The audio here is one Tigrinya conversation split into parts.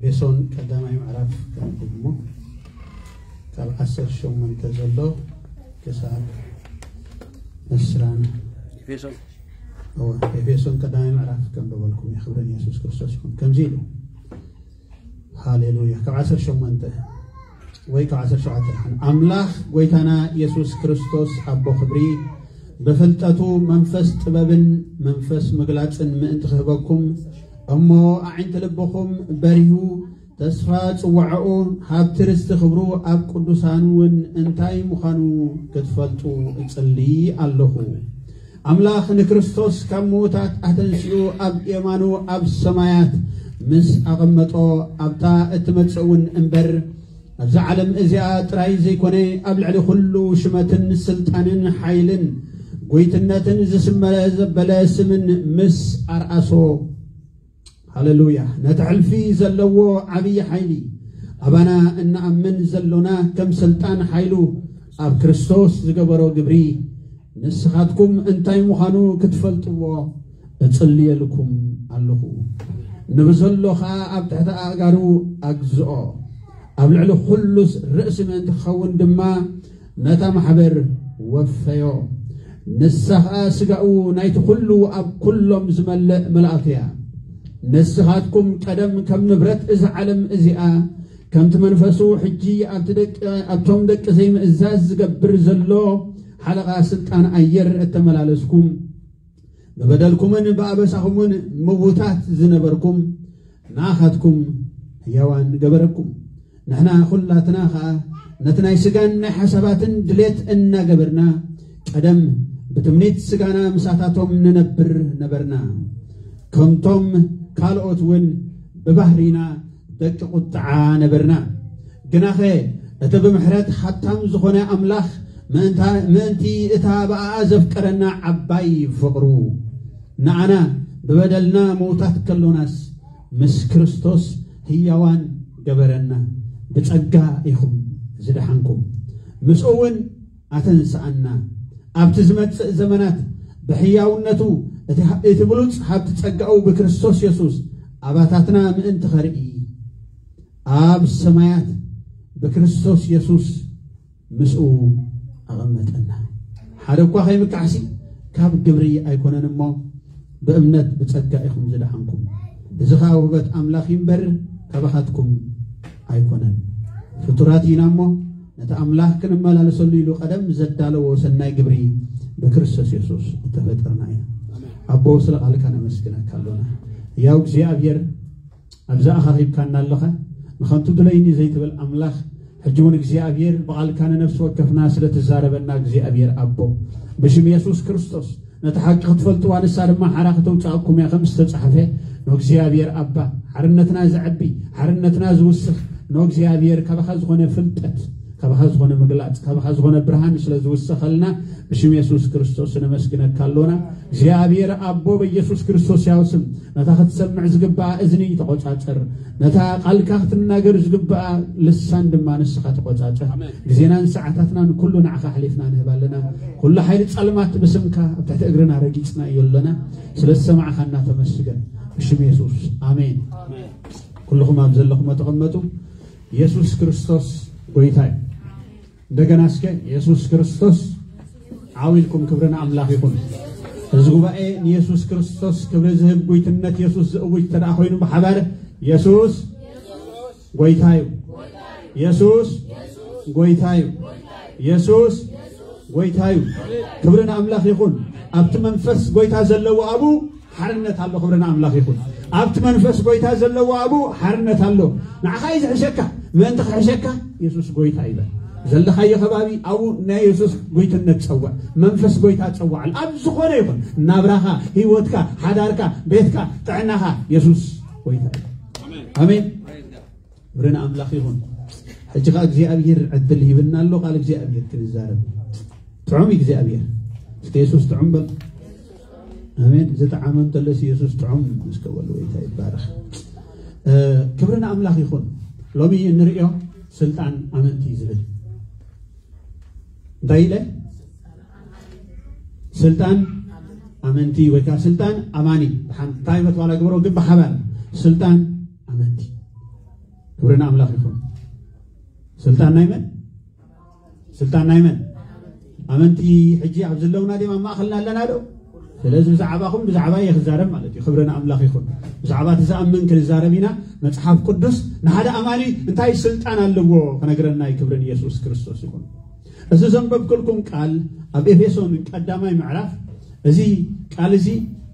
ኤፌሶን ቀዳማይ ምዕራፍ ከንብብ እሞ ካብ ዓሰርተ ሸሞንተ ዘሎ ክሳብ ዕስራን ኤፌሶን እወ፣ ኤፌሶን ቀዳማይ ምዕራፍ ከንብበልኩም እየ። ክብሪ ንየሱስ ክርስቶስ ይኹን። ከምዚ ኢሉ፣ ሃሌሉያ፣ ካብ ዓሰርተ ሸሞንተ ወይ ካብ ዓሰርተ ሸውዓተ ደሓን። ኣምላኽ ጎይታና የሱስ ክርስቶስ ኣቦ ክብሪ ብፍልጠቱ መንፈስ ጥበብን መንፈስ ምግላጽን ምእንቲ ክህበኩም፣ እሞ ኣዒንቲ ልብኹም በሪሁ፣ ተስፋ ጽዋዕኡ፣ ሃብቲ ርስቲ ክብሩ ኣብ ቅዱሳን እውን እንታይ ምዃኑ ክትፈልጡ እጽሊ ኣለኹ። ኣምላኽ ንክርስቶስ ካብ ምዉታት ኣተንሲኡ ኣብ የማኑ ኣብ ሰማያት ምስ ኣቐመጦ፣ ኣብታ እትመጽእ እውን እምበር ኣብዛ ዓለም እዚኣ ጥራይ ዘይኮነ፣ ኣብ ልዕሊ ኩሉ ሽመትን ስልጣንን ሓይልን ጎይትነትን ዝስመረ ዘበለ ስምን ምስ ኣርኣሶ፣ ሃሌሉያ፣ ነቲ ሕልፊ ዘለዎ ዓብዪ ሓይሊ፣ ኣባና እንኣምን ዘሎና ከም ስልጣን ሓይሉ ኣብ ክርስቶስ ዝገበሮ ግብሪ ንስኻትኩም እንታይ ምዃኑ ክትፈልጥዎ እጽልየልኩም ኣለኹ። ንብዘሎ ኸኣ ኣብ ትሕቲ ኣእጋሩ ኣግዝኦ። ኣብ ልዕሊ ኩሉ ርእሲ ምእንቲ ክኸውን ድማ ነታ ማሕበር ወፈዮ። ንሳ ኸኣ ስጋኡ ናይቲ ኩሉ ኣብ ኩሎም ዝመልእ መልኣኽ እያ። ንስኻትኩም ቀደም ከም ንብረት እዛ ዓለም እዚኣ፣ ከምቲ መንፈሱ ሕጂ ኣብቲ ደቂ-፣ ኣብቶም ደቂ ዘይምእዛዝ ዝገብር ዘሎ ሓለቓ ስልጣን ኣየር እተመላለስኩም፣ ብበደልኩምን ብኣበሳኹምን ምዉታት ዝነበርኩም፣ ንኣኻትኩም ህያዋን ገበረኩም። ንሕና ኩላትና ኸኣ ነቲ ናይ ስጋን ናይ ሓሳባትን ድሌት እናገበርና፣ ቀደም ብትምኒት ስጋና ምሳታቶም ንነብር ነበርና። ከምቶም ካልኦት እውን ብባህሪና ደቂ ቁጥዓ ነበርና። ግናኸ እቲ ብምሕረት ሃብታም ዝኾነ ኣምላኽ ምእንታ-፣ ምእንቲ እታ ብኣኣ ዘፍቀረና ዓባይ ፍቕሩ፣ ንኣና ብበደልና ምዉታት ከሎናስ ምስ ክርስቶስ ህያዋን ገበረና። ብጸጋ ኢኹም ዝደሓንኩም። ምስኡ እውን ኣተንስኣና። ኣብቲ ዝመጽእ ዘመናት ብሕያውነቱ እቲ፣ እቲ ብሉጽ ሃብቲ ጸጋኡ ብክርስቶስ የሱስ ኣባታትና ምእንቲ ኸርኢ፣ ኣብ ሰማያት ብክርስቶስ የሱስ ምስኡ ኣቐመጠና። ሓደ እኳ ከይምካሕሲ ካብ ግብሪ ኣይኮነን እሞ፣ ብእምነት ብጸጋ ኢኹም ዝደሓንኩም። እዚ ኸኣ ውህበት ኣምላኽ እዩ እምበር፣ ካባኻትኩም ኣይኮነን። ፍጡራት ኢና እሞ፣ ነቲ ኣምላኽ ክንመላለሰሉ ኢሉ ቀደም ዘዳለዎ ሰናይ ግብሪ ብክርስቶስ የሱስ እተፈጠርና ኢና። ኣቦ፣ ስለ ቃልካ ነመስግነካ ኣሎና። ያው እግዚኣብሔር፣ ኣብዚ ኣኻኺብካና ኣለኻ። ንኸንቱ ድለይኒ ዘይትብል ኣምላኽ፣ ሕጂ እውን እግዚኣብሔር ብቓልካ ንነፍሲ ወከፍና ስለ ትዛረበና እግዚኣብሔር ኣቦ፣ ብሽም የሱስ ክርስቶስ ነቲ ሓቂ ክትፈልጥዋ ንሳ ድማ ሓራ ከተውፅኣኩም እያ ከም ዝተጻሕፈ፣ ንእግዚኣብሔር ኣባ፣ ሓርነትና ዘዕቢ፣ ሓርነትና ዝውስኽ፣ ንእግዚኣብሔር ካባኻ ዝኾነ ፍልጠት፣ ካባኻ ዝኾነ ምግላጽ፣ ካባኻ ዝኾነ ብርሃን ስለ ዝውሰኸልና ብሽም የሱስ ክርስቶስ ነመስግነካ ኣሎና። እግዚኣብሔር ኣቦ በኢየሱስ ክርስቶስ ያው ስም ነታ ክትሰምዕ ዝግባኣ እዝኒ ተቆጻጸር። ነታ ቃልካ ክትናገር ዝግባኣ ልሳን ድማ ንስኻ ተቆጻጸር። ኣሜን። ግዜናን ሰዓታትናን ኩሉ ንዓኻ ኣሕሊፍና ንህብ ኣለና። ኩሉ ሓይሊ ጸልማት ብስምካ ኣብ ትሕቲ እግርና ረጊጽናዮ ኣለና። ስለ ዝሰማዕኻና ተመስገን። ብሽም የሱስ ኣሜን። ኣሜን። ኩልኹም ኣብ ዘለኹም ተቐመጡ። የሱስ ክርስቶስ ጎይታ እዩ። እንደገና እስከ የሱስ ክርስቶስ ዓው ኢልኩም ክብሪ ንኣምላኽ ይኹን። እዚ ጉባኤ ንየሱስ ክርስቶስ ክብሪ ዝህብ ጉይትነት የሱስ ዝእውጅ ተደኣ ኮይኑ ብሓባር የሱስ ጎይታ እዩ። የሱስ ጎይታ እዩ። የሱስ ጎይታ እዩ። ክብሪ ንኣምላኽ ይኹን። ኣብቲ መንፈስ ጎይታ ዘለዎ ኣብኡ ሓርነት ኣሎ። ክብሪ ንኣምላኽ ይኹን። ኣብቲ መንፈስ ጎይታ ዘለዎ ኣብኡ ሓርነት ኣሎ። ንዓኻ እዩ ዝሕሸካ። ምእንቲ ክሕሸካ የሱስ ጎይታ ይበል። ዘለኻዮ ከባቢ ኣብኡ ናይ የሱስ ጎይትነት ጸውዕ። መንፈስ ጎይታ ጸውዓሉ። ኣብ ዝኾነ ይኹን ናብራኻ፣ ህይወትካ፣ ሓዳርካ፣ ቤትካ፣ ጥዕናኻ የሱስ ጎይታ እዩ። ኣሜን። ክብሪ ንኣምላኽ ይኹን። ሕጂ ኸዓ እግዚኣብሔር ዕድል ሂብና ኣሎ፣ ቃል እግዚኣብሔር ክንዛረብ። ጥዑም እግዚኣብሔር። እስከ የሱስ ጥዑም በል። ኣሜን። ዝጠዓመ እንተለስ የሱስ ጥዑም እስከ በሉ። ጎይታ ይባረኽ። እ፣ ክብሪ ንኣምላኽ ይኹን። ሎሚ እንርእዮ ስልጣን ኣመንቲ ዝብል እንታይ ኢለ? ስልጣን ኣመንቲ ወይ ከዓ ስልጣን ኣማኒ። ብሓንቲ እንታይ በትዋላ ግበሮ ግን ብሓባር ስልጣን ኣመንቲ። ክብሪ ንኣምላኽ ይኹን። ስልጣን ናይ መን? ስልጣን ናይ መን? ኣመንቲ ሕጂ ኣብ ዘለውና ድም ኣብ ማእኸልና ኣለና ዶ? ስለዚ ብዛዕባኹም ብዛዕባ እየ ክዛረብ ማለት እዩ። ክብሪ ንኣምላኽ ይኹን። ብዛዕባ እቲ ዝኣምን ክንዛረብ ኢና። መጽሓፍ ቅዱስ ንሓደ ኣማኒ እንታይ ስልጣን ኣለዎ ክነግረና እዩ። ክብሪ ንየሱስ ክርስቶስ ይኹን። እዚ ዘንበብኩልኩም ቃል ኣብ ኤፌሶን ቀዳማይ ምዕራፍ፣ እዚ ቃል እዚ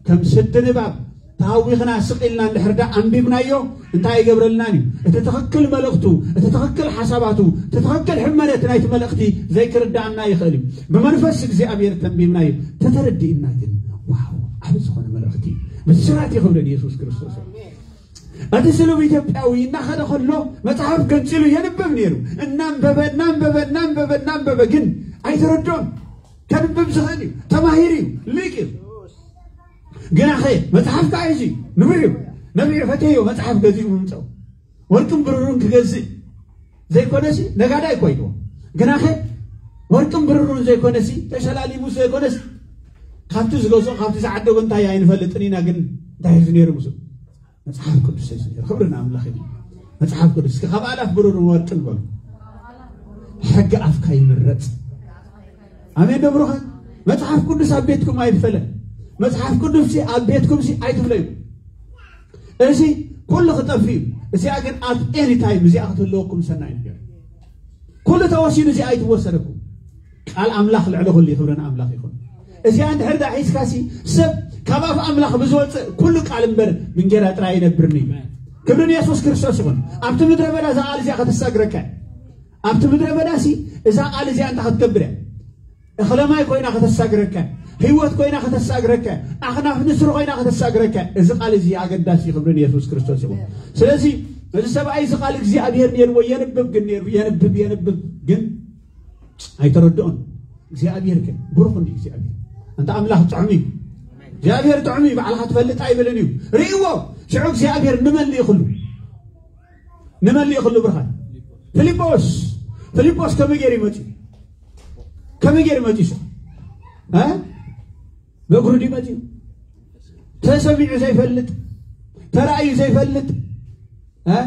ከም ስዲ ንባብ ተሃዊኽና ስቕ ኢልና እንድሕር ደኣ ኣንቢብናዮ እንታይ ኣይገብረልናን እዩ። እቲ ትኽክል መልእኽቱ፣ እቲ ትኽክል ሓሳባቱ፣ እቲ ትኽክል ሕመነት ናይቲ መልእኽቲ ዘይክርድኣና ይኽእል እዩ። ብመንፈስ እግዚኣብሔር ተንቢብናዮ ተተረዲእና ግን ዋው ዓቢ ዝኾነ መልእኽቲ እዩ። ብስራት ይኽብረን የሱስ ክርስቶስ እዩ። እቲ ስሉብ ኢትዮጵያዊ እናኸደ ከሎ መጽሓፍ ገንጺሉ የንብብ ነይሩ። እናንበበ እናንበበ እናንበበ እናንበበ ግን ኣይተረድኦን። ከንብብ ዝኽእል እዩ፣ ተማሂሩ እዩ፣ ሊቅ እዩ። ግናኸ መጽሓፍ ከዓ እዚ ንብዕ እዩ። ነቢዑ ፈተዮ መጽሓፍ ገዚኡ ምምፀው። ወርቅን ብሩርን ክገዝእ ዘይኮነሲ ነጋዳይ እኮ ኢልዎ። ግናኸ ወርቅን ብሩርን ዘይኮነሲ ተሸላሊሙ ዘይኮነሲ ካብቲ ዝገዝኦ ካብቲ ዝዓደጎ እንታይ ኣይንፈልጥን ኢና። ግን እንታይ ሒዙ ነይሩ ምስኡ? መጽሓፍ ቅዱስ እዩ ዝነይሩ። ክብሪ ንኣምላኽ እዩ። መጽሓፍ ቅዱስ እስኪ ካብ ኣላፍ ብሩርን ወርቅን በሉ። ሕጊ ኣፍካ ይምረጽ። ኣሜን ዶ ብሩኻት? መጽሓፍ ቅዱስ ኣብ ቤትኩም ኣይፈለ። መጽሓፍ ቅዱስ ሲ ኣብ ቤትኩም ሲ ኣይትፍለዩ። እዚ ኩሉ ክጠፍ እዩ። እዚኣ ግን ኣብ ኤኒ ታይም እዚኣ ክትህልወኩም ሰናይ ነገር። ኩሉ ተወሲዱ እዚኣ ኣይትወሰደኩም። ቃል ኣምላኽ ልዕሊ ኩሉ እዩ። ክብሪ ንኣምላኽ ይኹን። እዚኣ እንድሕር ዳ ሒዝካ ሲ ሰብ ካብ ኣፍ ኣምላኽ ብዝወፅእ ኩሉ ቃል እምበር ብእንጌራ ጥራይ ኣይነብርን እዩ። ክብሪ ንየሱስ ክርስቶስ ይኹን። ኣብቲ ምድረ በዳ እዛ ቃል እዚኣ ከተሳግረካ እያ። ኣብቲ ምድረ በዳ ሲ እዛ ቃል እዚኣ እንታይ ክትገብር እያ? እኽለ ማይ ኮይና ከተሳግረካ፣ ህይወት ኮይና ከተሳግረካ፣ ኣኽናፍ ንስር ኮይና ከተሳግረካ። እዚ ቃል እዚ ኣገዳሲ እዩ። ክብሪ ንየሱስ ክርስቶስ ይኹን። ስለዚ እዚ ሰብኣይ እዚ ቃል እግዚኣብሔር ነይርዎ የንብብ ግን ነይሩ የንብብ የንብብ ግን ኣይተረድኦን። እግዚኣብሔር ግን ብሩኽ እንዲ እግዚኣብሔር እንተ ኣምላኽ ጥዑም እዩ። እግዚኣብሔር ጥዑም እዩ። ባዕልኻ ትፈልጥ ኣይብልን እዩ። ርእይዎ። ሽዑ እግዚኣብሔር ንመን ልኢኽሉ? ንመን ልኢኽሉ ብርሃን? ፊልጶስ። ፊልጶስ ከመይ ገይሩ ይመጽእ? ከመይ ገይሩ ይመጽእ? እ? በእግሩ ድዩ መጽኡ? ተሰሚዑ ዘይፈልጥ፣ ተራእዩ ዘይፈልጥ፣ እ?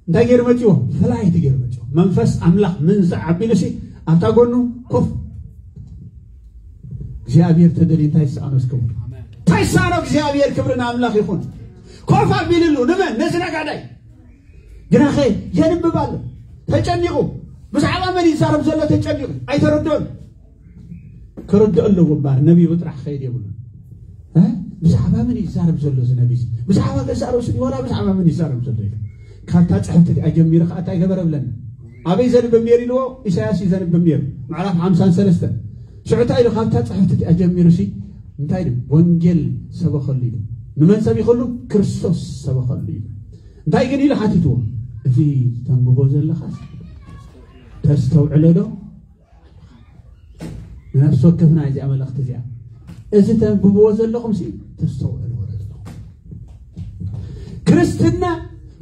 እንታይ ገይሩ መጽዎ? ፍላይት ገይሩ መጽዎ። መንፈስ ኣምላኽ ምንዛዕ ኣቢሉ ሲ ኣብታ ጎኑ ኮፍ። እግዚኣብሔር ተደልዩ እንታይ ይሰኣኖ እስከ? እንታይ ይሰኣኖ እግዚኣብሔር? ክብሪ ንኣምላኽ ይኹን። ኮፍ ኣቢልሉ ንመን? ነዚ ነጋዳይ። ግናኸ የንብብ ኣሎ። ተጨኒቑ። ብዛዕባ መን ይዛረብ ዘሎ ተጨኒቑ። ኣይተረድኦን። ክርድኦ ኣለዎ እምበኣር ነቢዩ ጥራሕ ክኸይድ የብሉን። እ? ብዛዕባ መን ይዛረብ ዘሎ እዚ ነቢ እዚ? ብዛዕባ ገዛእ ርእሱ ድዩ ዋላ ብዛዕባ መን ይዛረብ ዘሎ ኢሉ። ካብታ ጽሕፍቲ እቲኣ ጀሚሩ ኸዓ እንታይ ገበረ ብለና? ኣበይ ዘንብብ ነይሩ ኢልዎ? ኢሳያስ እዩ ዘንብብ ነይሩ። ምዕራፍ ሓምሳን ሰለስተን። ሽዑ እንታይ ኢሉ? ካብታ ጽሕፍቲ እቲኣ ጀሚሩ ሲ እንታይ ኢሉ? ወንጌል ሰበኸሉ ኢሉ። ንመን ሰቢኸሉ? ክርስቶስ ሰበኸሉ ኢሉ። እንታይ ግን ኢሉ ሓቲትዎ? እዚ ተንብቦ ዘለኻስ ተስተውዕሎ ዶ? ንነፍሲ ወከፍና እዚኣ መልእኽቲ እዚኣ። እዚ ተንብብዎ ዘለኹም ሲ ተስተውዕልዎ ዶ ዘለኹም? ክርስትና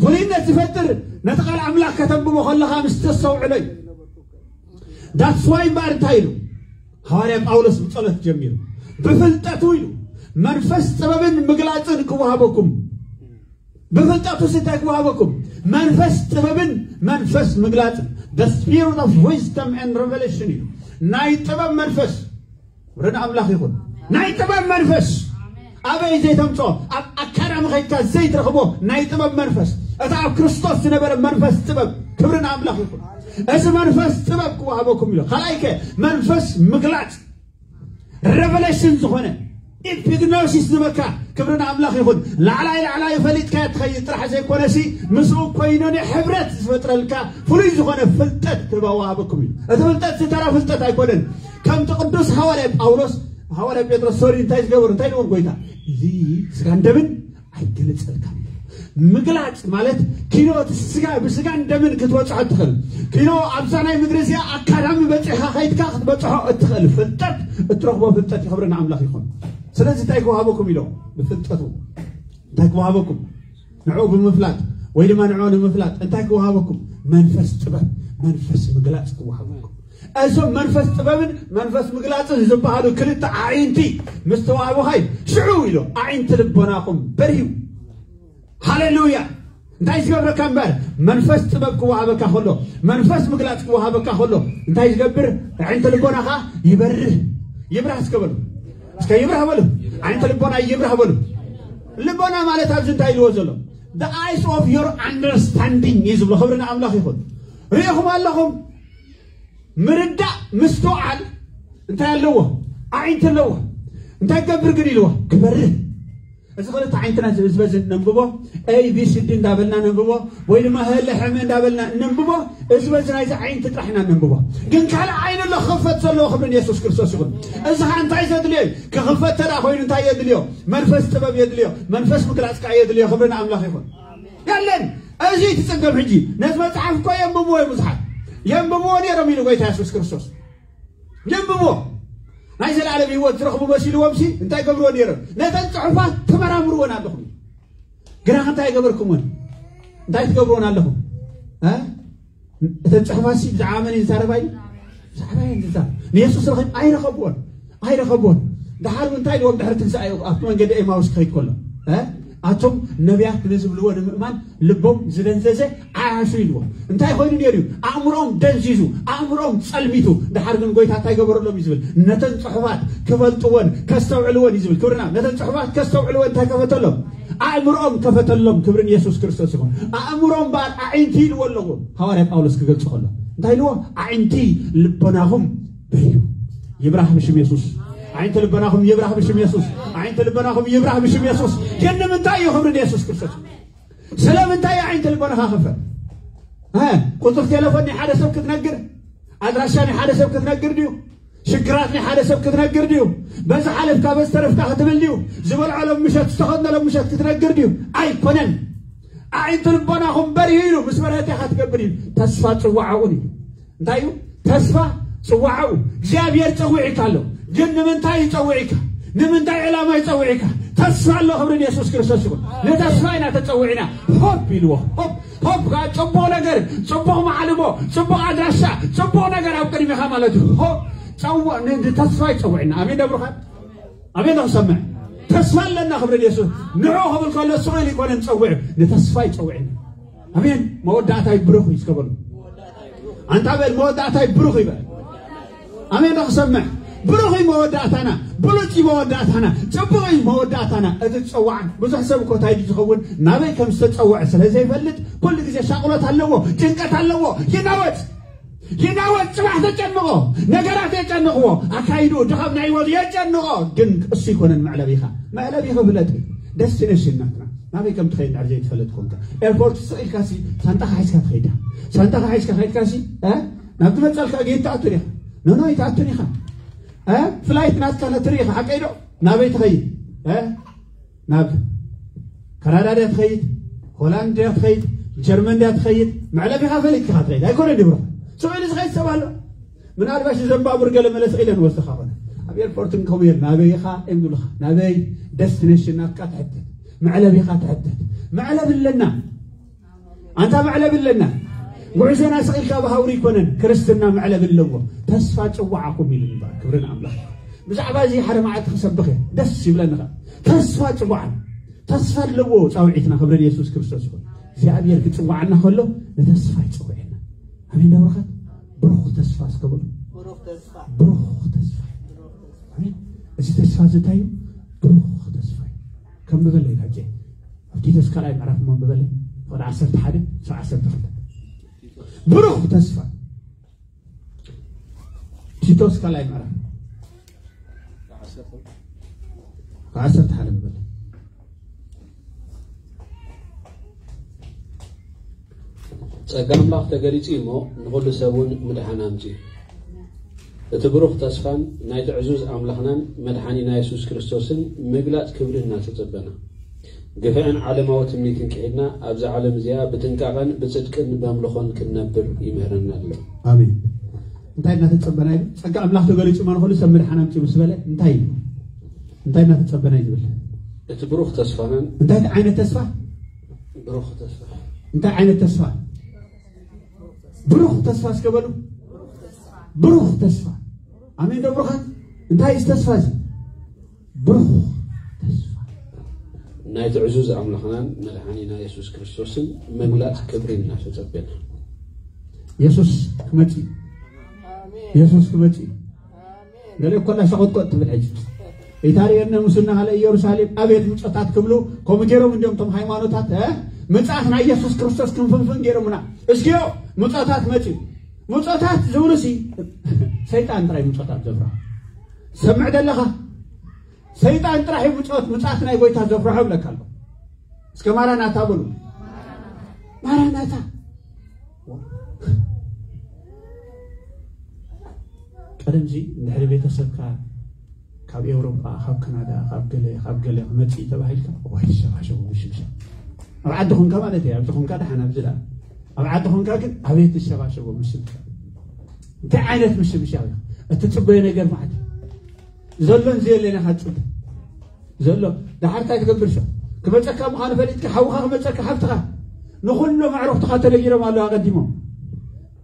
ፍሉይነት ዝፈጥር ነቲ ቃል ኣምላኽ ከተንብቦ ከለኻ ምስ ተስተውዕሎ እዩ። ዳትስ ዋይ እምበኣር እንታይ ኢሉ? ሃዋርያ ጳውሎስ ብጸሎት ጀሚሩ። ብፍልጠቱ ኢሉ መንፈስ ጥበብን ምግላጽን ክወሃበኩም። ብፍልጠቱ ሲ እንታይ ክወሃበኩም? መንፈስ ጥበብን መንፈስ ምግላጽን። The spirit of wisdom and revelation እዩ። ናይ ጥበብ መንፈስ። ክብሪ ንኣምላኽ ይኹን። ናይ ጥበብ መንፈስ። ኣበይ ዘይተምጾ? ኣብ ኣካዳሚ ኸይድካ ዘይትረኽቦ ናይ ጥበብ መንፈስ። እቲ ኣብ ክርስቶስ ዝነበረ መንፈስ ጥበብ። ክብሪ ንኣምላኽ ይኹን። እዚ መንፈስ ጥበብ ክወሃበኩም ኢሉ። ካልኣይ ከ መንፈስ ምግላጽ። ሬቨሌሽን ዝኾነ ኢፒግኖሲስ ዝበካ ክብሪ ንኣምላኽ ይኹን። ላዕላይ ላዕላይ ፈሊጥካ ትኸይድ ጥራሕ ዘይኮነሲ ምስኡ ኮይኖ ናይ ሕብረት ዝፈጥረልካ ፍሉይ ዝኾነ ፍልጠት ክህባ ወሃበኩም እዩ። እቲ ፍልጠት ዝተራ ፍልጠት ኣይኮነን። ከምቲ ቅዱስ ሃዋርያ ጳውሎስ፣ ሃዋርያ ጴጥሮስ ሶሪ እንታይ ዝገበሩ እንታይ ንዎም ጎይታ እዚ ስጋን ደምን ኣይገለጸልካን እዩ። ምግላጽ ማለት ኪኖ እቲ ስጋ ብስጋን ደምን ክትበጽሖ እትኽእል ኪኖ ኣብዛ ናይ ምድሪ እዚኣ ኣካዳሚ በጺሕካ ከይድካ ክትበጽሖ እትኽእል ፍልጠት እትረኽቦ ፍልጠት ይኽብሪ ንኣምላኽ ይኹን። ስለዚ እንታይ ክወሃበኩም ኢሎም ብፍልጠቱ እንታይ ክወሃበኩም ንዕኡ ብምፍላጥ ወይ ድማ ንዕኡ ንምፍላጥ እንታይ ክወሃበኩም መንፈስ ጥበብ መንፈስ ምግላጽ ክወሃበኩም እዞም መንፈስ ጥበብን መንፈስ ምግላጽን ዝበሃሉ ክልተ ኣዒንቲ ምስ ተዋህቡኻይ ሽዑ ኢሎ ኣዒንቲ ልቦናኹም በርሂው። ሃሌሉያ። እንታይ ዝገብረካ እምበር? መንፈስ ጥበብ ክወሃበካ ከሎ፣ መንፈስ ምግላጽ ክወሃበካ ከሎ እንታይ ዝገብር? ኣዒንቲ ልቦናኻ ይበርህ። ይብራህ እስከ በሉ። እስከ ይብራህ በሉ። ኣዒንቲ ልቦና ይብራህ በሉ። ልቦና ማለት ኣብዚ እንታይ ኢልዎ ዘሎ? The eyes of your understanding እዩ ዝብሎ። ክብሪ ንኣምላኽ ይኹን። ርኢኹም ኣለኹም? ምርዳእ ምስትውዓል እንታይ ኣለዎ? ኣዒንቲ ኣለዎ። እንታይ ገብር ግን ኢልዎ? ክበርህ። እዚ ክልተ ዓይንትና እዚ በዚ ነንብቦ፣ ኤቢሲዲ እንዳበልና ነንብቦ፣ ወይ ድማ ህለ ሕመ እንዳበልና ነንብቦ። እዚ በዚ ናይዚ ዓይንቲ ጥራሕ ኢና ነንብቦ። ግን ካልእ ዓይኒ ኣሎ ክኽፈት ዘለዎ። ክብርን የሱስ ክርስቶስ ይኹን። እዚ ኸዓ እንታይ ዘድልዮ እዩ? ክኽፈት ተዳ ኮይኑ እንታይ የድልዮ? መንፈስ ጥበብ የድልዮ። መንፈስ ምግላጽ ከዓ የድልዮ። ክብርን ኣምላኽ ይኹን። የለን። እዚ ትጽገም ሕጂ። ነዚ መጽሓፍ እኮ የንብብዎ እዮም ብዙሓት። የንብብዎ ነይሮም ኢሉ ጎይታ የሱስ ክርስቶስ። የንብብዎ። ናይ ዘላለም ህይወት ዝረኽቡ መሲልዎም ሲ እንታይ ገብርዎ ነይሮም? ነተን ጽሑፋት ትመራምርዎን ኣለኹም። ግና እንታይ ገበርኩምዎን? እንታይ ትገብርዎን ኣለኹም? እ? እተን ጽሑፋት ሲ ብዛዕባ መን እዩ ዝዛረባ እዩ? ብዛዕባ እየን ዝዛረባ። ንየሱስ ረኺብ ኣይረኸብዎን። ኣይረኸብዎን። ደሓር እውን እንታይ ኢልዎም ድሕሪ ትንሳኤኡ ኣብቲ መንገዲ ኤማውስ ክኸይድ ከሎ? እ? ኣቶም ነቢያት ንዝብልዎ ንምእማን ልቦም ዝደንዘዘ ዓያሹ ኢልዎም። እንታይ ኮይኑ ነይሩ እዩ? ኣእምሮኦም ደንዚዙ፣ ኣእምሮኦም ጸልሚቱ። ደሓር ግን ጎይታ እንታይ ገበረሎም እዩ ዝብል? ነተን ጽሑፋት ክፈልጥዎን ከስተውዕልዎን እዩ ዝብል። ክብርና ነተን ጽሑፋት ከስተውዕልዎን እንታይ ከፈተሎም? ኣእምሮኦም ከፈተሎም። ክብርን የሱስ ክርስቶስ ይኹን። ኣእምሮኦም በኣል ኣዒንቲ ኢልዎ ኣለዎ። ሃዋርያ ጳውሎስ ክገልጾ ከሎ እንታይ ኢልዎ? ኣዒንቲ ልቦናኹም በዩ ይብራህ ብሽም የሱስ። ኣዒንቲ ልቦናኹም ይብራህ ብሽም የሱስ። ኣዒንቲ ልቦናኹም ይብራህ ብሽም የሱስ። ግን ንምንታይ እዩ? ክብሪ ንየሱስ ክርስቶስ። ስለምንታይ እዩ ኣዒንቲ ልቦናኻ ክፈት? እ? ቁጽሪ ቴሌፎን ናይ ሓደ ሰብ ክትነግር፣ ኣድራሻ ናይ ሓደ ሰብ ክትነግር ድዩ? ሽግራት ናይ ሓደ ሰብ ክትነግር ድዩ? በዚ ሓለፍካ በዚ ተረፍካ ክትብል ድዩ? ዝበልዖ ሎም ምሸት ዝተኸድኖ ሎም ምሸት ክትነግር ድዩ? ኣይኮነን። ኣዒንቲ ልቦናኹም በርሂ ኢሉ ምስ በርሀት ኢኻ ትገብር እዩ። ተስፋ ጽዋዕኡ እዩ። እንታይ እዩ? ተስፋ ጽዋዕኡ። እግዚኣብሔር ጸዊዕካ ኣሎ። ግን ንምንታይ እዩ ጸዊዕካ? ንምንታይ ዕላማ እዩ ጸዊዕካ? ተስፋ ኣሎ። ክብሪ ንየሱስ ክርስቶስ ይኹን። ንተስፋ ኢና ተጸዊዕና። ሆፕ ኢልዎ። ሆፕ፣ ሆፕ ከዓ ጽቡቕ ነገር፣ ጽቡቕ ማዕልቦ፣ ጽቡቕ ኣድራሻ፣ ጽቡቕ ነገር ኣብ ቅድሚኻ ማለት እዩ። ሆፕ ጸው-፣ ን-፣ ንተስፋ ይጸውዕና። ኣሜን ደብሩኻ? ኣሜን ዶ ክሰምዕ? ተስፋ ኣለና። ክብሪ ንየሱስ። ንዑ ክብል ከሎ ስቕ ኢሉ ይኮነን ጸውዕ። ንተስፋ ይጸውዕና። ኣሜን። መወዳእታይ ብሩኽ እዩ እስከ በሉ። ኣንታ በል መወዳእታይ ብሩኽ ይበል። ኣሜን ዶ ክሰምዕ? ብሩኽ እዩ መወዳእታና። ብሉጽ እዩ መወዳእታና። ጽቡቕ እዩ መወዳእታና። እቲ ዝጸዋዕን ብዙሕ ሰብ እኮ እንታይ ድዩ ዝኸውን? ናበይ ከም ዝተጸውዐ ስለ ዘይፈልጥ ኩሉ ግዜ ሻቕሎት ኣለዎ፣ ጭንቀት ኣለዎ። ይናወጽ። ይናወጽ። ጽባሕ ተጨንቆ፣ ነገራት የጨንቕዎ። ኣካይዱ ድኻም ናይ ህይወት የጨንቆ። ግን እሱ ይኮነን መዕለቢኻ። መዕለቢኻ ፍለጥ። ደስቲኔሽን ናትና ናበይ ከም ትኸይድ ድሕር ዘይትፈልጥ ኮንካ፣ ኤርፖርት ስቕ ኢልካ ሲ ሳንጣኻ ሒዝካ ትኸይዳ። ሳንጣኻ ሒዝካ ከይድካ ሲ፣ እ? ናብ ትመጸልካ ጌት ትኣቱ ዲኻ? ኖ ኖ፣ ኣይትኣቱን ኢኻ። እ? ፍላይት ናትካ ትርኢ ኢኻ፣ ሓቀይ ዶ? ናበይ ትኸይድ? እ? ናብ ካናዳ ድያ ትኸይድ? ሆላንድ ድያ ትኸይድ? ጀርመን ድያ ትኸይድ? መዕለቢኻ ፈሊጥካ ትኸይድ። ኣይኮነን ድብሮ? ስቕ ኢሉ ዝኸይድ ሰብ ኣሎ። ምናልባሽ ዘንባቡር ገለ መለስ ኢለን ወስኻ ኾነ። ኣብ ኤርፖርት እንከምየር ናበይ ኢኻ እዮም ዝብሉኻ። ናበይ? ደስቲኔሽን ናትካ ትሕተት። መዕለቢኻ ትሕተት። መዕለቢ ኣለና። ኣንታ መዕለቢ ኣለና። ጉዕዞና ስቕ ኢልካ ብሃውሪ ኣይኮነን። ክርስትና መዕለቢ ኣለዎ። ተስፋ ጽዋዕኩም ኢሉ እምበኣር። ክብሪ ንኣምላኽ። ብዛዕባ እዚ ሓደ መዓልቲ ክሰብኽ እየ። ደስ ይብለኒ ኸኣ። ተስፋ ጽዋዕና። ተስፋ ኣለዎ ጻውዒትና። ክብሪ ንየሱስ ክርስቶስ ይኹን። እግዚኣብሔር ክጽዋዓና ከሎ ንተስፋ ይጸውዐና። ኣሜን ዶ ብሩኻት? ብሩኽ ተስፋ እስከ በሉ። ብሩኽ ተስፋ። ብሩኽ ተስፋ። ኣሜን። እዚ ተስፋ እዚ እንታይ እዩ? ብሩኽ ተስፋ እዩ። ከንብበለይ ካጀ። ኣብ ቲቶስ ካልኣይ ምዕራፍ እሞ ኣንብበለይ። ወደ ዓሰርተ ሓደ፣ ክሳብ ዓሰርተ ክልተ። ብሩኽ ተስፋ። ቲቶስ ካልኣይ ምዕራፍ ዓሰርተ ሓደ ንበል። ጸጋ ኣምላኽ ተገሊጹ እዩ እሞ ንኹሉ ሰብ እውን ምድሓን ኣምጺኡ። እቲ ብሩኽ ተስፋን ናይቲ ዕዙዝ ኣምላኽናን መድሓኒና የሱስ ክርስቶስን ምግላጽ ክብሪ እናተጸበና፣ ግፍዕን ዓለማዊ ትምኒትን ክሒድና ኣብዛ ዓለም እዚኣ ብጥንቃቐን ብጽድቅን በምልኾን ክንነብር ይምህረና ኣሎ። ኣሜን። እንታይ እናተጸበና እዩ? ጸጋ ኣምላኽ ተገሊጹ እሞ ንኹሉ ሰብ ምድሓን ኣምጺኡ ምስ በለ እንታይ እዩ? እንታይ እናተጸበና እዩ ዝብል? እቲ ብሩኽ ተስፋናን እንታይ ዓይነት ተስፋ? ብሩኽ ተስፋ። እንታይ ዓይነት ተስፋ? ብሩኽ ተስፋ እስከ በሉ። ብሩኽ ተስፋ። ኣሜን ዶ ብሩኻት? እንታይ እዩ ተስፋ እዚ? ብሩኽ ተስፋ። ናይቲ ዕዙዝ ኣምላኽናን መድሓኒና የሱስ ክርስቶስን ምግላጽ ክብሪ እናተጸበና። የሱስ ክመጽእ እዩ። የሱስ ክመጽእ እዩ። ገለ እኮ እንዳሸቆጥቆጥ ትብል ሕጂ። ኢታርየነ ሙስና ሃለ ኢየሩሳሌም ኣቤት ምጾታት ክብሉ፣ ከምኡ ገይሮም እንዲዮም እቶም ሃይማኖታት፣ እ? ምጽኣት ናይ የሱስ ክርስቶስ ክንፍንፍን ገይሮምና። እስኪዮ ምጾታት መጽዩ። ምጾታት ዝብሉሲ ሰይጣን ጥራይ ምጾታት ዘፍርሖ። ሰምዕ ደለኻ? ሰይጣን ጥራሕ እዩ ምጾት፣ ምጽኣት ናይ ጎይታ ዘፍርሖ እብለካ ኣለኹ። እስከ ማራናታ በሉ። ማራናታ። ቀደምዚ እንድሕሪ ቤተሰብካ ካብ ኤውሮጳ፣ ካብ ካናዳ፣ ካብ ገለ፣ ካብ ገለ ክመጽእ ተባሂልካ፣ ዋይ፣ ትሸባሸቡ ምሽምሻም። ኣብ ዓዲ ኹንካ ማለት እዩ፣ ኣብዚ ኹንካ ደሓን፣ ኣብዚ ደኣ። ኣብ ዓዲ ኹንካ ግን ኣቤት ትሸባሸቡ ምሽምሻም። እንታይ ዓይነት ምሽምሻም እዩ? እትጽበዮ ነገር ማለት እዩ። ዘሎን ዘየለን ኢኻ ትጽበ። ዘሎ፣ ደሓር እንታይ ትገብር ሰብ? ክመጸካ ምዃኑ ፈሊጥካ፣ ሓውኻ ክመጸካ፣ ሓፍትኻ። ንኹሎም ኣዕሩኽትኻ ተደይሮም ኣለዉ ኣቐዲሞም።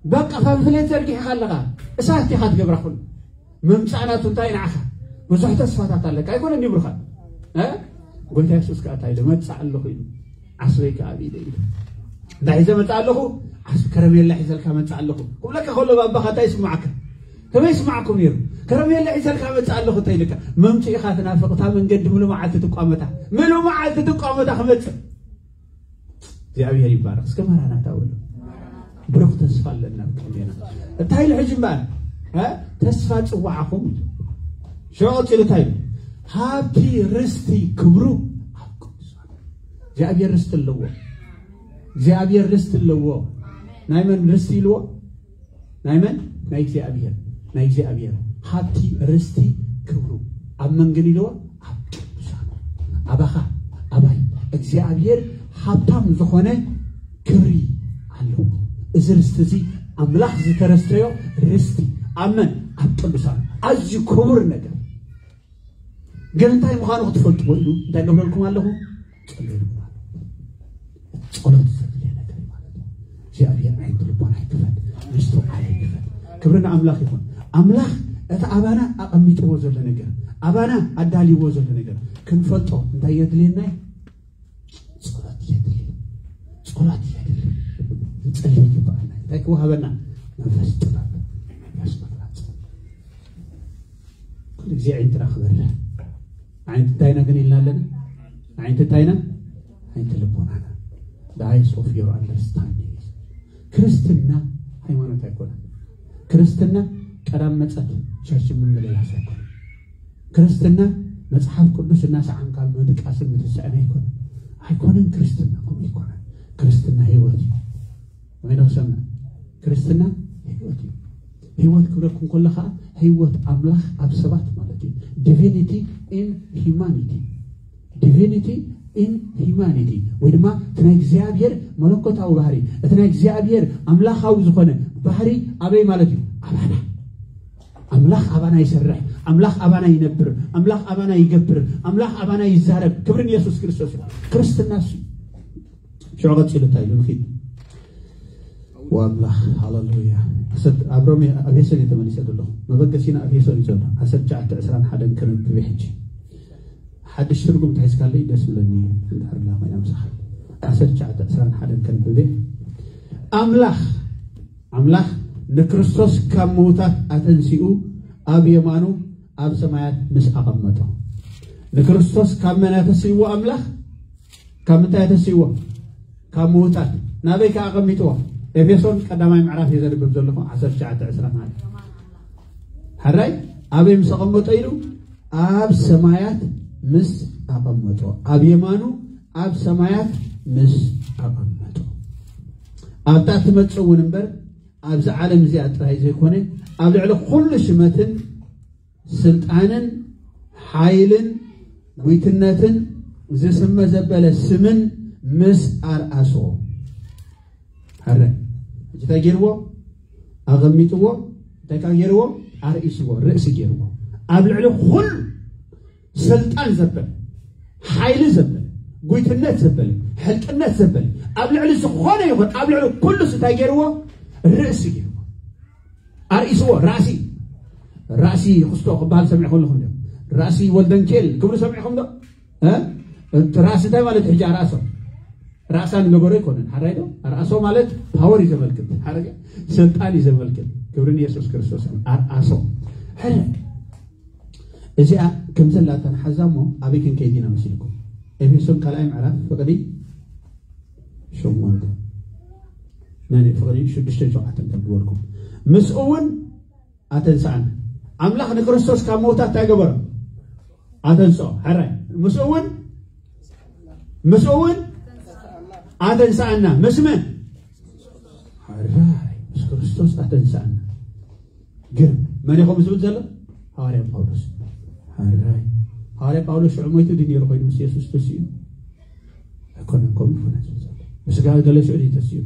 በቃ ፓምፍሌት ዘርጊሕኻ ኣለኻ። እሳት ኢኻ ትገብራ ኩሉ። ምምጻእ ናቱ እንታይ ንዓኻ? ብዙሕ ተስፋታት ኣለካ። ኣይኮነን ድዩ ብሩኻት? እ? ጎይታ የሱስ ከኣ እንታይ ኢሉ? መጽእ ኣለኹ ኢሉ። ዓስበይ ከኣ ኣብ ኢደ ኢሉ። እንታይ ሒዘ መጽእ ኣለኹ? ዓስ-፣ ከረሜላ ሒዘልካ መጽእ ኣለኹ። ክብለካ ከሎ ባባኻ እንታይ ይስምዓካ? ከመይ ይስምዓኩም ነይሩ? ከረሜላ ሒዘልካ መጽእ ኣለኹ እንተ ኢልካ፣ መምጽኢኻ ትናፍቕ፣ እታ መንገዲ ምሉ መዓልቲ ትቋመታ። ምሉ መዓልቲ ትቋመታ ክመጽእ። እግዚኣብሔር ይባረክ። እስከ ማራናታ በሉ። ብሩኽ ተስፋ ኣለና ኣብ ቅድሜና። እንታይ ኢሉ ሕጂ እምበኣር? እ? ተስፋ ጽዋዕኹም ኢሉ። ሽዑ ቀጺሉ እንታይ ኢሉ? ሃብቲ ርስቲ ክብሩ ኣብ ቅዱሳን። እግዚኣብሔር ርስቲ ኣለዎ። እግዚኣብሔር ርስቲ ኣለዎ። ናይ መን ርስቲ ኢልዎ? ናይ መን? ናይ እግዚኣብሔር። ናይ እግዚኣብሔር ሃብቲ ርስቲ ክብሩ ኣብ መን ግን ኢልዎ? ኣብ ቅዱሳኑ። ኣባኻ፣ ኣባይ እግዚኣብሔር ሃብታም ዝኾነ ክብሪ ኣለዎ። እዚ ርስቲ እዚ ኣምላኽ ዝተረስተዮ ርስቲ ኣብ መን? ኣብ ቅዱሳኑ። ኣዝዩ ክቡር ነገር። ግን እንታይ ምዃኑ ክትፈልጥዎ ኢሉ እንታይ ገብረልኩም ኣለኹ? ጸልየልኩም ኣለኹ። ጸሎት ዘድልየ ነገር እዩ ማለት እዩ። እግዚኣብሔር ዓይንቲ ልቦና ይክፈት፣ ምስትውዓል ይክፈት። ክብሪ ንኣምላኽ ይኹን። ኣምላኽ እቲ ኣባና ኣቐሚጥዎ ዘሎ ነገር፣ ኣባና ኣዳልይዎ ዘሎ ነገር ክንፈልጦ እንታይ የድልየና እዩ? ጸሎት የድሊ። ጸሎት የድሊ። ክንጸሊ ይግባኣና። እንታይ ክወሃበና? መንፈስ ጥበብ፣ መንፈስ መፍላጥ። ኩሉ ግዜ ዓይንትና ክበርህ። ዓይንቲ እንታይና ግን ኢልና ኣለና? ዓይንቲ እንታይና? ዓይንቲ ልቦናና። The eyes of your understanding። ክርስትና ሃይማኖት ኣይኮነን። ክርስትና ቀዳም መጸት ቸርች ምምልላስ ኣይኮነን። ክርስትና መጽሓፍ ቅዱስ እናሰዓምካ ምድቃስን ምትስዕን ኣይኮነን። ኣይኮነን ክርስትና፣ ከምኡ ኣይኮነን። ክርስትና ህይወት እዩ። ወይ ንኽሰምዕ፣ ክርስትና ህይወት እዩ። ህይወት ክብለኩም ከሎ ኸዓ ህይወት ኣምላኽ ኣብ ሰባት ማለት እዩ። Divinity in humanity። Divinity in humanity፣ ወይ ድማ እቲ ናይ እግዚኣብሔር መለኮታዊ ባህሪ፣ እቲ ናይ እግዚኣብሔር ኣምላኻዊ ዝኾነ ባህሪ ኣበይ ማለት እዩ? ኣባና። ኣምላኽ ኣባና ይሰርሕ፣ ኣምላኽ ኣባና ይነብር፣ ኣምላኽ ኣባና ይገብር፣ ኣምላኽ ኣባና ይዛረብ። ክብሪ ንየሱስ ክርስቶስ እዩ። ክርስትና እሱ እዩ። ሽዑ ቀጺሉ እንታይ ኢሉ ንኺድ? ወኣምላኽ፣ ሃሌሉያ። ኣሰር-፣ ኣብ ሮሜ፣ ኣብ ኤፌሶን እየ ተመሊሰ ዘለኹ። መበገሲና ኣብ ኤፌሶን እዩ ዘሎ። ዓሰርተ ትሽዓተ ዕስራን ሓደን ከነብብ እየ ሕጂ። ሓድሽ ትርጉም ተሒዝካለይ ደስ ይብለኒ፣ እንድሕር ላ ኮይና ምሳኻ። ዓሰርተ ትሽዓተ ዕስራን ሓደን ከነብብ እየ። ኣምላኽ፣ ኣምላኽ ንክርስቶስ ካብ ምዉታት ኣተንሲኡ ኣብ የማኑ ኣብ ሰማያት ምስ ኣቐመጦ። ንክርስቶስ ካብ መን ኣተስይዎ ኣምላኽ? ካብ ምንታይ ኣተስይዎ? ካብ ምዉታት። ናበይ ከኣ ኣቐሚጥዎ? ኤፌሶን ቀዳማይ ምዕራፍ እየ ዘንብብ ዘለኹ፣ ዓሰርተ ትሽዓተ ዕስራ ማለት። ሕራይ፣ ኣበይ ምስ ኣቐመጦ ኢሉ? ኣብ ሰማያት ምስ ኣቐመጦ። ኣብ የማኑ ኣብ ሰማያት ምስ ኣቐመጦ። ኣብታ ትመጽእ እውን እምበር፣ ኣብዚ ዓለም እዚኣ ጥራይ ዘይኮነ፣ ኣብ ልዕሊ ኩሉ ሽመትን ስልጣንን ሓይልን ጒትነትን ዝስመ ዘበለ ስምን ምስ ኣርኣስዎ። ሕረ። ሕጂ እንታይ ገይርዎ? ኣቐሚጥዎ። እንታይ ካብ ገይርዎ? ኣርኢስዎ፣ ርእሲ ገይርዎ። ኣብ ልዕሊ ኩሉ ስልጣን ዘበለ፣ ሓይሊ ዘበለ፣ ጒትነት ዘበለ፣ ሕልቅነት ዘበለ፣ ኣብ ልዕሊ ዝኾነ ይኹን፣ ኣብ ልዕሊ ኩሉስ እንታይ ገይርዎ? ርእሲ ገይርዎ። ኣርኢስዎ፣ ራእሲ፣ ራእሲ ክስቶ ክበሃል ሰሚዕኩም ኣለኹም ዶ? ራእሲ ወልደንኬል ክብሉ ሰሚዕኩም ዶ? እ? እቲ ራእሲ እንታይ ማለት ሕጂ ኣርኣሶ ራእሳ ንገበሮ ኣይኮነን ሓራይ ዶ ኣርኣሶ ማለት ፓወር እዩ ዘመልክት ሓረገ ስልጣን እዩ ዘመልክት ክብርን ኢየሱስ ክርስቶስ ኣርኣሶ ሕረ እዚኣ ከም ዘላታ ንሓዛ እሞ ኣበይ ክንከይድ ኢና መሲልኩም ኤፌሶን ካልኣይ ምዕራፍ ፍቕዲ ሸሞንተ ናይ ፍቕዲ ሽዱሽተን ሸውዓተን ከም ዝበልኩም ምስኡ እውን ኣተንስኣና ኣምላኽ ንክርስቶስ ካብ መውታት እንታይ ገበሮ ኣተንስኦ ሕራይ ምስኡ እውን ምስኡ እውን ኣተንስኣና ምስ መን ሕራይ ምስ ክርስቶስ ኣተንስኣና ግን መን ኢኹም ዝብል ዘሎ ሃዋርያ ጳውሎስ ሕራይ ሃዋርያ ጳውሎስ ሽዑ ሞይቱ ድዩ ነይሩ ኮይኑ ምስ የሱስ ተስኡ ኣይኮነን ከምኡ ይኮነ ዝብል ዘሎ ብስጋ ገለ ሽዑ ድዩ ተስኡ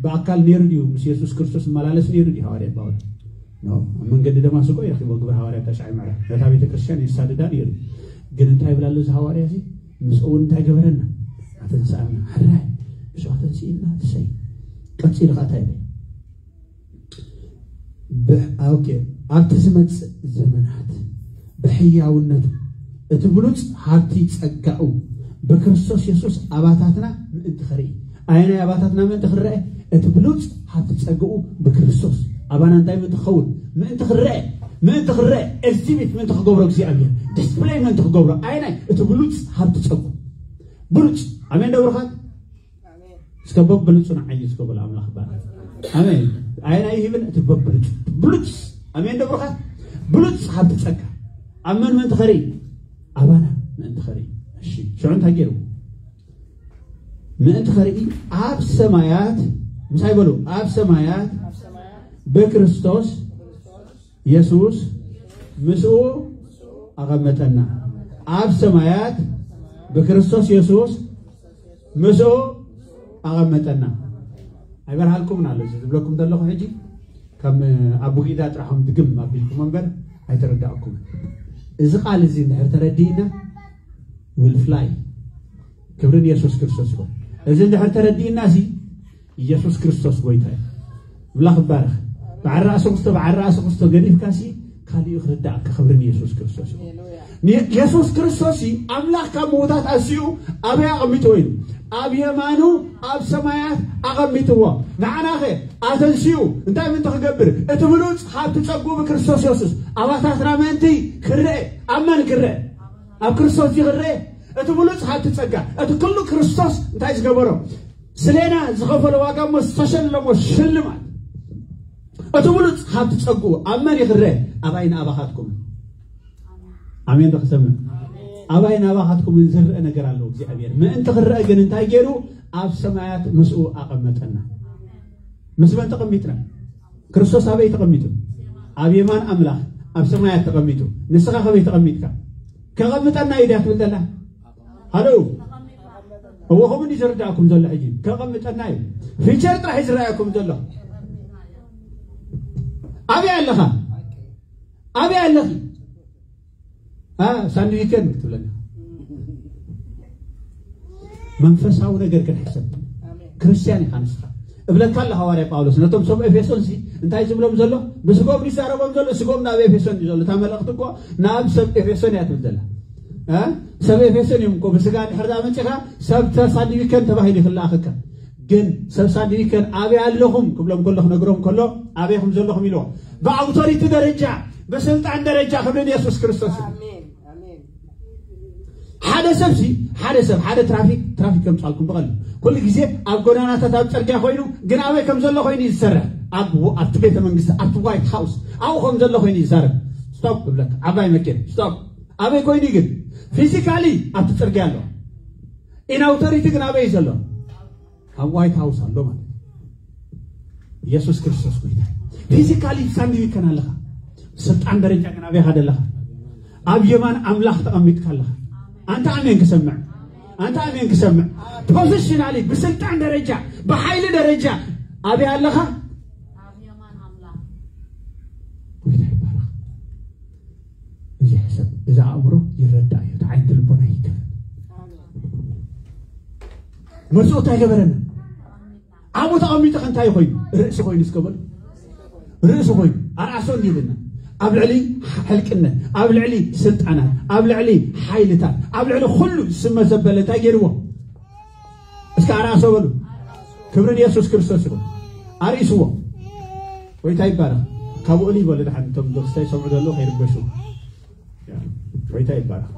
ብኣካል ነይሩ ድዩ ምስ የሱስ ክርስቶስ ዝመላለስ ነይሩ ድዩ ሃዋርያ ጳውሎስ ኣብ መንገዲ ደማስቆ ይረኪቦ ግብር ሃዋርያ ተሻዒ ምዕራፍ ነታ ቤተ ክርስቲያን የሳድዳ ነይሩ ግን እንታይ ይብላ ኣሎ እዚ ሃዋርያ እዚ ምስ እውን እንታይ ገበረና ኣተንስኣና ሕራይ እሱ ኣተንስእና ትሰይ ቀፂሉ ከዓ እንታይ ይብል ኣብቲ ዝመፅእ ዘመናት ብሕያውነቱ እቲ ብሉፅ ሃብቲ ፀጋኡ ብክርስቶስ የሱስ ኣባታትና ምእንቲ ክርኢ ኣየናይ ኣባታትና ምእንቲ ክረአ እቲ ብሉፅ ሃብቲ ፀግኡ ብክርስቶስ ኣባና እንታይ ምእንቲ ክኸውን ምእንቲ ክረአ ምእንቲ ክረአ ኤግዚቢት ምእንቲ ክገብሮ እግዚኣብሔር ዲስፕሌይ ምእንቲ ክገብሮ ኣየናይ እቲ ብሉፅ ሃብቲ ፀጉ ብሉፅ ኣሜን ደብርኻት እስከ በብልፁ ንዓይ እስከ በል ኣምላኽ ባል ኣሜን ኣየና ይህብን እቲ በብልፁ ብሉፅ ኣሜን ደብርኻ ብሉፅ ሃብቲ ፀጋ ኣብ መን ምእንቲ ኸርኢ ኣባና ምእንቲ ኸርኢ እሺ ሽዑ እንታይ ገይሩ ምእንቲ ኸርኢ ኣብ ሰማያት ምሳይ በሉ ኣብ ሰማያት ብክርስቶስ የሱስ ምስኡ ኣቐመጠና ኣብ ሰማያት ብክርስቶስ የሱስ ምስኡ ኣቐመጠና ኣይበርሃልኩምን ኣሎ እዚ ዝብለኩም ዘለኹ ሕጂ ከም ኣቡጊዳ ጥራሖም ድግም ኣቢልኩም እምበር ኣይተረዳእኩምን እዚ ቃል እዚ እንድሕር ተረዲእና will fly ክብርን የሱስ ክርስቶስ ይኹን እዚ እንድሕር ተረዲእና እዚ ኢየሱስ ክርስቶስ ጎይታ እዩ። ኣምላኽ ይባረኽ። በዓል ራእሲ ክስቶ በዓል ራእሲ ክስቶ ገዲፍካሲ ካሊኡ ክርዳእካ ክብሪ ንኢየሱስ ክርስቶስ እዩ። ኢየሱስ ክርስቶስ ኣምላኽ ካብ ምውታት ኣንስኡ ኣበይ ኣቐሚጥዎ እዩ? ኣብ የማኑ ኣብ ሰማያት ኣቐሚጥዎ። ንዓናኸ ኣተንስኡ እንታይ ምንተ ክገብር? እቲ ብሉፅ ሃብቲ ጸጉኡ ብክርስቶስ ኢየሱስ ኣባታትና ምእንቲ ክረአ ኣብ መን ክረአ? ኣብ ክርስቶስ እዚ ክረአ እቲ ብሉፅ ሃብቲ ጸጋ እቲ ኩሉ ክርስቶስ እንታይ ዝገበሮ ስሌና ዝኸፈሎ ዋጋ እሞ ዝተሸለሞ ሽልማት እቲ ብሉፅ ሃብቲ ፀጉኡ ኣብ መን ይኽረ ኣባይ ንኣባኻትኩም ኣሜን ዶ ክሰምዕ ኣባይ ንኣባኻትኩም ዝርአ ነገር ኣለዎ እግዚኣብሔር ምእንቲ ክረአ ግን እንታይ ገይሩ ኣብ ሰማያት ምስኡ ኣቐመጠና ምስ መን ተቐሚጥና ክርስቶስ ኣበይ ተቐሚጡ ኣብ የማን ኣምላኽ ኣብ ሰማያት ተቐሚጡ ንስኻ ከበይ ተቐሚጥካ ከቐምጠና እዩ ድያ ትብል ዘላ ሃሎ እዎ ከምኡ እንዲ ዝርዳእኩም ዘሎ ሕጂ ከቐምጠና እዩ ፊቸር ጥራሕ ዝረኣየኩም ዘሎ ኣበይ ኣለኻ ኣበይ ኣለኺ ሳንድዊከን ክትብለና መንፈሳዊ ነገር ክንሕሰብ ክርስትያን ኢኻ ንስኻ እብለካ ኣሎ ሃዋርያ ጳውሎስ ነቶም ሰብ ኤፌሶን ሲ እንታይ ዝብሎም ዘሎ ብስጎም ይዛረቦም ዘሎ ስጎም ናብ ኤፌሶን እዩ ዘሎ እታ መልእኽቲ እኮ ናብ ሰብ ኤፌሶን እያ ትብል ዘላ ሰብ ኤፌሶን እዮም እኮ ብስጋ ድሕር ዳ መፂኻ ሰብ ተሳዲቢከን ተባሂሉ ይኽልኣኸካ ግን ሰብ ሳዲቢከን ኣበይ ኣለኹም ክብሎም ከሎ ክነግሮም ከሎ ኣበይኹም ዘለኹም ኢልዎ ብኣውቶሪቲ ደረጃ ብስልጣን ደረጃ ክብርን የሱስ ክርስቶስ እዩ ሓደ ሰብ ሲ ሓደ ሰብ ሓደ ትራፊክ ትራፊክ ከምፃልኩም ብቐል ኩሉ ግዜ ኣብ ጎዳናታት ኣብ ፅርግያ ኮይኑ ግን ኣበይ ከም ዘሎ ኮይኑ እዩ ዝሰርሕ ኣብቲ ቤተ መንግስቲ ኣብቲ ዋይት ሃውስ ኣብኡ ከም ዘሎ ኮይኑ ይዛረብ ስቶፕ ብለካ ዓባይ መኪና ስቶፕ ኣበይ ኮይኑ ግን ፊዚካሊ ኣብቲ ፅርግያ ኣሎ ኢን ኣውቶሪቲ ግን ኣበይ ዘሎ ኣብ ዋይት ሃውስ ኣሎ ማለት ኢየሱስ ክርስቶስ ጎይታ ፊዚካሊ ሳንድዊከን ኣለኻ ስልጣን ደረጃ ግን ኣበይ ሓደ ኣለኻ ኣብ የማን ኣምላኽ ተቐሚጥካ ኣለኻ ኣንተ ኣሜን ክሰምዕ ኣንተ ኣሜን ክሰምዕ ፖዚሽናሊ ብስልጣን ደረጃ ብሓይሊ ደረጃ ኣበይ ኣለኻ ጎይታ ይባረኽ እዚ ሕሰብ እዚ ኣእምሮ ይረዳእ እዩ እቲ ዓይንቲ ልቦና ይከፈት መርፅኡ እንታይ ገበረና ኣብኡ ተቐሚጡ ከ እንታይ ኮይኑ ርእሲ ኮይኑ እስከ በሉ ርእሲ ኮይኑ ኣርኣሶ እንዲልና ኣብ ልዕሊ ሕልቅነት፣ ኣብ ልዕሊ ስልጣናት፣ ኣብ ልዕሊ ሓይልታት፣ ኣብ ልዕሊ ኩሉ ዝስመ ዘበለ እንታይ ገይርዎ? እስከ ኣርኣሶ በሉ። ክብሪ ንየሱስ ክርስቶስ ይኹን። ኣርእስዎ። ጎይታ ይባረኽ። ካብኡ ልይ በሉ ደሓን፣ እቶም ዶክስታይ ሰምዑ ዘለዉ ከይርበሹ። ጎይታ ይባረኽ።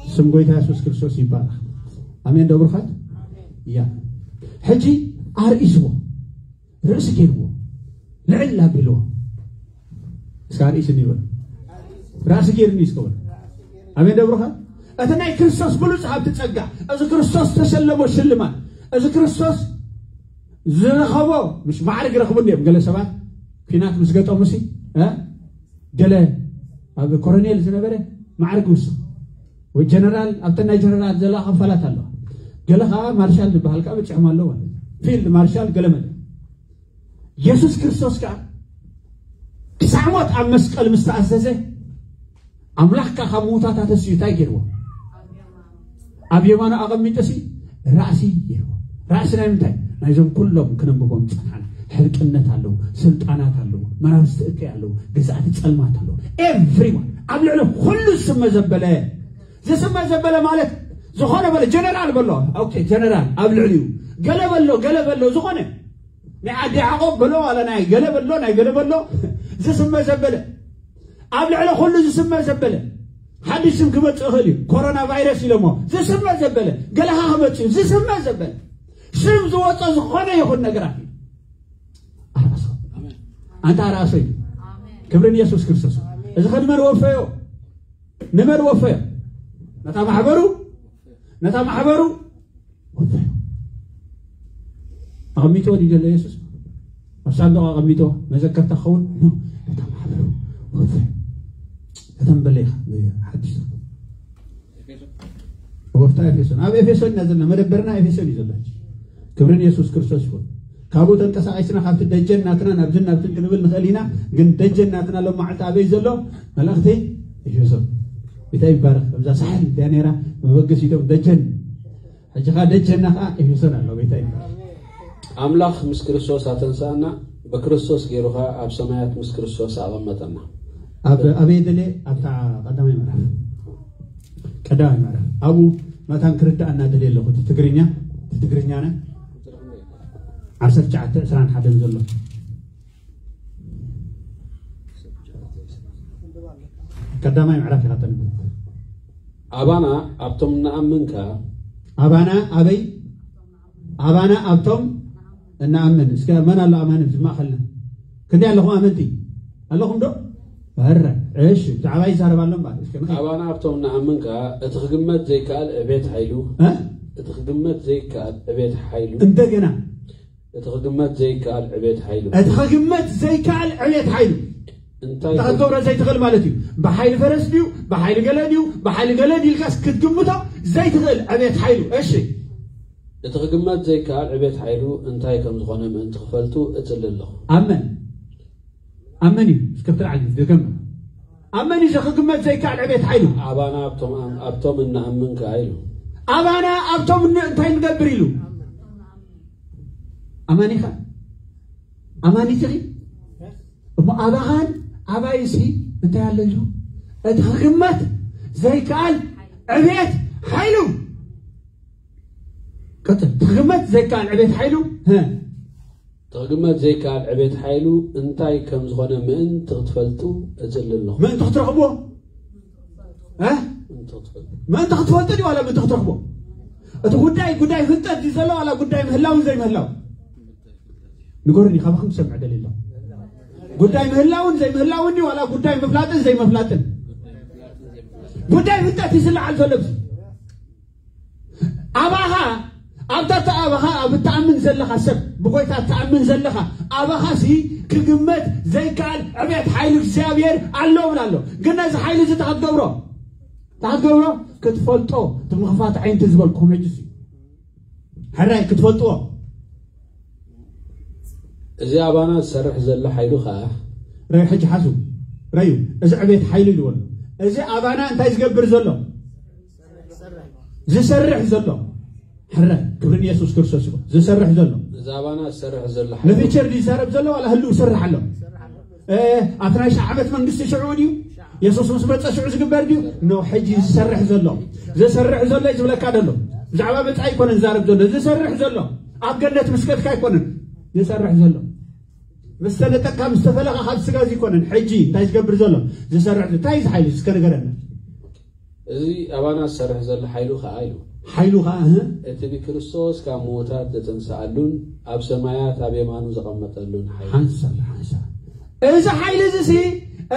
ስም ጎይታ የሱስ ክርስቶስ ይባረኽ። ኣሜን ዶ ብሩኻት? ያ። ሕጂ ኣርእስዎ። ርእሲ ገይርዎ። ልዕል ኣቢልዎ። እስካ ርእሲ ይበል። ራእሲ ገይርኒ እስከ በል። ኣሜን ዶ ብሩኻ? እቲ ናይ ክርስቶስ ብሉጽ ሃብቲ ጸጋ፣ እዚ ክርስቶስ ተሸለሞ ሽልማት፣ እዚ ክርስቶስ ዝረኸቦ፣ ምሽ ማዕርግ ረኽቡ እንዲዮም። ገለ ሰባት ኲናት ምስ ገጠሙ ሲ፣ እ? ገለ ኣብ ኮሎኔል ዝነበረ ማዕርግ ውስኽ፣ ወይ ጀነራል፣ ኣብተን ናይ ጀነራል ዘለዋ ክፋላት ኣለዋ። ገለ ከዓ ማርሻል ዝበሃል ከዓ በፂሖም ኣለዉ ማለት እዩ። ፊልድ ማርሻል ገለ መለ። የሱስ ክርስቶስ ከዓ ክሳዕ ሞት ኣብ መስቀል ምስ ተኣዘዘ፣ ኣምላኽ ከዓ ካብ ምዉታት ኣተስዩ እንታይ ገይርዎ? ኣብ የማኑ ኣቐሚጡ ሲ ራእሲ ገይርዎ። ራእሲ ናይ ምንታይ? ናይዞም ኩሎም ክነንብቦም ዝጸናሕና። ሕልቅነት ኣለዉ፣ ስልጣናት ኣለዉ፣ መናፍስቲ እከይ ኣለዉ፣ ገዛእቲ ጸልማት ኣለዉ። ኤቭሪዋን፣ ኣብ ልዕሊ ኩሉ ዝስመ ዘበለ። ዝስመ ዘበለ ማለት ዝኾነ በለ፣ ጀነራል በሎ። ኦኬ፣ ጀነራል ኣብ ልዕሊኡ። ገለ በሎ፣ ገለ በሎ፣ ዝኾነ ናይ ዓዲ ያዕቆብ በሎ፣ ዋላ ናይ ገለ በሎ፣ ናይ ገለ በሎ፣ ዝስመ ዘበለ። ኣብ ልዕሊ ኩሉ ዝስመ ዘበለ። ሓድሽ ስም ክመጽእ ይኽእል እዩ። ኮሮና ቫይረስ ኢሎሞ። ዝስመ ዘበለ። ገለኻ ክመጽእ እዩ። ዝስመ ዘበለ። ስም ዝወጾ ዝኾነ ይኹን ነገራት እዩ። ኣርኣሶ። ኣንታ ኣርኣሶ እዩ። ክብሪ ንየሱስ ክርስቶስ። እዚ ከ ንመን ወፈዮ? ንመን ወፈዮ? ነታ ማሕበሩ? ነታ ማሕበሩ? ወፈዮ። ኣቐሚጥዎ ድዩ ዘሎ የሱስ? ኣብ ሳንዱቕ ኣቐሚጥዎ መዘከርታ ክኸውን? ኖ። ነታ ማሕበሩ ወፈዮ። ከተንበለ ኢኻ። ሓድሽ ትርጉም። ወፍታ ኤፌሶን። ኣብ ኤፌሶን ኢና ዘለና። መደበርና ኤፌሶን እዩ ዘሎ። ክብሪ ንየሱስ ክርስቶስ ይኹን። ካብኡ ተንቀሳቒስና ካብቲ ደጀን ናትና ናብዝን ናብትን ክንብል ንኽእል ኢና። ግን ደጀን ናትና ሎም መዓልቲ ኣበይ ዘሎ? መልእኽቲ ኤፌሶን። እንታይ ይባረኽ? እዛ ሳሕል እያ ነይራ። መበገሲቶም ደጀን። ሕጂ ኸዓ ደጀና ኸዓ ኤፌሶን ኣሎ። ጎይታ ይባረኽ። ኣምላኽ ምስ ክርስቶስ ኣተንሳእና፣ ብክርስቶስ ገይሩ ኸዓ ኣብ ሰማያት ምስ ክርስቶስ ኣቐመጠና። ኣብ፣ ኣበይ ደልየ? ኣብታ ቀዳማይ ምዕራፍ። ቀዳማይ ምዕራፍ። ኣብኡ መታን ክርዳእና ደልየ ኣለኹ። እቲ ትግርኛ፣ እቲ ትግርኛና ዓሰርተ ትሽዓተ ዕስራን ሓደን ዘሎ። ቀዳማይ ምዕራፍ ኢኻ ተንብብ። ኣባና ኣብቶም እንኣምን ከኣ። ኣባና ኣበይ? ኣባና ኣብቶም እንኣምን። እስከ መን ኣሎ ኣማኒ ኣብዚ ማእኸልና? ክንደይ ኣለኹም ኣመንቲ? ኣለኹም ዶ? በረ። እሺ፣ ብዛዕባ ይዛረብ ኣሎ እምበኣር። እስከ ንኸ- ኣባና ኣብቶም እንኣምን ከኣ እቲ ክግመት ዘይከኣል ዕቤት ሓይሉ። እ? እቲ ክግመት ዘይከኣል ዕቤት ሓይሉ። እንደገና። እቲ ክግመት ዘይከኣል ዕቤት ሓይሉ። እቲ ክግመት ዘይከኣል ዕቤት ሓይሉ። እንታይ እንታይ ክትገብሮ ዘይትኽእል ማለት እዩ። ብሓይሊ ፈረስ ድዩ? ብሓይሊ ገለ ድዩ? ብሓይሊ ገለ ድዩ ኢልካስ ክትግምቶ ዘይትኽእል ዕቤት ሓይሉ። እሺ። እቲ ክግመት ዘይከኣል ዕቤት ሓይሉ እንታይ ከም ዝኾነ ምእንቲ ክፈልጡ እጽሊ ኣለኹ። ኣመን። ኣመን እዩ። እስከ ብትልዓል እዩ። ደገም። ኣመን እዩ። እዚ ክግመት ዘይከኣል ዕቤት ሓይሉ። ኣባና ኣብቶም ኣም-፣ ኣብቶም እንኣምን ከኣ ኢሉ። ኣባና ኣብቶም ን-፣ እንታይ ንገብር ኢሉ? ኣማን ኢኻ? ኣማኒት ኢኺ? እሞ ኣባኻን ኣባይሲ እንታይ ኣሎ ኢሉ? እቲ ክግመት ዘይከኣል ዕቤት ሓይሉ። ቀጽል። እቲ ክግመት ዘይከኣል ዕቤት ሓይሉ። ሀ። እቲ ክግመት ዘይከኣል ዕቤት ሓይሉ እንታይ ከም ዝኾነ ምእንቲ ክትፈልጡ እጽሊ ኣለኹ። ምእንቲ ክትረኽብዎ? እ? ምእንቲ ክትፈልጡ። ምእንቲ ክትፈልጡ ድዩ ዋላ ምእንቲ ክትረኽብዎ? እቲ ጉዳይ፣ ጉዳይ ፍልጠት ድዩ ዘሎ ዋላ ጉዳይ ምህላውን ዘይምህላው? ንገሩኒ፣ ካባኹም ክሰምዕ ደልየ ኣለኹ። ጉዳይ ምህላውን ዘይምህላውን ድዩ ዋላ ጉዳይ ምፍላጥን ዘይምፍላጥን? ጉዳይ ፍልጠት እዩ ዝለዓል ዘሎ ኣብዚ። ኣባኻ፣ ኣብታ እታ ኣባኻ ኣብ እትኣምን ዘለኻ ሰብ፣ ብጎይታ እትኣምን ዘለኻ፣ ኣባኻሲ ክግመት ዘይከኣል ዕቤት ሓይሊ እግዚኣብሔር ኣሎ እብል ኣሎ። ግን ነዚ ሓይሊ እዚ እንታይ ክትገብሮ? እንታይ ክትገብሮ? ክትፈልጦ፣ እቲ ምኽፋት ዓይንቲ ዝበልኩም ሕጅስ እዩ። ሕራይ ክትፈልጥዎ። እዚ ኣባና ዝሰርሕ ዘሎ ሓይሉ ኸኣ ረዩ ሕጂ ሓሱ። ረዩ፣ እዚ ዕቤት ሓይሉ ኢልዎ ኣሎ። እዚ ኣባና እንታይ ዝገብር ዘሎ? ዝሰርሕ ዘሎ ሕረ ክብሪ ንየሱስ ክርስቶስ ይኹን። ዝሰርሕ ዘሎ እዛ ኣባና ዝሰርሕ ዘሎ ነቲ ቸር ዝዛረብ ዘሎ ዋላ ህልው ይሰርሕ ኣሎ። እ፣ ኣብቲ ናይ ሺሕ ዓመት መንግስቲ ሽዑ ድዩ? የሱስ ምስ መፀ ሽዑ ዝግበር ድዩ? ኖ፣ ሕጂ ዝሰርሕ ዘሎ ዝሰርሕ ዘሎ እዩ ዝብለካ ዘሎ። ብዛዕባ መፃኢ ኣይኮነን ዝዛረብ ዘሎ። ዝሰርሕ ዘሎ ኣብ ገነት ምስ ከድካ ኣይኮነን ዝሰርሕ ዘሎ። ምስ ተነጠቅካ ምስ ተፈለኻ ካብ ስጋ እዚ ኣይኮነን። ሕጂ እንታይ ዝገብር ዘሎ? ዝሰርሕ ዘሎ። እንታይ እዚ ሓይሊ እስከ ንገረና። እዚ ኣባና ዝሰርሕ ዘሎ ሓይሉ ከዓ ኢሉ ሓይሉ ከዓ እህ፣ እቲ ንክርስቶስ ካብ ምዉታት ዘተንስኣሉን ኣብ ሰማያት ኣብ የማኑ ዘቐመጠሉን ሓይሉ ሓንሳብ ሓንሳብ እዚ ሓይሊ እዚ ሲ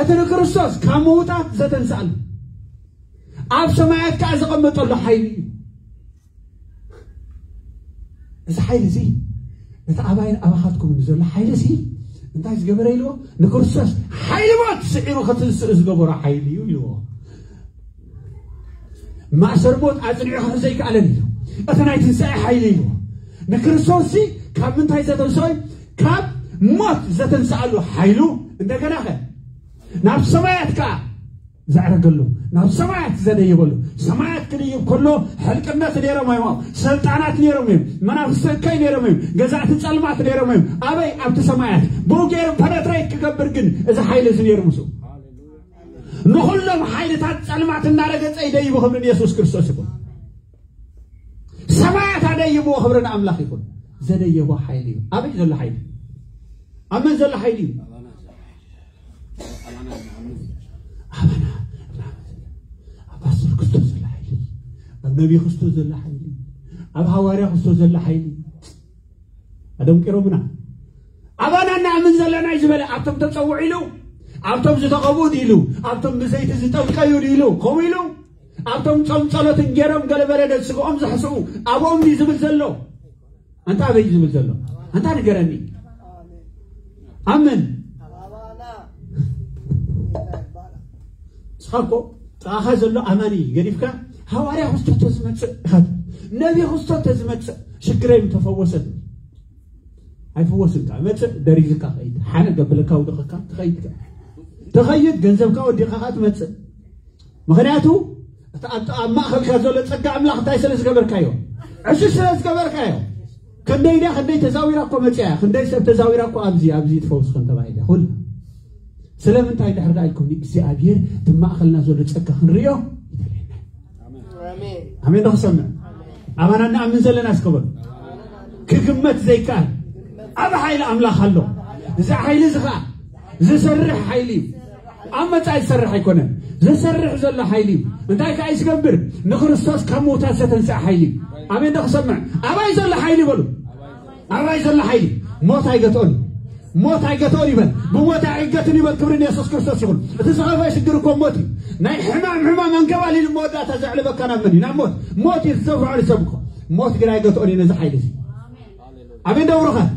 እቲ ንክርስቶስ ካብ ምዉታት ዘተንስኣሉ ኣብ ሰማያት ከዓ ዘቐመጠሉ ሓይሊ እዩ። እዚ ሓይሊ እዚ እቲ ኣባይን ኣባኻትኩምን ዘሎ ሓይሊ እዚ እንታይ ዝገበረ ኢልዎ? ንክርስቶስ ሓይሊ ሞት ስዒሩ ክትንስእ ዝገበሮ ሓይሊ እዩ ኢልዎ። ማእሰር ሞት ኣጽኒዑ ክሕዞ ኣይከኣለን እዩ። እቲ ናይ ትንሳኤ ሓይሊ እዩ። ንክርስቶስ ሲ ካብ ምንታይ ዘተንስኦ እዩ? ካብ ሞት ዘተንስኣሉ ሓይሉ እንደገና ኸ ናብ ሰማያት ከኣ ዘዕረገሉ ናብ ሰማያት ዘደየበሉ ሰማያት ክድይብ ከሎ ሕልቅነት ነይሮም እዮም። ሰልጣናት ነይሮም እዮም። መናፍስቲ እከይ ነይሮም እዮም። ገዛእቲ ጸልማት ነይሮም እዮም። ኣበይ ኣብቲ ሰማያት ብኡ ገይሩ ፐነትሬት ክገብር ግን እዚ ሓይሊ እዚ ነይሩ ምስኡ ንኹሎም ሓይልታት ጸልማት እናረገጸ ይደይቡ ክብሪ ንየሱስ ክርስቶስ ይኹን። ሰማያት ኣደይብዎ ክብሪ ንኣምላኽ ይኹን። ዘደየቦ ሓይሊ እዩ። ኣበይ ዘሎ ሓይሊ? ኣብ መን ዘሎ ሓይሊ እዩ? ኣባና ኣብ ፓስተር ክርስቶስ ዘሎ ሓይሊ፣ ኣብ ነቢ ክርስቶስ ዘሎ ሓይሊ፣ ኣብ ሃዋርያ ክርስቶስ ዘሎ ሓይሊ ኣደንቂሮምና። ኣባና እናኣምን ዘለና እዩ ዝበለ ኣብቶም ተፀውዑ ኢሉ ኣብቶም ዝተቐብኡ ኢሉ ኣብቶም ብዘይቲ ዝጠልቀዩ ኢሉ ከምኡ ኢሉ ኣብቶም ጾም ጸሎትን ገይሮም ገለበለ ነስግኦም ዘሕስኡ ኣብኦም ድዩ ዝብል ዘሎ? ኣንታ ኣበይ እዩ ዝብል ዘሎ? ኣንታ ንገረኒ። ኣምን ንስኻ እኮ ጥቓኻ ዘሎ ኣማኒ ገዲፍካ ሃዋርያ ክስቶ ተዝመፅእ ኢኻ ነቢ ክስቶ ተዝመፅእ ሽግረይ ምተፈወሰት ኣይፍወስን። መፅእ ደሪዝካ ኸይድ ሓነ ገበለካ ውድቕካ ትኸይድ ትኸይድ ገንዘብካ ወዲኻ ትመፅእ። ምኽንያቱ እቲ ኣብ ኣብ ማእኸልካ ዘሎ ፀጋ ኣምላኽ እንታይ ስለ ዝገበርካዮ ዕሽሽ ስለ ዝገበርካዮ። ክንደይ ድያ ክንደይ ተዛዊራ እኮ መፅያ እያ። ክንደይ ሰብ ተዛዊራ እኮ ኣብዚ ኣብዚ ትፈውስ ከም ተባሂለ ኩሉ ስለምንታይ ድሕር ዳ ኢልኩም እግዚኣብሔር እቲ ማእኸልና ዘሎ ፀጋ ክንርእዮ ይደልየና። ኣሜን ዶ ክሰምዕ ኣባና እናኣምን ዘለና እስከበሉ ክግመት ዘይከኣል ኣብ ሓይሊ ኣምላኽ ኣሎ። እዚ ሓይሊ እዚ ኸዓ ዝሰርሕ ሓይሊ እዩ። ኣብ መጻኢ ዝሰርሕ ኣይኮነን። ዝሰርሕ ዘሎ ሓይሊ እዩ። እንታይ ከዓ እዩ ዝገብር? ንክርስቶስ ካብ ምውታት ዘተንስአ ሓይሊ እዩ። ኣሜን ዶ ክሰምዕ? ኣባይ ዘሎ ሓይሊ በሉ። ኣባይ ዘሎ ሓይሊ ሞት ኣይገትኦን እዩ። ሞት ኣይገትኦን ይበል። ብሞት ኣይገትን ይበል። ክብሪ ንየሱስ ክርስቶስ ይኹን። እቲ ዝኸፍአ ሽግር እኮ ሞት እዩ። ናይ ሕማም ሕማም ኣንከባሊሉ መወዳእታ ዘዕልበካ ናብ መን እዩ? ናብ ሞት። ሞት እዩ ዝዘፍዖ ንሰብ እኮ። ሞት ግን ኣይገትኦን እዩ ነዚ ሓይሊ እዚ። ኣሜን ዶ ብሩኻት?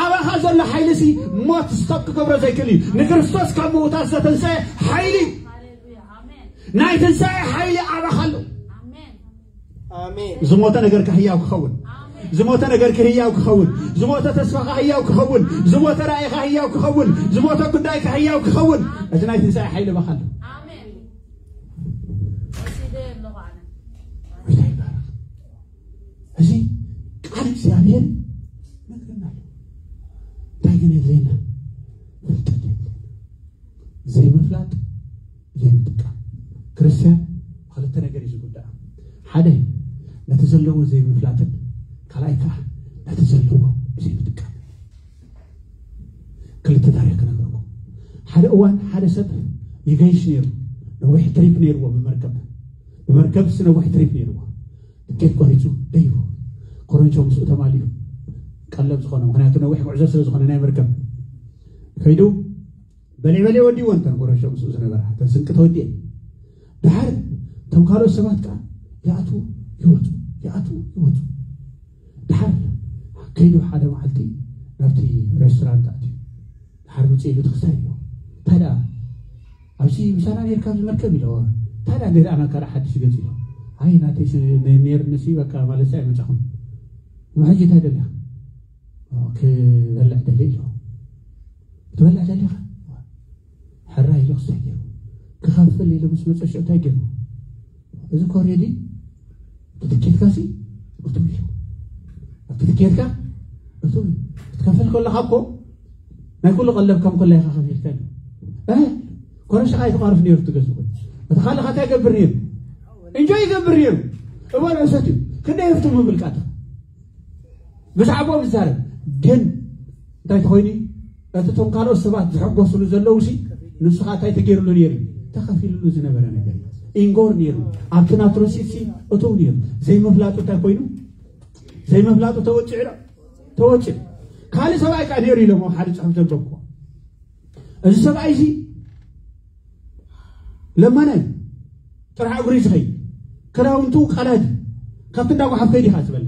ኣባኻ ዘሎ ሓይሊ ሲ ሞት ስቶፕ ክገብሮ ዘይክእል እዩ። ንክርስቶስ ካብ ምውታት ዝተንሰአ ሓይሊ ናይ ትንሳኤ ሓይሊ ኣባኻ ኣሎ። ኣሜን። ዝሞተ ነገርካ ህያው ክኸውን፣ ዝሞተ ነገርካ ህያው ክኸውን፣ ዝሞተ ተስፋኻ ህያው ክኸውን፣ ዝሞተ ራእይኻ ህያው ክኸውን፣ ዝሞተ ጉዳይካ ህያው ክኸውን፣ እዚ ናይ ትንሳኤ ሓይሊ ኣባኻ ኣሎ። ኣሜን። ወሲደ ኣለኹ ኣነ። ጎይታ ይባረኽ። እዚ ቃል እግዚኣብሔር ነግረና ኣሎ። እንታይ ግን የድልየና? ፍልጠት የድልየና። ዘይምፍላጥ ዘይምጥቃም። ክርስትያን ክልተ ነገር እዩ ዝጉዳእ። ሓደ ነቲ ዘለዎ ዘይምፍላጥን ካልኣይ ከዓ ነቲ ዘለዎ ዘይምጥቃም። ክልተ ታሪክ ክነግረኩም። ሓደ እዋን ሓደ ሰብ ይገይሽ ነይሩ። ነዊሕ ትሪፕ ነይርዎ ብመርከብ። ብመርከብ ስ ነዊሕ ትሪፕ ነይርዎ። ትኬት ቆሪፁ ደይቡ ኮረንሾ ምስኡ ተማሊኡ ቀለብ ዝኾነ ምክንያቱ ነዊሕ ጉዕዞ ስለ ዝኾነ ናይ መርከብ ከይዱ በሊዕ በሊዕ ወዲዎ እንተን ኮረንሾ ምስኡ ዝነበራ እተን ስንቂ ተወዲኤ ድሓር እቶም ካልኦት ሰባት ከዓ ይኣትዉ ይወፁ ይኣትዉ ይወፁ ድሓር ከይዱ ሓደ መዓልቲ ናብቲ ሬስቶራንት ኣትዩ ድሓር ምፅእ ኢሉ ትክስታይ እዩ እንታይ ደኣ ኣብዚ ምሳና ኔርካ ኣብዚ መርከብ ኢለዎ እንታይ ደኣ ገዛእና ካልእ ሓድሽ ገፅ ኢሎ ኣይ ናተይ ኔርንሲ በቃ ማለት ኣይመፃኹም ሕጂ እንታይ ደልያ ክበልዕ ደሊ ኢሎ ክትበልዕ ደሊኻ ሕራይ ኢሉ ክስታይ ገይሩ ክኸፍል ኢሉ ምስ መፀ ሽዑ እንታይ ገይሩ እዚ ኮሬዲ ትትኬትካሲ እቱ ኢሉ ኬድካ እቱ ክትከፍል ከለኻ እኮ ናይ ኩሉ ቀለብ ከም ከላ ኢኻ ከፊልካ እዩ። እ ኮረሻ ኣይትቐርፍ ነይሩ ትገዝእ። እቲ ካልእ ኸታ ይገብር ነይሩ፣ እንጆ ይገብር ነይሩ። እበል ዕሰት እዩ። ክንደይ ህፍቱ ምብልቃት ብዛዕባኦም ይዛረብ። ግን እንታይ ተኾይኑ እዩ? እቲ እቶም ካልኦት ሰባት ዝሕጎስሉ ዘለዉ ሲ ንሱ ኸዓ እንታይ ተገይርሉ ነይሩ እዩ? ተኸፊልሉ ዝነበረ ነገር እዩ። ኢንጎር ነይሩ። ኣብቲ ናትሮሲት ሲ እትው ነይሩ። ዘይምፍላጡ እንታይ ኮይኑ? ዘይምፍላጡ ተወፂዑ ዶ? ተወፂዑ። ካልእ ሰብኣይ ከዓ ነይሩ ኢሎም ሓደ ፅሑፍ ዘንበብኩ። እዚ ሰብኣይ እዚ ለማናይ ጥራሕ እግሪ ዝኸይድ ክዳውንቱ ቀላዲ ካብቲ እንዳ ጓሓፍ ከይድ ኢኻ ዝበለ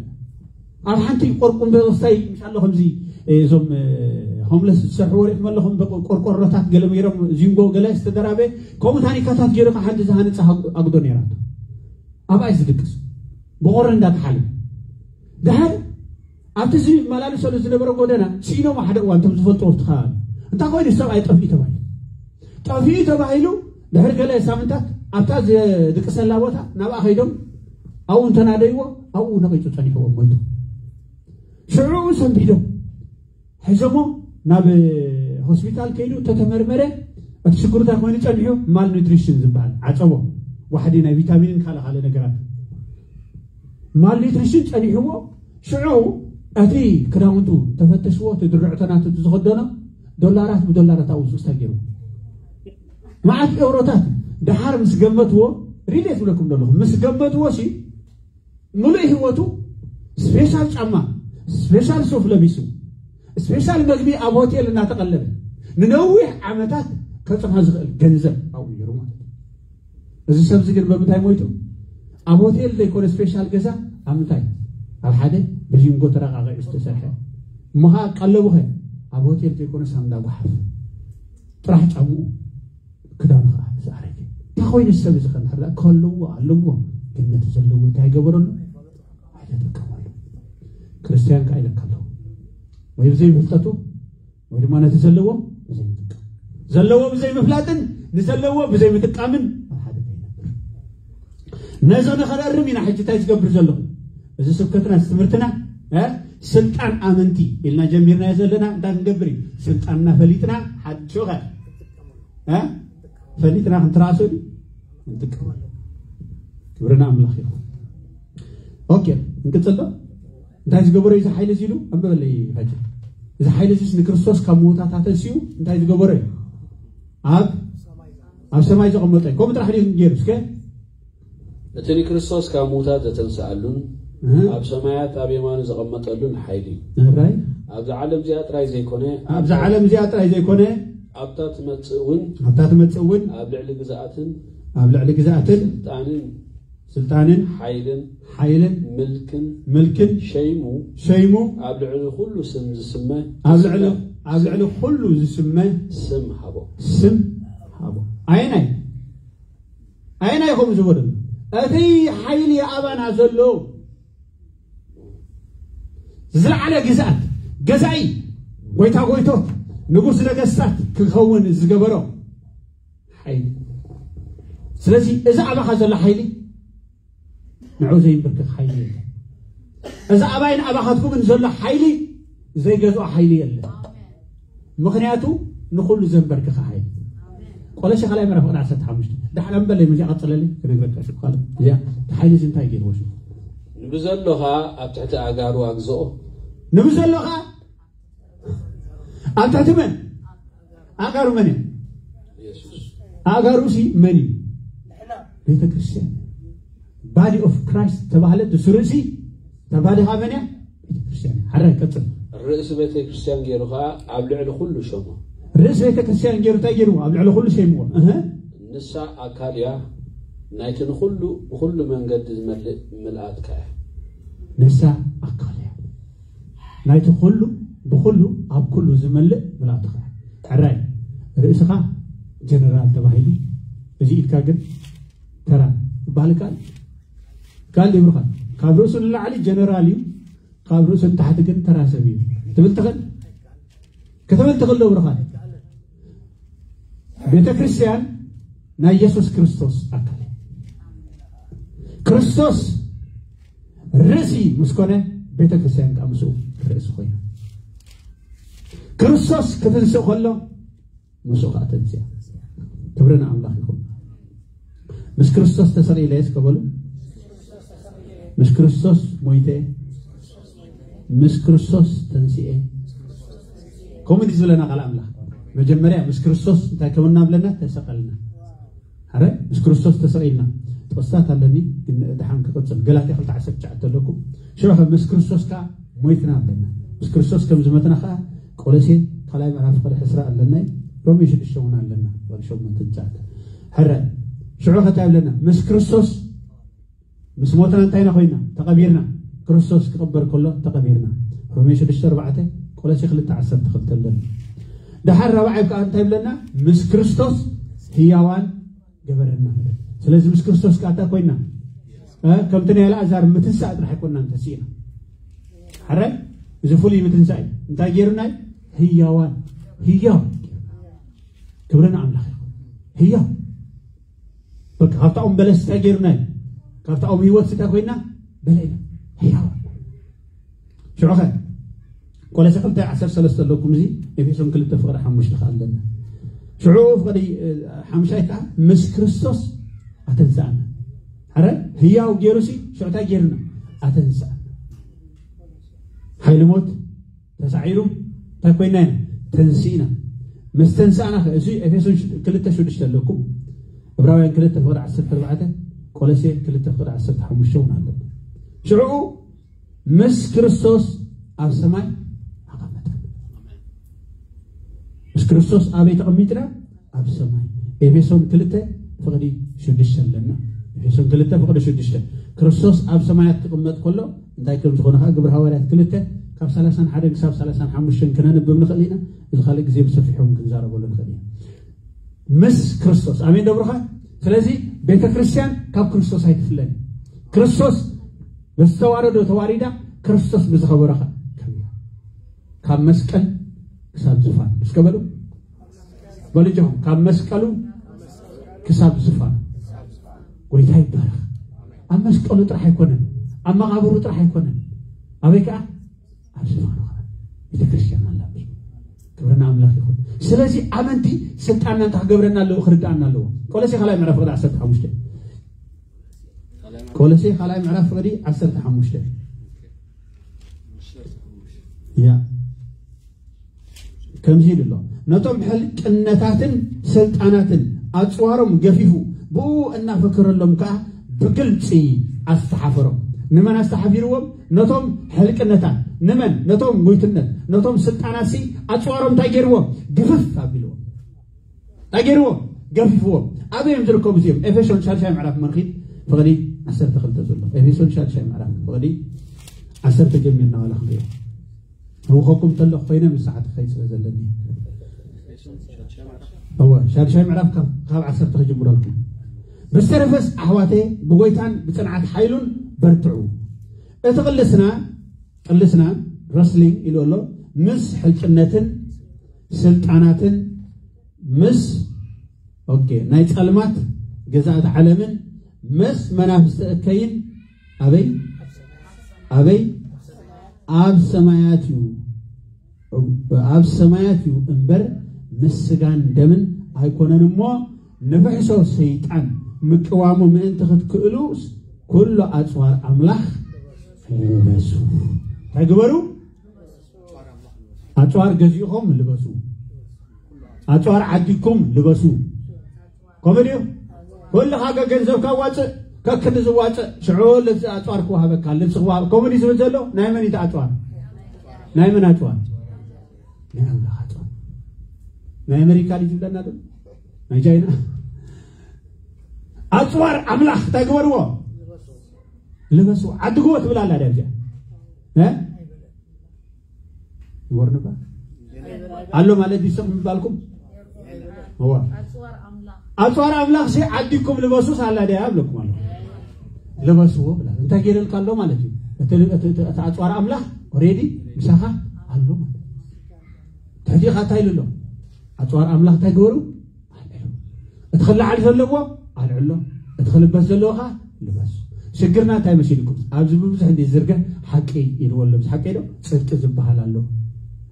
ኣብ ሓንቲ ቆርቁም በስታይ ምሻሎ ከምዚ እዞም ሆምለስ ዝሰርሕዎ ሪእኹም ኣለኹም ቆርቆሮታት ገለ ገይሮም ዚንጎ ገለ ዝተደራበ ከምኡ ታኒካታት ገይሩ ከዓ ሓንቲ ዝሃነፀ ኣጉዶ ነይራቶ ኣብኣይ ዝድቅስ ብቆሪ እንዳተሓለ ድሓር ኣብቲ ዝመላለሰሉ ዝነበረ ጎደና ስኢኖም ሓደ እዋን እቶም ዝፈልጥዎ ኣብቲ ከባቢ እንታይ ኮይኑ ሰብኣይ ጠፍኡ ተባሂሉ ጠፍኡ ተባሂሉ ድሕሪ ገለ ሳምንታት ኣብታ ዝድቅሰላ ቦታ ናብኣ ከይዶም ኣብኡ እንተናደይዎ ኣብኡ ነቂፁ ፀኒሕዎም ሞይቱ ሽዑ ሰንቢዶም ሒዞሞ ናብ ሆስፒታል ከይዱ ተተመርመረ እቲ ሽግሩ እንታይ ኮይኑ ፀኒሑ ማል ኒትሪሽን ዝበሃል ዓፀቦ ዋሕዲ ናይ ቪታሚንን ካልእ ካልእ ነገራት ማል ኒትሪሽን ፀኒሕዎ ሽዑ እቲ ክዳውንቱ ተፈተሽዎ እቲ ድርዕቶ ናቱ ዝኸደኖ ዶላራት ብዶላራት ኣብኡ ዝስታ ገይሩ መዓት ኤውሮታት ደሓር ምስ ገመትዎ ሪሌት ዝብለኩም ዘለኹ ምስ ገመትዎ ሲ ሙሉእ ህይወቱ ስፔሻል ጫማ ስፔሻል ሱፍ ለቢሱ ስፔሻል መግቢ ኣብ ሆቴል እናተቐለበ ንነዊሕ ዓመታት ከፅንሖ ዝኽእል ገንዘብ ኣብኡ ነይሩ ማለት እዩ እዚ ሰብ እዚ ግን በምንታይ ሞይቱ ኣብ ሆቴል ዘይኮነ ስፔሻል ገዛ ኣብ ምንታይ ኣብ ሓደ ብዚንጎ ተረቃቂዑ ዝተሰርሐ እሞ ከዓ ቀለቡ ኸ ኣብ ሆቴል ዘይኮነ ሳንዳ ጓሓፍ ጥራሕ ጫምኡ ክዳኑ ከዓ ዝኣረገ እንታይ ኮይኑ ሰብ እዚ ከንድሕር ከለዎ ኣለዎ ግን ነቲ ዘለዎ እንታይ ገበረሉ ኣይተጠቀመሉ ክርስትያን ከዓ ኢለካ ኣለዎ ወይ ብዘይ ፍልጠቱ ወይ ድማ ነቲ ዘለዎ ብዘይ ምጥቃም ዘለዎ ብዘይ ምፍላጥን ንዘለዎ ብዘይ ምጥቃምን ኣብ ሓደ ከይነብር ነዚ ንኸረርም ኢና ሕጂ እንታይ ዝገብር ዘለኹ እዚ ስብከትና እዚ ትምህርትና ስልጣን ኣመንቲ ኢልና ጀሚርናዮ ዘለና እንታይ ክንገብር እዩ ስልጣንና ፈሊጥና ሓድሾኸ ፈሊጥና ክንትራእሶ ድዩ ንጥቀመሉ ክብርና ኣምላኽ ይኹን ኦኬ እንቅፅል ዶ እንታይ ዝገበሮ እዩ እዚ ሓይሊ እዚ ኢሉ ኣንበበለይ ፈጅ እዚ ሓይሊ እዚ ንክርስቶስ ካብ ምውታት ኣተንስኡ እንታይ ዝገበሮ እዩ ኣብ ኣብ ሰማይ ዘቐመጠ እዩ ከምኡ ጥራሕ ድዩ ገይሩ እስከ እቲ ንክርስቶስ ካብ ምውታት ዘተንስኣሉን ኣብ ሰማያት ኣብ የማኑ ዘቐመጠሉን ሓይሊ እዩ። ራይ ኣብዚ ዓለም እዚኣ ጥራይ ዘይኮነ ኣብዛ ዓለም እዚኣ ጥራይ ዘይኮነ ኣብታ ትመጽእ እውን ኣብታ ትመጽእ እውን ኣብ ልዕሊ ግዝኣትን ኣብ ልዕሊ ግዝኣትን ስልጣንን ስልጣንን ሓይልን ሓይልን ምልክን ምልክን ሸይሙ ሸይሙ ኣብ ልዕሊ ኩሉ ስም ዝስመ ኣብ ልዕሊ ኣብ ልዕሊ ኩሉ ዝስመ ስም ሃቦ ስም ሃቦ ኣየናይ ኣየናይ ኢኹም ዝበሉ እቲ ሓይሊ ኣባና ዘሎ ዝለዓለ ግዝኣት ገዛኢ ጎይታ ጎይቶት ንጉስ ነገስታት ክኸውን ዝገበሮ ሓይሊ ስለዚ እዚ ኣባኻ ዘሎ ሓይሊ ንዑ ዘይንብርክኽ ሓይሊ የለ እዚ ኣባይን ኣባኻትኩምን ዘሎ ሓይሊ ዘይገዝኦ ሓይሊ የለ ምኽንያቱ ንኹሉ ዘንበርክኸ ሓይሊ ቆለሴ ካልኣይ ምዕራፍ ቅድሚ ዓሰርተ ሓሙሽተ ዳሕና እምበለይ መዚኣ ቀፅለለይ ክነግረካ ሽኩ ካልእ እዚኣ እቲ ሓይሊ እዚ እንታይ ገይርዎ ሽኩ ንብዘሎ ኸዓ ኣብ ትሕቲ ኣእጋሩ ኣግዝኦ ንብዘሎ ኸዓ ኣብ ትሕቲ መን ኣእጋሩ መን እዮም የሱስ ኣእጋሩ ሲ መን እዩ ቤተ ክርስቲያን body of Christ ተባህለ ድሱ ርእሲ ተባዲ ኸዓ መን እያ ቤተ ክርስቲያን እያ ሓራይ ቀፅል ርእሲ ቤተ ክርስቲያን ገይሩ ኸዓ ኣብ ልዕሊ ኩሉ ሸሞ ርእሲ ቤተ ክርስቲያን ገይሩ እንታይ ገይርዎ ኣብ ልዕሊ ኩሉ ሸይምዎ እህ ንሳ ኣካል እያ ናይቲ ንኹሉ ብኹሉ መንገዲ ዝመልእ ምልኣትካ እያ ንሳ ኣካል እያ ናይቲ ኩሉ ብኹሉ ኣብ ኩሉ ዝመልእ ምልኣትኻ እያ ሕራይ ርእስኻ ጀነራል ተባሂሉ እዚ ኢድካ ግን ተራ ይበሃል ይከኣል ይከኣል ዶ ይብልኻ ካብ ርእሱ ንላዕሊ ጀነራል እዩ ካብ ርእሱ ንታሕቲ ግን ተራ ሰብ እዩ ትብል ትኽእል ክትብል ትኽእል ዶ ይብልኻ ቤተ ክርስቲያን ናይ የሱስ ክርስቶስ ኣካል እዩ ክርስቶስ ርእሲ ምስ ኮነ ቤተ ክርስቲያን ከዓ ምስኡ ርእሲ ኮይና። ክርስቶስ ክትንስእ ከሎ ምስኡ ከዓ ተንስያ። ክብሪ ንኣምላኽ ይኹን። ምስ ክርስቶስ ተሰቒለ እስከ በሉ። ምስ ክርስቶስ ሞይተ፣ ምስ ክርስቶስ ተንስኤ። ከምኡ እንዲ ዝብለና ቃል ኣምላኽ፣ መጀመርያ ምስ ክርስቶስ እንታይ ከምና ብለና? ተሰቐልና። ኣረ፣ ምስ ክርስቶስ ተሰቒልና። ጥቕስታት ኣለኒ፣ ግን ድሓን ክቕጽል። ገላትያ ክልተ ዓሰርተ ትሽዓተ ኣለኩም። ሽዑ ኸ ምስ ክርስቶስ ከኣ ሞይትና ኣለና። ምስ ክርስቶስ ከም ዝመትና ከኣ ቆሎሴ ካልኣይ ምዕራፍ ፍቕዲ ዕስራ ኣለና እዩ። ሮሜ ሽዱሽተ እውን ኣለና። ወደ ሸሞንተ ትሽዓተ። ሕረ፣ ሽዑ ኸ እንታይ ኣለና? ምስ ክርስቶስ ምስ ሞትና እንታይ ኢና ኮይና? ተቐቢርና። ክርስቶስ ክቕበር ከሎ ተቐቢርና። ሮሜ ሽዱሽተ ኣርባዕተ፣ ቆሎሴ ክልተ ዓሰርተ ክልተ ኣለና። ደሓር ራብዓይ ከኣ እንታይ ብለና? ምስ ክርስቶስ ህያዋን ገበረና። ስለዚ ምስ ክርስቶስ ከኣ እንታይ ኮይና? እ፣ ከምቲ ናይ ኣልኣዛር ምትንሳእ ጥራሕ ኣይኮናን ተሲእና። ሕረ፣ እዚ ፍሉይ ምትንሳእ እዩ። እንታይ ገይሩና እዩ? ህያዋን። ህያው። ክብሪ ንኣምላኽ ይኹን። ህያው። በቃ ካብታ ኦም በለስ እንታይ ገይሩና እዩ? ካብታ ኦም ህይወት እንታይ ኮይና? በለዕና። ህያዋን። ሽዑ ኸ ቆሎሴ ክልተ ዓሰርተ ሰለስተ ኣለኩም፣ እዚ ኤፌሶን ክልተ ፍቕዲ ሓሙሽተ ከኣ ኣለና። ሽዑ ፍቕዲ፣ እ፣ ሓሙሻይ ከኣ ምስ ክርስቶስ ኣተንስኣና። ሕረ ህያው ገይሩ ሲ ሽዑ እንታይ ገይሩና? ኣተንስኣና። ሓይሊ ሞት ተሳዒሩ እንታይ ኮይና ኢና? ተንሲእና። ምስ ተንሳእና ኸ፣ እዚ ኤፌሶን ሽ-፣ ክልተ ሽዱሽተ ኣለኩም። ዕብራውያን ክልተ ፍቕዲ ዓሰርተ ኣርባዕተ፣ ቆሎሴ ክልተ ፍቕዲ ዓሰርተ ሓሙሽተ እውን ኣለና። ሽዑ ምስ ክርስቶስ ኣብ ሰማይ ኣቐመጠ። ምስ ክርስቶስ ኣበይ ተቐሚጥና? ኣብ ሰማይ። ኤፌሶን ክልተ ፍቕዲ ሽዱሽተ ኣለና። ኤፌሶን ክልተ ፍቕዲ ሽዱሽተ። ክርስቶስ ኣብ ሰማያት ክቕመጥ ከሎ እንታይ ከም ዝኾነ ኸዓ ግብሪ ሃዋርያት ክልተ ካብ ሰላሳን ሓደን ክሳብ ሰላሳን ሓሙሽተን ክነንብብ ንኽእል ኢና። እዚ ካልእ ግዜ ብሰፊሑ እውን ክንዛረበሉ ንኽእል ኢና። ምስ ክርስቶስ። ኣሜን ዶ ብሩኻት? ስለዚ ቤተ ክርስቲያን ካብ ክርስቶስ ኣይትፍለን። ክርስቶስ ብዝተዋረዶ ተዋሪዳ፣ ክርስቶስ ብዝኸበሮ ኸዓ ከቢራ። ካብ መስቀል ክሳብ ዝፋን። እስከ በሉ። በሉ እጆኹም፣ ካብ መስቀሉ ክሳብ ዝፋን። ጎይታ ይባረኽ። ኣብ መስቀሉ ጥራሕ ኣይኮነን፣ ኣብ መቓብሩ ጥራሕ ኣይኮነን። ኣበይ ከኣ? ኣብ ዝፋኑ ከኣ ቤተ ክርስቲያን ኣላ። ክብሪ ንኣምላኽ ይኹን። ስለዚ ኣመንቲ ስልጣንና እንታይ ክገብረና ኣለዎ? ክርድኣና ኣለዎ። ቆሎሴ ካልኣይ ምዕራፍ ፍቕዲ ዓሰርተ ሓሙሽተ። ቆሎሴ ካልኣይ ምዕራፍ ፍቕዲ ዓሰርተ ሓሙሽተ። ያ። ከምዚ ኢሉ ኣሎ፣ ነቶም ሕልቅነታትን ስልጣናትን ኣጽዋሮም ገፊፉ፣ ብኡ እናፈከረሎም ከኣ ብግልጺ ኣስተሓፈሮም። ንመን ኣስተሓፊርዎም? ነቶም ሕልቅነታት። ንመን? ነቶም ጉይትነት፣ ነቶም ስልጣናትሲ ኣጽዋሮም እንታይ ገይርዎም? ግፍፍ ኣቢልዎም። እንታይ ገይርዎም? ገፊፍዎም። ኣበይ እዮም ዝርከቡ እዚኦም? ኤፌሶን ሻድሻይ ምዕራፍ መርኺብ ፍቕዲ ዓሰርተ ክልተ ዘሎ። ኤፌሶን ሻድሻይ ምዕራፍ ፍቕዲ ዓሰርተ ጀሚርና ዋላ ክንሪኦ። ህውኸኩም ተለኹ ኮይነ ምስ ሰዓት ክኸይድ ስለ ዘለኒ። እወ፣ ሻድሻይ ምዕራፍ ካብ፣ ካብ ዓሰርተ ክጅምረልኩም። ብዝተረፈስ ኣሕዋተይ ብጎይታን ብጽንዓት ሓይሉን በርትዑ። እቲ ቅልስና፣ ቅልስና ረስሊንግ ኢሉ ኣሎ፣ ምስ ሕልቅነትን ስልጣናትን ምስ፣ ኦኬ፣ ናይ ጸልማት ገዛእቲ ዓለምን ምስ መናፍስቲ እከይን ኣበይ? ኣበይ? ኣብ ሰማያት እዩ። ኣብ ሰማያት እዩ እምበር ምስ ስጋን ደምን ኣይኮነን እሞ፣ ንፍሕሶ ሰይጣን ምቅዋሙ ምእንቲ ክትክእሉስ ኩሉ ኣጽዋር ኣምላኽ ልበሱ። እንታይ ግበሩ? ኣጽዋር ገዚእኹም ልበሱ። ኣጽዋር ዓዲግኩም ልበሱ። ከምኡ ድዩ? ኩልኻ ገንዘብካ ዋጽእ፣ ከክንዲ ዝዋጽእ፣ ሽዑ ልብሲ ኣጽዋር ክወሃበካ፣ ልብሲ ክወሃብ-፣ ከምኡ ድዩ ዝብል ዘሎ? ናይ መን እዩ እቲ ኣጽዋር? ናይ መን ኣጽዋር? ናይ ኣምላኽ ኣጽዋር። ናይ ኣሜሪካ ድዩ ዝብለና ዶ? ናይ ቻይና? ኣጽዋር ኣምላኽ እንታይ ግበርዎ? ልበሱ። ዓድግዎ ትብል ኣላ ድያ እዚኣ? እ? ይወርንባ ኣሎ ማለት ድዩ ስቕ ምባልኩም? እዋ። ኣጽዋር ኣምላኽ ሲ ዓዲኩም ልበሱስ ኣላ ድያ ኣብለኩም ኣሎ። ልበስዎ ብላ። እንታይ ገይረልካ ኣሎ ማለት እዩ? እቲ፣ እቲ፣ እቲ፣ እቲ ኣጽዋር ኣምላኽ ኦሬዲ ምሳኻ ኣሎ ማለት እዩ። ሕጂ ኸ እንታይ ኢሉ ኣሎ? ኣጽዋር ኣምላኽ እንታይ ግበሩ? ኣልዕሉ። እቲ ክለዓል ዘለዎ ኣልዕሎ፣ እቲ ክልበስ ዘለዎ ኸዓ ልበስ። ሽግርና እንታይ መሲልኩም? ኣብዚ ብብዙሕ እንዲ ዝርገ ሓቂ ኢልዎ ኣሎ። ምስ ሓቂ ዶ? ጽድቂ ዝበሃል ኣሎ።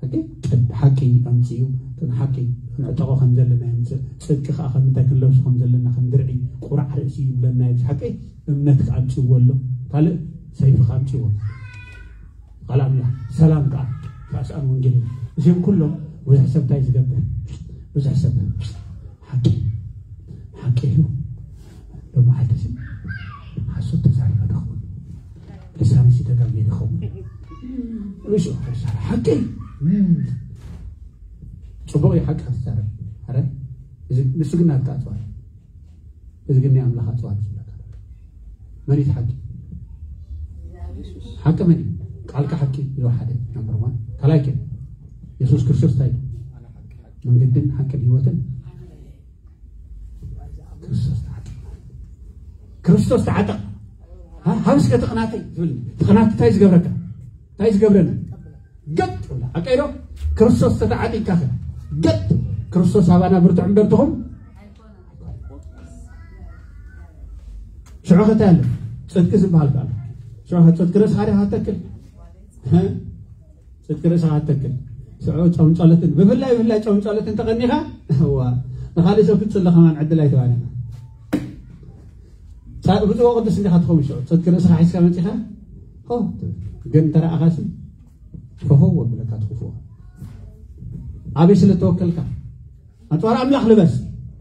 ሓቂ? ጽድ-፣ ሓቂ ኣምጽኡ። እቶም ሓቂ ንዕጠቖ ከም ዘለና የምጽእ። ጽድቂ ከኣ ከም እንታይ ክንለብሶ ከም ዘለና ከም ድርዒ ቁራዕ ርእሲ ይብለና እዩ። ምስ ሓቂ እምነት ከኣ ኣምጽእዎ ኣሎ። ካልእ ሰይፊ ከኣ ኣምጽእዎ ኣሎ። ቃል ኣምላኽ ሰላም ከኣ ተዋስኣን ወንጌል እዩ። እዚኦም ኩሎም ብዙሕ ሰብ እንታይ ዝገብር? ብዙሕ ሰብ ሓቂ፣ ሓቂ እዩ። ሎመዓልቲ እዚ ሓሶት ተዛሪበ ዶ ኸውን? ልሳነይ ሲ ተጋግየ ዶ ኸውን? ርእሱ ሓቂ። እም። ጽቡቕ እዩ ሓቂ ክትዛረብ። ኣረ፣ እዚ፣ ንሱ ግን ናትካ ኣጽዋር። እዚ ግን ናይ ኣምላኽ ኣጽዋር እዩ ዝብለካ። መን እዩ እቲ ሓቂ? ሓቂ መን እዩ? ቃልካ ሓቂ እዩ ሓደ፣ ናምበር ዋን። ካልኣይ ከ? የሱስ ክርስቶስ እንታይ እዩ? መንገድን ሓቅን ህይወትን። ክርስቶስ ተዓጠቕ። ክርስቶስ ተዓጠቕ። ሃ-፣ ሃብስ ከ ተቕናተይ ትብል። ተቕናት እንታይ ዝገብረካ? እንታይ ዝገብረን? ገጥ ብላ። ሓቀይ ዶ? ክርስቶስ ተተዓጢቕካ ከ? ገጥ። ክርስቶስ ኣባና ብርቱዕ እምበር ትኹም። ሽዑ ከ እንታይ ኣሎ? ጽድቂ ዝበሃል ከ ኣሎ። ሽዑ ከ ጽድቂ ርእስኻ ዲኻ ተክል? እ? ጽድቂ ርእስኻ ተክል። ሽዑ ጾም ጸሎትን፣ ብፍላይ፣ ብፍላይ ጾም ጸሎትን ተቐኒኻ፣ እዋ፣ ንኻልእ ሰብ ክትጽሊ ከማን ዕድል ኣይተዋህበና። ጻ-፣ ብፁዕ ወቅዱስ እንዲኻ ትኸውን ሽዑ። ጽድቂ ርእስኻ ሒዝካ መጺኻ፣ ሆ፣ ግን እንተ ረኣኻሲ፣ ፈኸው ወብለካ ትኽፍኦ። ኣበይ ስለ ተወከልካ? ኣጽዋር ኣምላኽ ልበስ።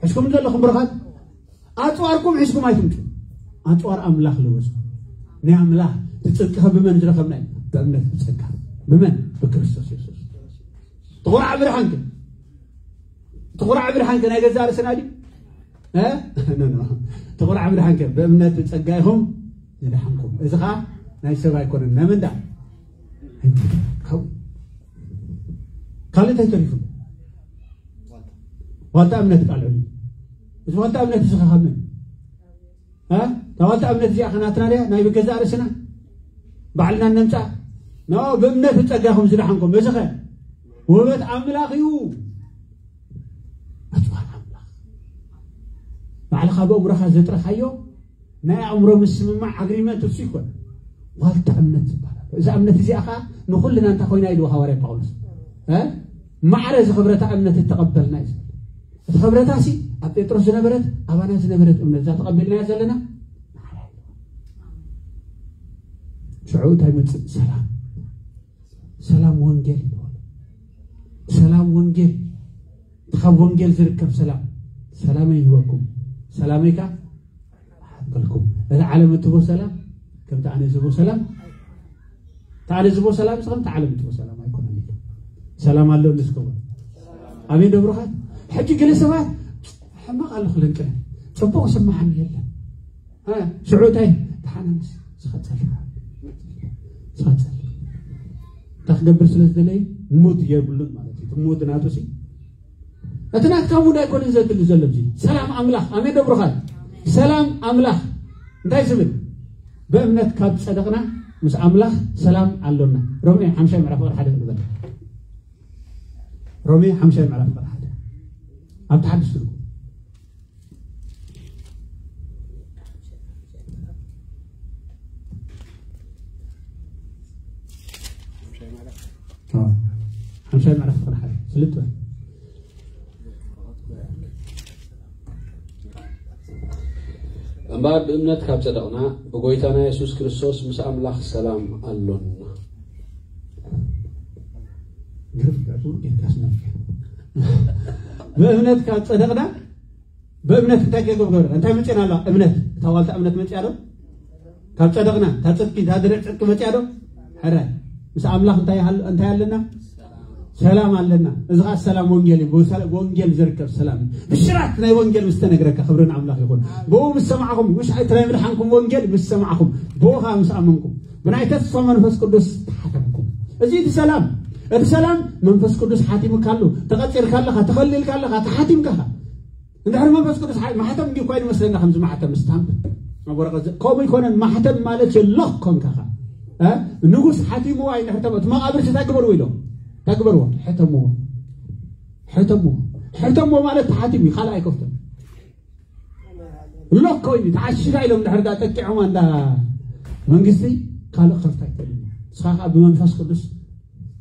ሕዝኩም ዘለኹም ብሩኻት፣ ኣጽዋርኩም ሒዝኩም ኣይትምጹ። ኣጽዋር ኣምላኽ ልበሱ። ናይ ኣምላኽ እቲ ጽድቂ ከ ብመን ዝረኸብና እዩ? ብእምነት ብጸጋ። ብመን? ብክርስቶስ የሱስ። ትኹራዕ ብርሃንከ? ትኹራዕ ብርሃንከ ናይ ገዛእ ርእስና ድዩ? እ? ኖ፣ ኖ። ትኹራዕ ብርሃንከ? ብእምነት ብጸጋ ኢኹም ዝደሓንኩም። እዚ ኸኣ ናይ ሰብ ኣይኮነን። ናይ መን ደኣ? ካብ-፣ ካልእ እንታይ ተሪፉ? ዋልታ እምነት ቃል ዕብዩ። እዚ ዋልታ እምነት እዚ ኸ ካብ መን? እ? እታ ዋልታ እምነት እዚኣ ኸ ናትና ድያ? ናይ ብገዛእ ርእስና? ባዕልና እነምጽኣ? ኖ፣ ብእምነት ብጸጋኹም ዝደሓንኩም። እዚ ኸ? ውህበት ኣምላኽ እዩ። ኣጽዋር ኣምላኽ። ባዕልኻ ብእምሮኻ ዘጥረኻዮ ናይ ኣእምሮ ምስምማዕ ኣግሪመንት እሱ ይኮን። ዋልታ እምነት ዝበሃል ኣሎ። እዛ እምነት እዚኣ ኸዓ ንኹልና እንታይ ኮይና ኢልዎ ሃዋርያ ጳውሎስ? እ? ማዕረ ዝኽብረታ እምነት እተቐበልና እዩ ዝብል። እቲ ክብረታሲ ኣብ ጴጥሮስ ዝነበረት፣ ኣባና ዝነበረት እምነት እዛ ተቐቢልናያ ዘለና። ሽዑ እንታይ ይመጽእ? ሰላም። ሰላም ወንጌል ይበሃል። ሰላም ወንጌል። እቲ ካብ ወንጌል ዝርከብ ሰላም። ሰላመይ ይህበኩም፣ ሰላመይ ከኣ እሃበልኩም። እቲ ዓለም እትህቦ ሰላም፣ ከምቲ ኣነ ዝህቦ ሰላም፣ እቲ ኣነ ዝህቦ ሰላም፣ ከምቲ ዓለም እትህቦ ሰላም ኣይኮነን ኢሉ። ሰላም ኣሎ እንስከቦ። ኣሜን ዶ ብሩኻት? ሕጂ ገለ ሰባት ሕማቕ ኣሎ ክለንቅነ። ጽቡቕ ስምዓኒ የለን። እ፣ ሽዑ እንታይ? ተሓናንስ፣ ስኻ ጸልእ። ስኻ ጸልእ። እንታይ ክገብር ስለ ዝደለየ? ሙድ የብሉን ማለት እዩ። እቲ ሙድ ናቱ ሲ፣ እቲ ናትካ ሙድ ኣይኮነን ዘድሊ ዘሎ እዚ። ሰላም ኣምላኽ። ኣሜን ዶ ብሩኻት? ሰላም ኣምላኽ። እንታይ ዝብል? ብእምነት ካብ ጸደቕና ምስ ኣምላኽ ሰላም ኣሎና። ሮሜ ሓምሻይ ምዕራፍ ቁጥሪ ሓደ ንበል። ሮሜ ሓምሻይ ምዕራፍ ቁጥሪ ሓደ። ኣብ ተሓድስ ትርጉም። ኣዎ። ሓምሻይ ምዕራፍ ቁጥሪ ሓደ። ስልጥ በል። እምበኣር ብእምነት ካብ ጸደቕና፣ ብጎይታና የሱስ ክርስቶስ ምስ ኣምላኽ ሰላም ኣሎና። ግርፍ ጋር ጌርካስ ነበር። ብእምነት ካብ ጸደቕና፣ ብእምነት እንታይ ከገብር? እንታይ መጽእና ኣሎ? እምነት። እታ ዋልታ እምነት መጽኣ ዶ? ካብ ጸደቕና፣ እታ ጽድቂ፣ እታ ድርዕ ጽድቂ መጽኣ ዶ? ሕራይ። ምስ ኣምላኽ እንታይ ይሃል-፣ እንታይ ኣለና? ሰላም ኣለና። እዚ ኸኣ ሰላም ወንጌል እዩ። ብሰላ-፣ ወንጌል ዝርከብ ሰላም እዩ። ብሽራት ናይ ወንጌል ምስ ተነግረካ፣ ክብሪ ንኣምላኽ ይኹን። ብኡ ምስ ሰማዕኹም፣ ምሽ እቲ ናይ ምድሓንኩም ወንጌል ምስ ሰማዕኹም፣ ብኡ ኸኣ ምስ ኣመንኩም፣ ብናይ ተስፋ መንፈስ ቅዱስ ተሓተምኩም። እዚ እቲ ሰላም። እቲ ሰላም መንፈስ ቅዱስ ሓቲሙካ ኣሎ። ተቐጺርካ ኣለኻ፣ ተኸሊልካ ኣለኻ፣ ተሓቲምካ ኢኻ። እንድሕር መንፈስ ቅዱስ ሓ-፣ ማሕተም እንዲዩ እኳ ይመስለና፣ ከምዚ ማሕተም ስታምፕ ኣብ ወረቐት ዘ-፣ ከምኡ ኣይኮነን። ማሕተም ማለት ሎክ ኮንካ ኸ፣ እ? ንጉስ ሓቲምዋ እዩ። እንድሕር ተመ-፣ እቲ መቓብር እንታይ ግበርዎ ኢሎም? እንታይ ግበርዎ? ሕተምዎ። ሕተምዎ። ሕተምዎ ማለት ተሓቲሙ እዩ፣ ካልእ ኣይከፍቶን። ሎክ ኮይኑ ተዓሺጋ ኢሎም እንድሕር ዳ ጠቂዖማ እንዳ መንግስቲ ካልእ ክኸፍታ ኣይክእልን እዩ። ንስኻ ከዓ ብመንፈስ ቅዱስ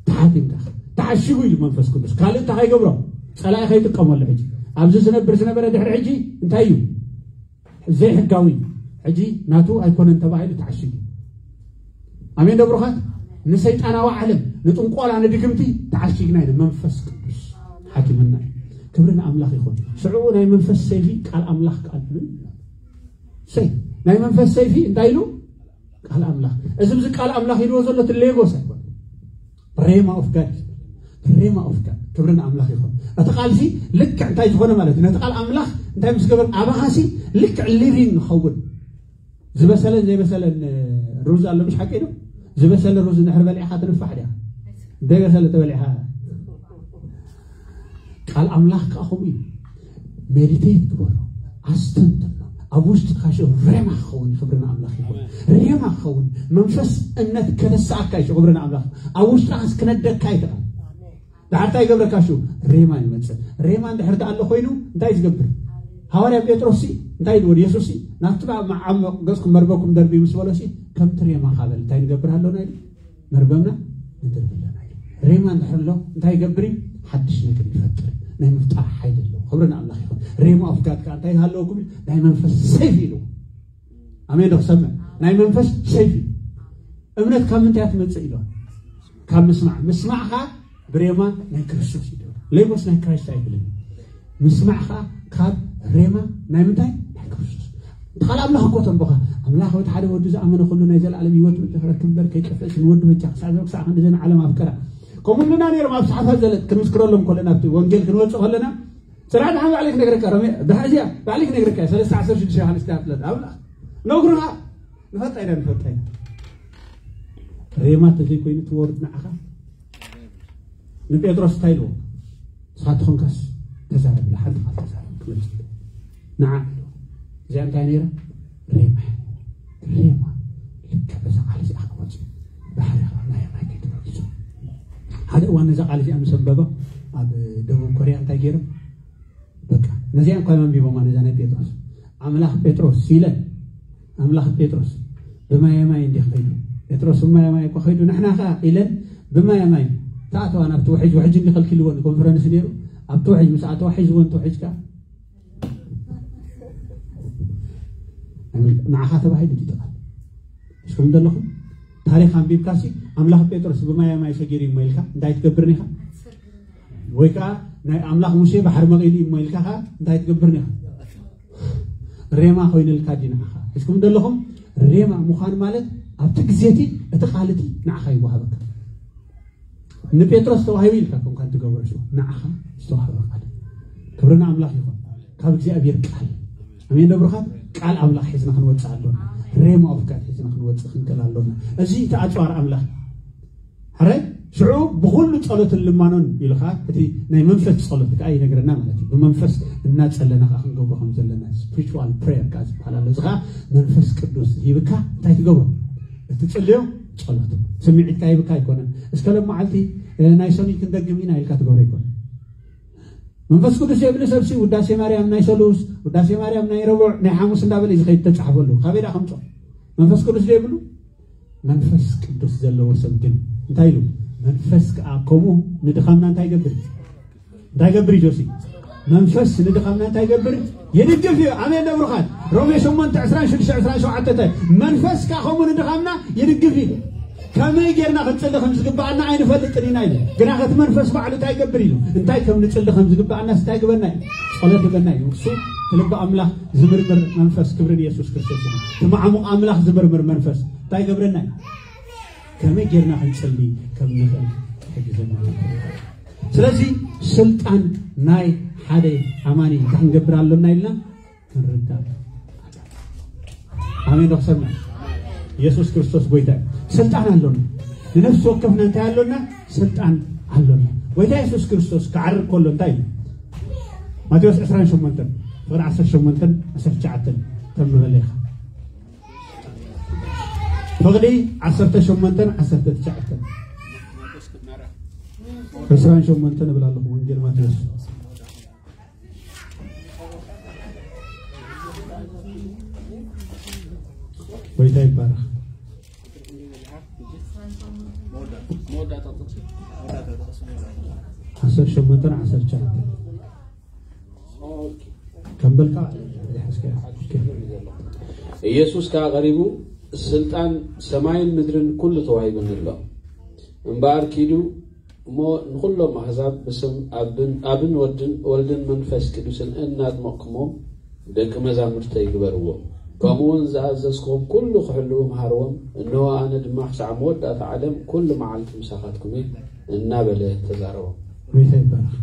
ተሓቲምካ፣ ተዓሽጉ ኢሉ መንፈስ ቅዱስ። ካልእ እንታይ ከይገብሮ? ጸላኢ ከይጥቀመሉ። ሕጂ ኣብዚ ዝነብር ዝነበረ ድሕሪ ሕጂ እንታይ እዩ? ዘይሕጋዊ። ሕጂ ናቱ ኣይኮነን ተባሂሉ ተዓሽጉ። ኣሜን ዶ ብሩኻት? ንሰይጣናዊ ዓለም፣ ንጥንቆላ፣ ንድግምቲ ተዓሽግና ኢና። መንፈስ ቅዱስ ሓኪምና እዩ። ክብሪ ንኣምላኽ ይኹን። ሽዑ ናይ መንፈስ ሰይፊ ቃል ኣምላኽ ቃል እዩ። ሰይ ናይ መንፈስ ሰይፊ እንታይ ኢሉ? ቃል ኣምላኽ። እዚ ብዚ ቃል ኣምላኽ ኢልዎ ዘሎ እቲ ሌጎስ ኣይኮነ። ሬማ ኦፍ ጋድ፣ ሬማ ኦፍ ጋድ። ክብሪ ንኣምላኽ ይኹን። እቲ ቃልሲ ልክዕ እንታይ ዝኾነ ማለት እዩ? ነቲ ቃል ኣምላኽ እንታይ ምስ ገበር? ኣባኻሲ ልክዕ ሊቪንግ ንኸውን። ዝበሰለን ዘይበሰለን ሩዝ ኣሎ፣ ምሽ ሓቂ ነው? ዝበሰለ ሩዝ እንድሕር በሊዕኻ ትንፋሕ ድያ? ዘይበሰለ ተበሊዕኻ? ቃል ኣምላኽ ከዓ ከምኡ እዩ። ሜዲቴት ግበሮ፣ ኣስተንትኖ። ኣብ ውሽጥኻ ሽዑ ሬማ ክኸውን እዩ። ክብሪ ንኣምላኽ ይኹን። ሬማ ክኸውን እዩ። መንፈስ እምነት ከተስኣካ እዩ። ክብሪ ንኣምላኽ። ኣብ ውሽጥኻ ክነደካ እዩ። ድሓር እንታይ ይገብረካ? ሽዑ ሬማ ይመጽእ። ሬማ እንድሕር ተኣሎ ኮይኑ እንታይ ዝገብር? ሃዋርያ ጴጥሮስ ሲ እንታይ ኢልዎ? የሱስ ሲ ናብቲ ደኣ መዓሙቕ ገጽኩም መርበኩም ደርብዩ ምስ በሎ ሲ ከምቲ ሬማ ካበል እንታይ ንገብር ኣለና ኢሉ? መርበብና ንድርቢ ኣለና ኢሉ። ሬማ እንድሕር ኣሎ እንታይ ይገብር እዩ? ሓድሽ ነገር ይፈጥር። ናይ ምፍጣር ሓይሊ ኣለዎ። ክብሪ ንኣምላኽ ይኹን። ሬማ ኦፍ ጋድ ከዓ እንታይ ሃለወኩም? ናይ መንፈስ ሰይፊ ኢልዎ። ኣሜን ዶ ክሰምዕ? ናይ መንፈስ ሰይፊ። እምነት ካብ ምንታይ እያ ትመጽእ ኢልዋ? ካብ ምስማዕ። ምስማዕ ኸዓ ብሬማ ናይ ክርስቶስ እዩ። ሌጎስ ናይ ክራይስት ኣይብልን። ምስማዕ ኸዓ ካብ ሬማ ናይ ምንታይ? ናይ ክርስቶስ። ቃል ኣምላኽ እኮ ተንበኻ። ኣምላኽ ወዲ ሓደ ወዱ ዝኣመነ ኩሉ ናይ ዘለኣለም ህይወት ምድረክ እምበር ከይጠፍእስ ንወዱ በጃ ክሳዕ ዘበ ክሳዕ ክንዲ ዘን ዓለም ኣፍቀራ። ከምኡ እንድና ነይሮም ኣብ ሰሓፋት ዘለት ክንምስክረሎም ከለና ኣብቲ ወንጌል ክንወጽእ ከለና ስራሕ ድሓን ባዕለይ ክነግረካ ሮሜ ድሓን እዚኣ ባዕለይ ክነግረካ ሰለስተ ዓሰርተ ሽዱሽተ ዮሃንስ ትያ ፍለጥ ኣብላ ነግሩኻ ንፈልጣ ኢና ንፈልጣ ኢና። ሬማ ተዘይኮይኑ ትወርድ ንዓኻ ንጴጥሮስ እንታይ ኢልዎ? ንስኻ ትኾንካስ ተዛረብ ኢላ ሓንቲ ቃል ተዛረብ ክመልስ ንዓ ኢልዎ። እዚኣ እንታይ ነይራ? ሬማ ሬማ ልክዕ በዛ ቃል እዚኣ ክወፅእ ባሕሪ ናይ ማይ ከይተበጊሱ ሓደ እዋን ነዛ ቃል እዚኣ ምስ ኣንበበ ኣብ ደቡብ ኮርያ እንታይ ገይሮም በቃ ነዚኣ እንኳ መንቢቦማ ነዛ ናይ ጴጥሮስ ኣምላኽ ጴጥሮስ ኢለን ኣምላኽ ጴጥሮስ ብማየ ማይ እንዲህ ከይዱ ጴጥሮስ ብማየ ማይ እኳ ከይዱ ንሕና ኸዓ ኢለን ብማየ ማይ ተኣተዋ ናብቲ ውሕጅ ውሕጅ እንዲ ከልኪልዎ ንኮንፈረንስ ነይሩ ኣብቲ ውሕጅ ምስ ኣተዋ ሒዝዎ እንተ ውሕጅ ከዓ ንዓኻ ተባሂሉ ድዩ ተቓል እስኩም ዘለኹም ታሪኽ ኣንቢብካሲ ኣምላኽ ጴጥሮስ ብማየ ማይ ሰጊሩ እሞ ኢልካ እንታይ ትገብር ኒኻ ወይ ከዓ ናይ ኣምላኽ ሙሴ ባሕሪ መቒሉ እሞ ኢልካ ከዓ እንታይ ትገብር ኒኻ ሬማ ኮይኑልካ ድዩ ንዓኻ እስኩም ዘለኹም ሬማ ምዃን ማለት ኣብቲ ግዜቲ እቲ ቃልቲ ንዓኻ ይወሃበካ ንጴጥሮስ ተዋሂቡ ኢልካ ከም ካን ትገብሮ ሽዋ ንዓኻ ዝተዋህበ ቃል ክብሪ ንኣምላኽ ይኹን ካብ እግዚኣብሔር ቃል ኣሜን ደብርኻት ቃል ኣምላኽ ሒዝና ክንወፅእ ኣሎና ሬማ ኦፍ ጋድ ሒዝና ክንወፅእ ክንክእል ኣሎና እዚ እቲ ኣፅዋር ኣምላኽ ሕራይ ሽዑ ብኩሉ ጸሎትን ልማኖን ኢልኻ እቲ ናይ መንፈስ ጸሎት ከዓ ይነግረና ማለት እዩ ብመንፈስ እናጸለና ከዓ ክንገብሮ ከም ዘለና spiritual prayer ከዓ ዝበሃል ኣሎ እዚ ከዓ መንፈስ ቅዱስ ሂብካ እንታይ ትገብሮ እቲ ጽልዮ ጸሎት ስምዒትካ ሂብካ ኣይኮነን እስከ ሎም መዓልቲ ናይ ሰኑይ ክንደግም ኢና ኢልካ ትገብሮ ኣይኮነን መንፈስ ቅዱስ የብሊ ሰብሲ ውዳሴ ማርያም ናይ ሰሉስ ውዳሴ ማርያም ናይ ረቡዕ ናይ ሓሙስ እንዳበለ እዩ ዝኸይድ ተጻሕፈሉ ካበይ ዳ ከምጾ መንፈስ ቅዱስ ዘይብሉ መንፈስ ቅዱስ ዘለዎ ሰብ ግን እንታይ ኢሉ መንፈስ ከዓ ከምኡ ንድኻምና እንታይ ይገብር እንታይ ይገብር እዩ ጆሲ መንፈስ ንድኻምና እንታይ ይገብር ይድግፍ እዩ ኣሜን ነብሩኻት ሮሜ ሸሞንተ ዕስራን ሽዱሽተ ዕስራን ሸውዓተ እንታይ መንፈስ ከዓ ከምኡ ንድኻምና ይድግፍ እዩ ከመይ ጌርና ክንፅሊ ከም ዝግበኣና ኣይንፈልጥን ኢና ኢሉ ግና ከቲ መንፈስ ባዕሉ እንታይ ይገብር ኢሉ እንታይ ከም ንፅሊ ከም ዝግበኣና እንታይ ግበና እዩ ጸሎት ይበና እዩ እሱ ትልቢ ኣምላኽ ዝምርምር መንፈስ ክብርን የሱስ ክርስቶስ እዩ ትማዕሙቕ ኣምላኽ ዝምርምር መንፈስ እንታይ ገብረና እዩ ከመይ ጌርና ክንጽሊ ከም ንኽእል ይሕግዘና ስለዚ ስልጣን ናይ ሓደ ኣማኒ እንታይ ክንገብር ኣሎና ኢልና ክንርዳእ ኣሜን ዶ ክሰምዕ የሱስ ክርስቶስ ጎይታ እዩ ስልጣን ኣሎና ንነፍሲ ወከፍና እንታይ ኣሎና ስልጣን ኣሎና ጎይታ የሱስ ክርስቶስ ክዓርግ ከሎ እንታይ እዩ ማቴዎስ ዕስራን ሸሞንተን ፍቕዲ ዓሰርተ ሸሞንተን ዓሰርተ ትሽዓተን ተንብበለይ ኢኻ ፍቕዲ ዓሰርተ ሸሞንተን ዓሰርተ ትሽዓተን ዕስራን ሸሞንተን እብል ኣለኹ ወንጌል ማቴዎስ ጎይታ ይባረኽ ዓሰርተ ሸሞንተን ዓሰርተ ትሽዓተን ከም በልካ ኢየሱስ ከዓ ቀሪቡ፣ ስልጣን ሰማይን ምድርን ኩሉ ተዋሂቡኒ ኣሎ። እምበኣር ኪዱ እሞ ንኹሎም ኣህዛብ ብስም ኣብን ወድን ወልድን መንፈስ ቅዱስን እናጥመቕኩሞም ደቂ መዛሙርተይ ግበርዎም። ከምኡ እውን ዝኣዘዝኩም ኩሉ ክሕልዉ መሃርዎም። እንሆ ኣነ ድማ ክሳዕ መወዳእታ ዓለም ኩሉ መዓልቲ ምሳኻትኩም እየ እናበለ ተዛረቦም። ጎይታ ይባረኽ።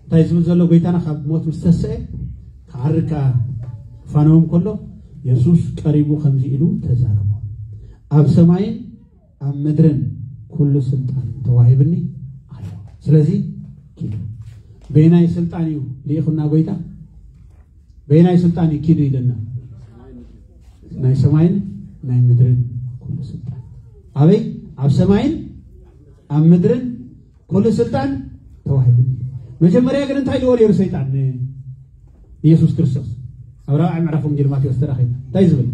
እንታይ ዝብል ዘሎ ጎይታና ካብ ሞት ምስ ተስአ ክዓርግ ከኣ ክፋነዎም ከሎ የሱስ ቀሪቡ ከምዚ ኢሉ ተዛረቦም። ኣብ ሰማይን ኣብ ምድርን ኩሉ ስልጣን ተዋሂብኒ ኣሎ። ስለዚ ኪዱ። በየናይ ስልጣን እዩ ልኢኹና ጎይታ? በየናይ ስልጣን እዩ ኪዱ ኢለና? ናይ ሰማይን ናይ ምድርን ኩሉ ስልጣን። ኣበይ? ኣብ ሰማይን ኣብ ምድርን ኩሉ ስልጣን ተዋሂብኒ። መጀመርያ ግን እንታይ ኢልዎ ነይሩ ሰይጣን ንኢየሱስ ክርስቶስ? ኣብ ራብዓይ ምዕራፍ ወንጌል ማቴዎስ ተራኺቡ እንታይ ዝብል?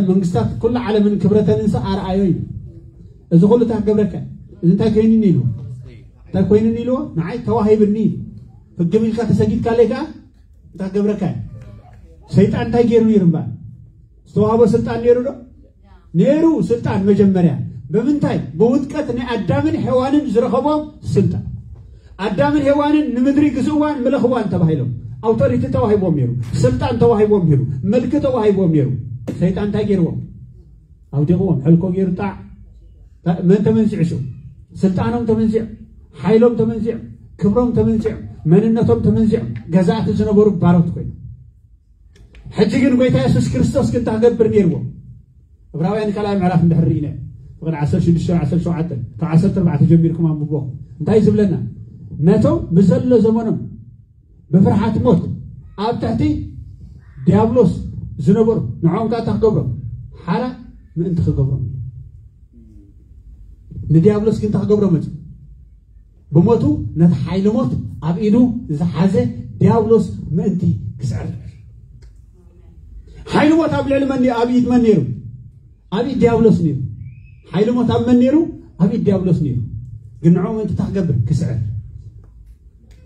መንግስታት ኩሉ ዓለምን ክብረተንን ኣርኣዮ እዩ። እዚ ኩሉ እንታይ ክገብረካ? እዚ እንታይ ኮይኑኒ ኢሉ? እንታይ ኮይኑኒ ኢልዎ? ንዓይ ተዋሂብኒ። ህግም ኢልካ ተሰጊድካለይ ከዓ እንታይ ክገብረካ? ሰይጣን እንታይ ገይሩ ነይሩ እምበኣር? ዝተዋህቦ ስልጣን ነይሩ ዶ? ነይሩ። ስልጣን መጀመርያ ብምንታይ? ብውድቀት ናይ ኣዳምን ሔዋንን ዝረኸቦ ስልጣን። ኣዳምን ሔዋንን ንምድሪ ግዝእዋን ምለኽዋን ተባሂሎም ኣውቶሪቲ ተዋሂቦም ነይሩ፣ ስልጣን ተዋሂቦም ነይሩ፣ መልኪ ተዋሂቦም ነይሩ። ሰይጣን እንታይ ገይርዎም? ኣውዲቕዎም። ሕልኮ ገይሩ ጣዕ። መን ተመንዚዑ ሽዑ? ስልጣኖም ተመንዚዑ፣ ሓይሎም ተመንዚዑ፣ ክብሮም ተመንዚዑ፣ መንነቶም ተመንዚዑ፣ ገዛእቲ ዝነበሩ ባሮት ኮይኖም። ሕጂ ግን ጎይታ የሱስ ክርስቶስ ግን እንታይ ክገብር ነይርዎ? ዕብራውያን ካልኣይ ምዕራፍ እንድሕር ርኢና ፍቕዲ ዓሰርተ ሽዱሽተ ዓሰርተ ሸውዓተ ካብ ዓሰርተ ኣርባዕተ ጀሚርኩም ኣንብቦ። እንታይ ዝብለና? ነቶም ብዘሎ ዘመኖም ብፍርሓት ሞት ኣብ ትሕቲ ዲያብሎስ ዝነበሩ ንዕኦም ከኣ እንታይ ክገብሮም? ሓራ ምእንቲ ክገብሮም። ንዲያብሎስ ግን እንታይ ክገብሮ መጽ ብሞቱ ነቲ ሓይሊ ሞት ኣብ ኢዱ ዝሓዘ ዲያብሎስ ምእንቲ ክስዕር። ሓይሊ ሞት ኣብ ልዕሊ መን ኣብ ኢድ መን ነይሩ? ኣብ ኢድ ዲያብሎስ ነይሩ። ሓይሊ ሞት ኣብ መን ነይሩ? ኣብ ኢድ ዲያብሎስ ነይሩ። ግን ንዕኡ ምእንቲ እንታይ ክገብር? ክስዕር።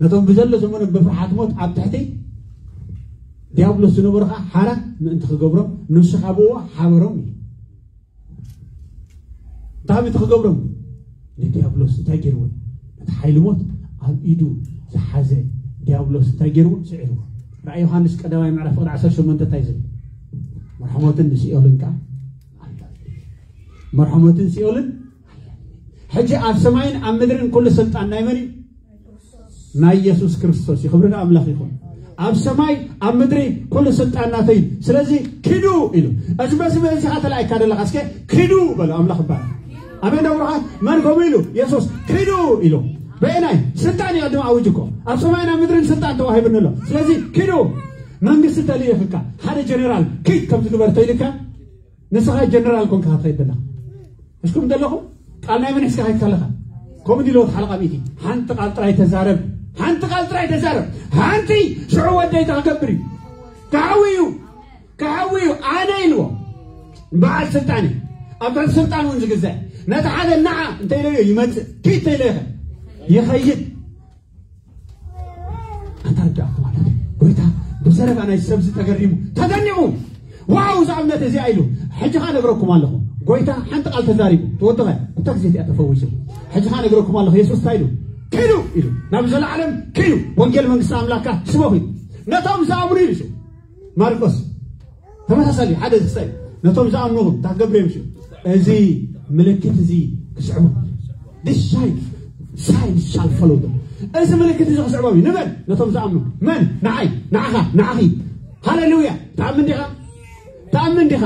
ነቶም ብዘሎ ዘመኖም ብፍርሓት ሞት ኣብ ትሕቲ ዲያብሎስ ዝነበሩ ከዓ ሓራ ምእንቲ ክገብሮም ንሱ ካብዎ ሓበሮም እዩ። እንታይ ምእንቲ ክገብሮም? ንዲያብሎስ እንታይ ገይርዎ? ነቲ ሓይሊ ሞት ኣብ ኢዱ ዝሓዘ ዲያብሎስ እንታይ ገይርዎ? ስዒርዎ። ራእይ ዮሃንስ ቀዳማይ ምዕራፍ ፍቕዲ ዓሰርተ ሸሞንተ እንታይ ዝብል? መርሖ ሞትን ንሲኦልን ከዓ ኣላ። መርሖ ሞትን ሲኦልን ኣላ። ሕጂ ኣብ ሰማይን ኣብ ምድርን ኩሉ ስልጣን ናይ መን እዩ? ናይ የሱስ ክርስቶስ እዩ። ክብሪ ንኣምላኽ ይኹን። ኣብ ሰማይ ኣብ ምድሪ ኩሉ ስልጣን ናተይ እዩ። ስለዚ ኪዱ ኢሉ። እዚ በዚ በዚ ኢኻ ተላኢካ ዘለኻ። እስከ ኪዱ በሎ። ኣምላኽ ይባረክ። ኣሜን ዶ ብሩኻት? መን ከምኡ ኢሉ? የሱስ ኪዱ ኢሉ። በየናይ ስልጣን እዩ ቅድም ኣውጅ እኮ? ኣብ ሰማይን ኣብ ምድርን ስልጣን ተዋሂብኒ ኣሎ። ስለዚ ኪዱ። መንግስቲ ተልኢኽካ ሓደ ጀነራል ኪድ ከም ዝግበር ተኢልካ ንስኻ ጀነራል ኮንካ ትኸይድ ዘለኻ። እስኩም ዘለኹም ቃል ናይ መን ሒዝካ ከይድካ ኣለኻ? ከምኡ ኢልዎ እቲ ሓለቓ ሚእቲ። ሓንቲ ቃል ጥራይ ተዛረብ፣ ሓንቲ ቃል ጥራይ ተዛረብ። ሓንቲ ሽዑ ወደይ እንታይ ክገብር እዩ? ክሓዊ እዩ፣ ክሓዊ እዩ። ኣነ ኢልዎ በዓል ስልጣን እዩ፣ ኣብ ትሕቲ ስልጣን እውን ዝግዛእ። ነቲ ሓደ ንዓ እንተ ኢለዮ ይመጽእ፣ ኪድ እንተ ኢለዮ ይኸይድ። ኣንታ ርዳእኩ ማለት እዩ። ጎይታ ብዘረባ ናይ ሰብ ዝተገሪሙ ተደኒቑ። ዋው እዛ እምነት እዚኣ ኢሉ። ሕጂ ኸኣ ነግረኩም ኣለኹ። ጎይታ ሓንቲ ቃል ተዛሪቡ ትወድቐ እታ ግዜ እቲኣ ተፈዊሱ። ሕጂ ኸኣ ነግረኩም ኣለኹ። የሱስ እንታይ ኢሉ? ኪዱ ኢሉ። ናብ ዘለዓለም ኪዱ። ወንጌል መንግስቲ ኣምላኽካ ስበኹ ኢሉ። ነቶም ዝኣምኑ ኢሉ ሽዑ። ማርቆስ ተመሳሳሊ ሓደ ዝስታይ ነቶም ዝኣምኑኹም እንታይ ክገብር እዮም ሽዑ? እዚ ምልክት እዚ ክስዕቡ። This sign, sign shall follow them። እዚ ምልክት እዚ ክስዕቦም እዩ። ንመን? ነቶም ዝኣምኑ። መን? ንዓይ፣ ንዓኻ፣ ንዓኺ። ሃሌሉያ። ትኣምን ዲኻ? ትኣምን ዲኻ?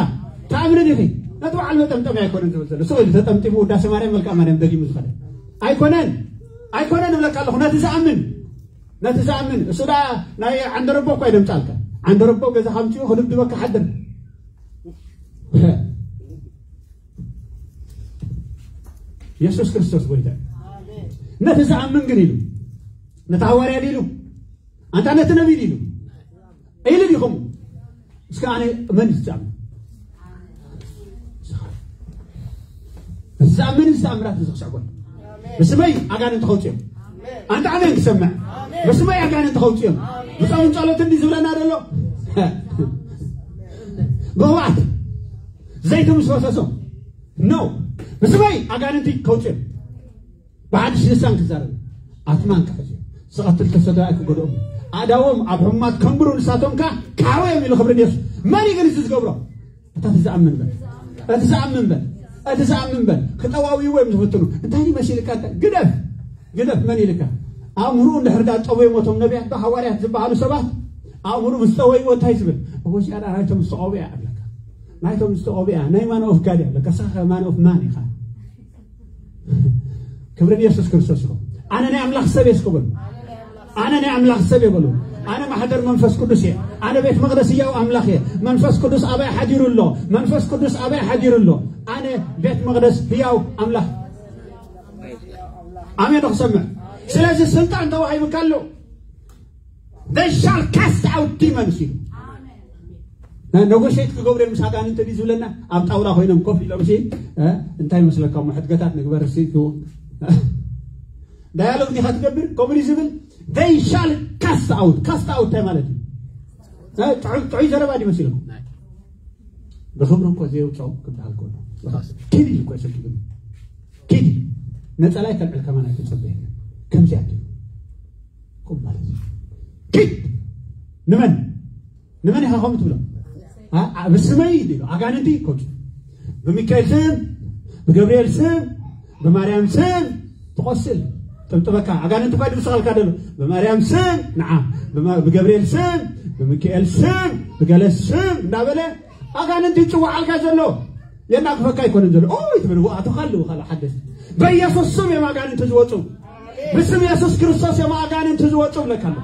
ትኣምን ዲኺ? ነቲ በዓል መጠምጠሚ ኣይኮነን ዝብል ዘሎ። ስቕ ኢሉ ተጠምጢሙ ውዳሴ ማርያም መልክኣ ማርያም ደጊሙ ዝኸደ ኣይኮነን። ኣይኮነን እብለካ ኣለኹ። ነቲ ዝኣምን፣ ነቲ ዝኣምን። እሱ ደኣ ናይ ዓንደረቦ እኳ ይደምጻልካ። ዓንደረቦ ገዛ ከምጽኡ ክድብድበካ ሓድር። የሱስ ክርስቶስ ጎይታ እዩ። ነቲ ዝኣምን ግን ኢሉ፣ ነቲ ሃዋርያ ኢሉ፣ ኣንታ ነቲ ነቢይ ኢሉ፣ ኢሉ ዲኹም? እስከ ኣነ መን እዩ ዝኣምን? ነቲ ኣመን እዚ ተኣምራት እዚ ክስዕቦ እዩ። ብስመይ ኣጋንንቲ ከውፅኦም። ኣንታ ኣሜን ክሰምዕ። ብስመይ ኣጋንንቲ ከውፅኦም። ብፆምን ጸሎትን ድዩ ዝብለና ዘሎ? ብቕብኣት ዘይቲ ምስ ፈሰሶም፣ ኖ፣ ብስመይ ኣጋንንቲ ከውፅኦም። ብሓድሽ ልሳን ክዛረብ፣ ኣትማን ክሕዙ፣ ዝቐትል ተሰዳይ ክጎድኦም፣ ኣእዳዎም ኣብ ሕሙማት ከንብሩ፣ ንሳቶም ከኣ ክሓውዮም ኢሉ። ክብሪ ንየሱስ። መን እዩ ግን እዚ ዝገብሮ? እቲ ዝኣምን በል። እቲ ዝኣምን በል። እቲ ዝኣምን በል። ክጠዋውይዎ እዮም ዝፍትኑ። እንታይ እዩ መሲልካ? እንታይ? ግደፍ። ግደፍ። መን ኢልካ? ኣእምርኡ እንድሕር ዳ ጠወይዎ፣ እቶም ነቢያት ዶ ሃዋርያት ዝበሃሉ ሰባት ኣእምርኡ ምስ ጠወይዎ እንታይ ዝብል? እዎ፣ እዚኣ ዳ ናይቶም ዝተቐብኡ እያ ኣለካ። ናይቶም ዝተቐብኡ እያ። ናይ ማን ኦፍ ጋድ እያ ኣለካ። ሳኸ ማን ኦፍ ማን ኢኻ? ክብሪ ንየሱስ ክርስቶስ ይኹን። ኣነ ናይ ኣምላኽ ሰብ እየ እስከ በሉ። ኣነ ናይ ኣምላኽ ሰብ እየ በሉ። ኣነ ማሕደር መንፈስ ቅዱስ እየ። ኣነ ቤት መቕደስ ህያው ኣምላኽ እየ። መንፈስ ቅዱስ ኣበይ ሓዲሩ ኣሎ? መንፈስ ቅዱስ ኣበይ ሓዲሩ ኣሎ? ኣነ ቤት መቕደስ ህያው ኣምላኽ። ኣሜን ዶ ክሰምዕ? ስለዚ ስልጣን ተዋሂቡካ ኣሎ። They shall cast out demons ኢሉ። ነ-፣ ነጎሼት ክገብሩ እዮም ምስ ኣጋንንቲ ድዩ ዝብለና? ኣብ ጣውላ ኮይኖም ኮፍ ኢሎም ሲ፣ እ፣ እንታይ ይመስለካ እሞ ሕድገታት ንግበር ሲ ክው-፣ ዳያሎግ ዲኻ ትገብር? ከምኡ ድዩ ዝብል? They shall cast out። Cast out እንታይ ማለት እዩ? እ፣ ጥዑይ፣ ጥዑይ ዘረባ ድዩ መሲልኩም? ብኽብሪ እኮ ዘየውፅኦም ክበሃል ከሎ። ኪድ ኢሉ እኮ ይሰግድሉ። ኪድ ኢሉ። ነፀላ ይከልዕል ከማን ኣይተፀበየን። ከምዚኣ ትብል። ቁም ማለት እዩ። ኪድ! ንመን? ንመን ኢኻ ከምኡ ትብሎ? ኣ-፣ ኣ-፣ ብስመይ ኢሉ። ኣጋንንቲ ይኮኑ። ብሚካኤል ስም፣ ብገብርኤል ስም፣ ብማርያም ስም ትቆስል። ጥብጥበካ። ኣጋንንቲ እኳ ድምስኻልካ ደሎ። ብማርያም ስም፣ ንዓ። ብማ-፣ ብገብርኤል ስም፣ ብሚካኤል ስም፣ ብገለ ስም እንዳበለ ኣጋንንቲ ይጽውዓልካ ዘሎ። የናግፈካ ኣይኮነን ዘሎ። ኦይ ትብል፣ ኣቶኻ ኣለዉ ካልእ ሓደስ። በኢየሱስ ስም እዮም ኣጋንንቲ ዝወጹ። ብስም የሱስ ክርስቶስ እዮም ኣጋንንቲ ዝወጹ ብለካ ኣሎ።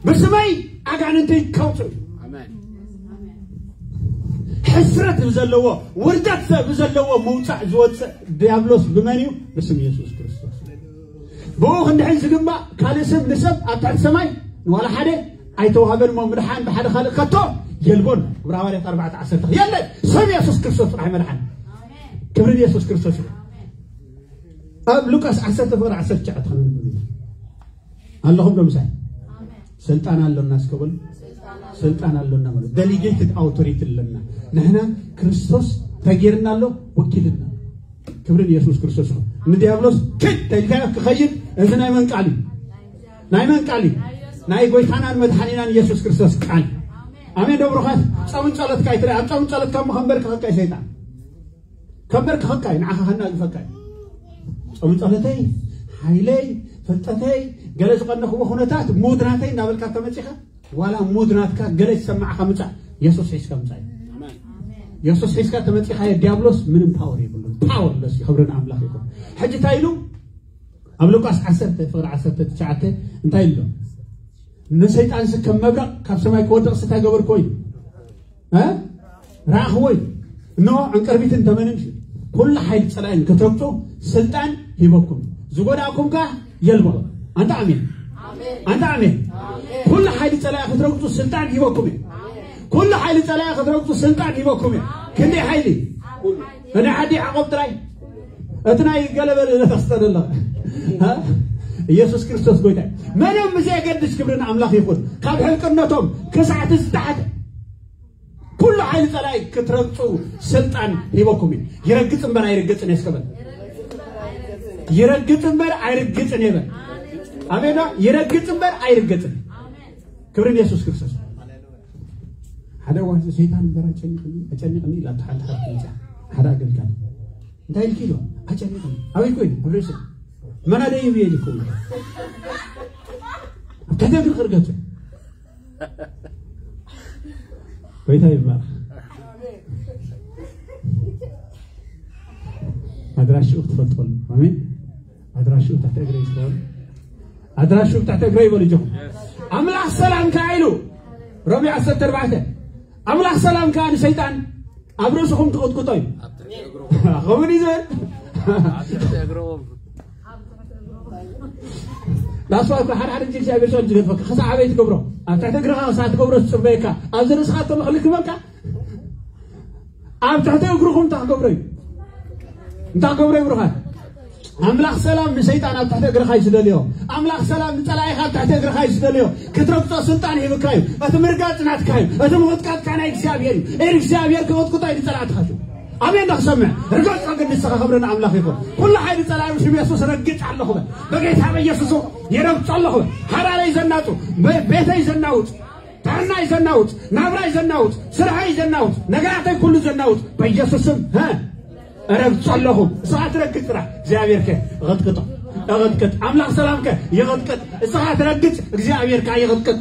ብስመይ ኣጋንንቲ ከውጽኡ። ኣሜን። ሕስረት ብዘለዎ፣ ውርደት ብዘለዎ ምውጻእ ዝወጽእ ዲያብሎስ ብመን እዩ? ብስም የሱስ ክርስቶስ። ብኡ ክንድሕን ዝግባእ ካልእ ስም ንሰብ ኣብ ትሕቲ ሰማይ ንዋላ ሓደ ኣይተዋህበን እሞ ምድሓን ብሓደ ካልእ ከቶ የልቦን። ግብረ ሃዋርያት ኣርባዕተ ዓሰርተ የለን። ስም የሱስ ክርስቶስ ጥራሕ መድሓን። ክብሪ ንየሱስ ክርስቶስ ይኹን። ኣብ ሉቃስ ዓሰርተ ፍቕሪ ዓሰርተ ትሽዓተ ከነንብብ ኢና። ኣለኹም ዶ ምሳይ? ስልጣን ኣሎና እስከ በሉ። ስልጣን ኣሎና በሉ። ደሊጌትድ ኣውቶሪቲ ኣለና። ንሕና ክርስቶስ ተጌርና ኣሎ፣ ወኪልና። ክብሪ ንየሱስ ክርስቶስ ይኹን። ንዲያብሎስ ክድ ተልካ ክኸይድ፣ እዚ ናይ መን ቃል እዩ? ናይ መን ቃል እዩ? ናይ ጎይታናን መድሓኒናን ኢየሱስ ክርስቶስ ቃል። ኣሜን ዶ ብሩኻት? ጾምን ጸሎትካ ይትረ-፣ ኣብ ጾምን ጸሎትካ እሞ ከንበርክኸካ እዩ ሰይጣን። ከንበርክኸካ እዩ፣ ንዓኻ ከናግፈካ እዩ። ጾምን ጸሎተይ፣ ሓይለይ፣ ፍልጠተይ፣ ገለ ዝቐነኽዎ ኩነታት፣ ሙድ ናተይ እንዳበልካ ተመጺኻ፣ ዋላ ሙድ ናትካ ገለ ዝሰማዕካ ምጻእ፣ የሱስ ሒዝካ ምጻእ እዩ። ኣሜን። የሱስ ሒዝካ ተመጺኻዮ፣ ዲያብሎስ ምንም ፓወር የብሉን። ፓወርለስ እዩ። ክብሪ ንኣምላኽ ይኹን። ሕጂ እንታይ ኢሉ? ኣብ ሉቃስ ዓሰርተ ፍቕሪ ዓሰርተ ትሽዓተ እንታይ ኢሉ? ንሰይጣንሲ ከም መብረቕ ካብ ሰማይ ክወድቕሲ እንታይ ገበርክዎ እዩ? እ? ረኣኽዎ እዩ። እንሆ ዕንቅርቢትን ተመንን ኩሉ ሓይሊ ጸላእን ክትረግጹ ስልጣን ሂበኩም። ዝጎዳእኩም ከኣ የልቦ። ኣንታ ኣሜን። ኣንታ ኣሜን። ኩሉ ሓይሊ ጸላኢ ክትረግጹ ስልጣን ሂበኩም እዩ። ኩሉ ሓይሊ ጸላኢ ክትረግጹ ስልጣን ሂበኩም እዩ። ክንደይ ሓይሊ? ናይ ዓዲ ያዕቆብ ጥራይ። እቲ ናይ ገለበለ ዘተስተደለ። እ? ኢየሱስ ክርስቶስ ጎይታ እዩ። መንም ብዘየገድስ ክብሪ ንኣምላኽ ይኹን። ካብ ሕልቅነቶም ክሳዕቲ ዝተሓተ ኩሉ ሓይሊ ጸላኢ ክትረግጹ ስልጣን ሂበኩም እዩ። ይረግጽ እምበር ኣይርግጽን እየ እስከ በል። ይረግጽ እምበር ኣይርግጽን እየ በል። ኣሜን። ይረግጽ እምበር ኣይርግጽን። ክብሪ ንየሱስ ክርስቶስ። ሓደ እዋን ሰይጣን እምበር ኣጨኒቕኒ፣ ኣጨኒቕኒ ኢላ እታ ሓንቲ ሓንቲ መጽያ። ሓደ ኣገልጋሊ። እንታይ ኢልኪ ኢሎ? ኣጨኒቕኒ። ኣበይ ኮይኑ? ኣብ ርእሲ። መናደይ ይብየ ኢልኩም። ኣብ ትሕቲ እግሪ ክርገጽ። ጎይታ ይባረክ። ኣድራሽኡ ክትፈልጠሉ። ኣሜን። ኣድራሽኡ ትሕቲ እግረይ ይስፈር። ኣድራሽኡ ትሕቲ እግረይ ይበሉ እጆኹም። ኣምላኽ ሰላም ከኣ ኢሉ ሮሜ ዓሰርተ ኣርባዕተ ኣምላኽ ሰላም ከኣ ንሰይጣን ኣብ ርእስኹም ትቕጥቅጦ እዩ። ከምኡ ድዩ ዝብል? ኣብ ትሕቲ እግሮም። ዳስ ዋይ እኮ ሓደ ሓደ ግዜ እግዚኣብሔር ሰው ዝገድፈካ። ክሳዕ ኣበይ ትገብሮ? ኣብ ትሕቲ እግርኻ ክሳዕ ትገብሮ ትጽበየካ። ኣብዚ ርእስኻ እተሎ ክልክመካ? ኣብ ትሕቲ እግርኹም እንታይ ክገብሮ እዩ? እንታይ ክገብሮ ይብርኻ? ኣምላኽ ሰላም ንሰይጣን ኣብ ትሕቲ እግርኻ እዩ ዝደልዮ። ኣምላኽ ሰላም ንጸላኢኻ ኣብ ትሕቲ እግርኻ እዩ ዝደልዮ። ክትረግጾ ስልጣን ሂብካ እዩ። እቲ ምርጋጽ ናትካ እዩ። እቲ ምቕጥቃጥካ ናይ እግዚኣብሔር እዩ። እግዚኣብሔር ክቕጥቅጦ እዩ ንጸላእትኻ እዩ። ኣሜን ዶ ክሰምዕ? ርገጾ ግን ንስኻ ክብሪ ንኣምላኽ ይኹን። ኩሉ ሓይሊ ጸላኢ ሽም የሱስ ረግጽ ኣለኹ በል። በጌታ በኢየሱስ የረግጾ ኣለኹ በል። ሓዳረይ ዘናጹ፣ በ-፣ ቤተይ ዘናውጽ፣ ጥዕናይ ዘናውጽ፣ ናብራይ ዘናውጽ፣ ስርሐይ ዘናውጽ፣ ነገራተይ ኩሉ ዘናውጽ በኢየሱስ ስም፣ ሀ፣ እረግጾ ኣለኹ። ንስኻ ትረግጽ ጥራሕ፣ እግዚኣብሔር ከ ይቐጥቅጦ። ይቐጥቅጥ። ኣምላኽ ሰላም ከ ይቐጥቅጥ። ንስኻ ትረግጽ፣ እግዚኣብሔር ከ ይቐጥቅጥ።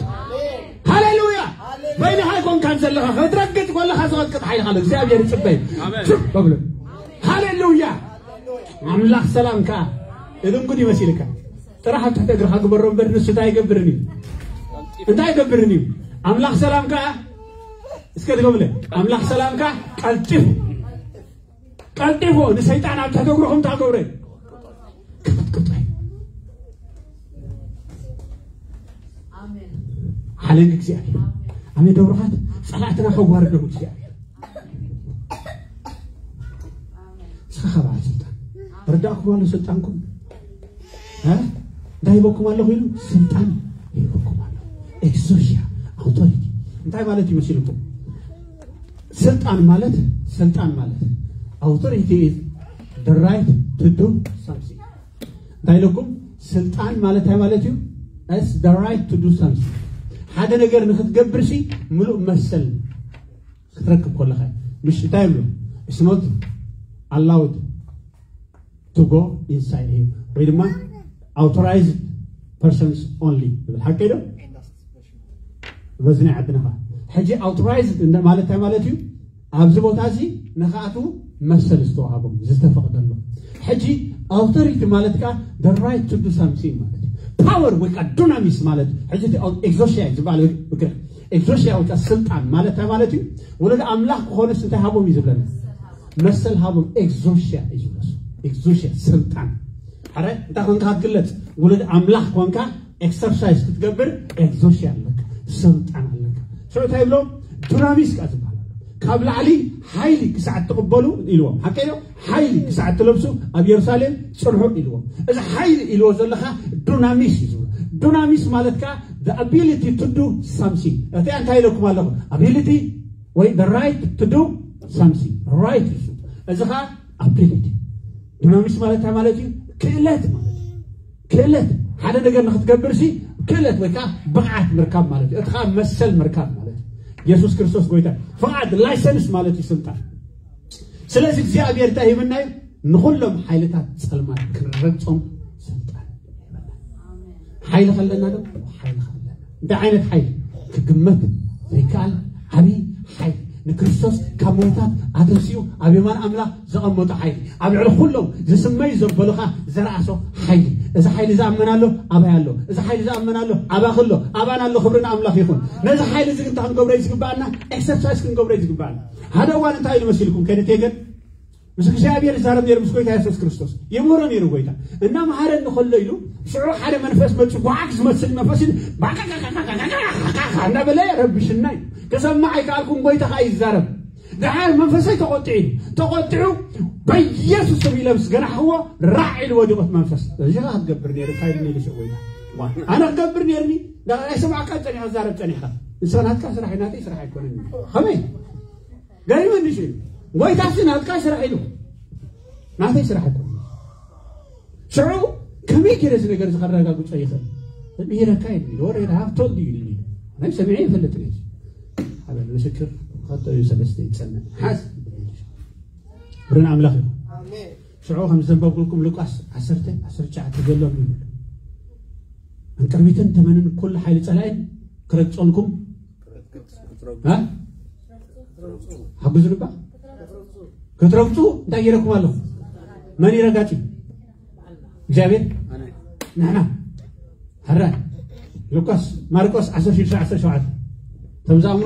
ሃሌሉያ! በይንኻ ኣይኮንካን ዘለኻ፣ ክትረግጽ ከለኻ ዝቐጥቅጥ ሓይሊ ኣሎ። እግዚኣብሔር ይጽበይ። ኣሜን። ችብ በብሎ። ሃሌሉያ! ኣምላኽ ሰላም ከ እድንጉን ይመሲልካ። ጥራሕ ኣብ ትሕቲ እግርኻ ግበሮ እምበር ንሱ እንታይ ኣይገብርን እዩ? እንታይ ኣይገብርን እዩ? ኣምላኽ ሰላም ከ፣ እስከ ድገምለ፣ ኣምላኽ ሰላም ከ ቀልጢፉ፣ ቀልጢፉ ንሰይጣን ኣብ ትሕቲ እግርኹም እንታይ ክገብሮ እዩ? ክቕጥቅጦ እዩ። ሓለንግ እግዚኣብሔር። ኣሜን። ደብሩኻት ጸላእትና ከዋርዶም እግዚኣብሔር። እስኻ ካብ በዓል ስልጣን ረዳእኩም ኣሎ ስልጣንኩም። እ? እንታይ ሂበኩም ኣለኹ ኢሉ ስልጣን ሂበኩም ኣሎ። ኤግዞሽያ፣ ኣውቶሪቲ። እንታይ ማለት እዩ መሲልኩም? ስልጣን ማለት፣ ስልጣን ማለት፣ authority is the right to do something። እንታይ ኢለኩም? ስልጣን ማለት እንታይ ማለት እዩ? It's the right to do something። ሓደ ነገር ንክትገብር ሲ ምሉእ መሰል ክትረክብ ከለኻ፣ ምሽ እንታይ ይብሉ? It's not allowed to go inside him፣ ወይ ድማ authorized persons only ይብል። ሓቀይ ዶ? በዚ ናይ ዓድና ኸዓ ሕጂ authorized እንደ ማለት እንታይ ማለት እዩ? ኣብዚ ቦታ እዚ ንኽኣትዉ መሰል ዝተዋሃቦም፣ ዝተፈቕደሎም። ሕጂ authority ማለት ከዓ the right to do something ማለት እዩ። ፓወር ወይ ከዓ ዱናሚስ ማለት፣ ሕጂ እቲ ኤግዞሽያ እዩ ዝበሃል ብግሪክ። ኤግዞሽያ ወይ ከዓ ስልጣን ማለት እንታይ ማለት እዩ? ወለዲ ኣምላኽ ክኾኑስ እንታይ ሃቦም እዩ ዝብለና? መሰል ሃቦም። ኤግዞሽያ እዩ ዝብለሱ። ኤግዞሽያ ስልጣን። ኣረ እንታይ ኮንካ ክትግለጽ? ውሉድ ኣምላኽ ኮንካ ኤክሰርሳይዝ ክትገብር ኤግዞሽያ ኣለካ፣ ስልጣን ኣለካ። ሽዑ እንታይ ይብሎም? ዱናሚስ ከኣ ዝበሃል ኣሎ። ካብ ላዕሊ ሓይሊ ክሳዕ እትቕበሉ ኢልዎም። ሓቀይ ዶ? ሓይሊ ክሳዕ እትለብሱ ኣብ የሩሳሌም ጽንሑ ኢልዎም። እዚ ሓይሊ ኢልዎ ዘለኻ ዱናሚስ እዩ ዝብሎ። ዱናሚስ ማለት ከኣ the ability to do something። እቲ እንታይ ኢለኩም ኣለኹ? Ability ወይ the right to do something። ራይት እዩ። እዚ ኸኣ ability። ዱናሚስ ማለት እንታይ ማለት እዩ? ክእለት ማለት እዩ። ክእለት፣ ሓደ ነገር ንክትገብር ሲ ክእለት ወይ ከዓ ብቕዓት ምርካብ ማለት እዩ። እቲ ከዓ መሰል ምርካብ ማለት እዩ። የሱስ ክርስቶስ ጎይታ። ፍቓድ፣ ላይሰንስ ማለት እዩ ስልጣን። ስለዚ እግዚኣብሔር እንታይ ሂብና እዩ? ንኹሎም ሓይልታት ጸልማት ክንረግጾም ስልጣን ሂበና። ሓይሊ ከለና ዶ? ሓይሊ ከለና። እንታይ ዓይነት ሓይሊ? ክግመት ዘይከኣል ዓብዪ ሓይሊ። ንክርስቶስ ካብ ምዉታት ኣተንሲኡ ኣብ የማን ኣምላኽ ዘቐመጦ ሓይሊ። ኣብ ልዕሊ ኩሎም ዝስመዩ ዘበሉኻ ዘርኣሶ ሓይሊ። እዚ ሓይሊ ዝኣመናሉ ኣባይ ኣሎ። እዚ ሓይሊ ዝኣመናሉ ኣባኺ ኣሎ። ኣባና ኣሎ። ክብሪ ንኣምላኽ ይኹን። ነዚ ሓይሊ እዚ ግን እንታይ ክንገብሮ እዩ ዝግባኣና? ኤክሰርሳይዝ ክንገብሮ እዩ ዝግባኣና። ሓደ እዋን እንታይ ኢሉ መሲልኩም? ከነቴገን ምስ እግዚኣብሔር ይዛረብ ነይሩ፣ ምስ ጎይታ የሱስ ክርስቶስ ይምህሮ ነይሩ። ጎይታ እናመሃረኒ ከሎ ኢሉ ሽዑ ሓደ መንፈስ መፂኡ፣ ጓዓግ ዝመስል መንፈስ ኢሉ ባቃቃቃቃቃቃቃቃ እናበለ ረብሽና እዩ። ክሰማዕ ኣይከኣልኩን፣ ጎይታ ከዓ ይዛረብ። ደሓር መንፈሰይ ተቆጢዑ እዩ። ተቆጢዑ በኢየሱስ ስም ኢለ ምስ ገናሕክዎ ራዕ ኢሉ ወዲቑ እቲ መንፈስ። እዚ ከዓ ክትገብር ነይሩ፣ ካይድ ነይሩ ሽዑ ጎይታ። ዋ፣ ኣነ ክገብር ነይርኒ። ዳ-፣ ኣይሰማዕካን ጸኒኻ፣ ትዛረብ ጸኒኻ። ንስኻ ናትካ ስራሕ እዩ፣ ናተይ ስራሕ ኣይኮነን። ከመይ? ገሪመኒ ሽዑ። ጎይታሲ ናትካ ስራሕ ኢሉ። ናተይ ስራሕ ኣይኮነን። ሽዑ ከመይ ገይረ እዚ ነገር እዚ ከረጋግጾ ይኽእል? ምሂረካ እዩ ኢሉ፣ ወረ ሃብ ቶልድ እዩ ኢሉ። ናይ ሰሚዐ ይፈልጥ ነይሩ። ኣበል ምስክር ኸልተ እዩ ሰለስተ ይጸንዕ። ሓዝ። ብርን ኣምላኽ እዩ። ኣሜን። ሽዑ ከም ዘንበብኩልኩም ሉቃስ ዓሰርተ፣ ዓሰርተ ትሽዓተ ዘሎ ይብል። ዕንቅርቢትን ተመንን ኩሉ ሓይሊ ጸላኢን ክረግጸልኩም። እ? ሓግዙ ልባ። ክትረግጹ እንታይ ገይረኩም ኣለኹ? መን እዩ ረጋጺ? እግዚኣብሔር? ኣነ። ንሕና። ሕራይ። ሉቃስ፣ ማርቆስ ዓሰርተ ሽዱሽተ ዓሰርተ ሸውዓተ። እቶም ዝኣምኑ፣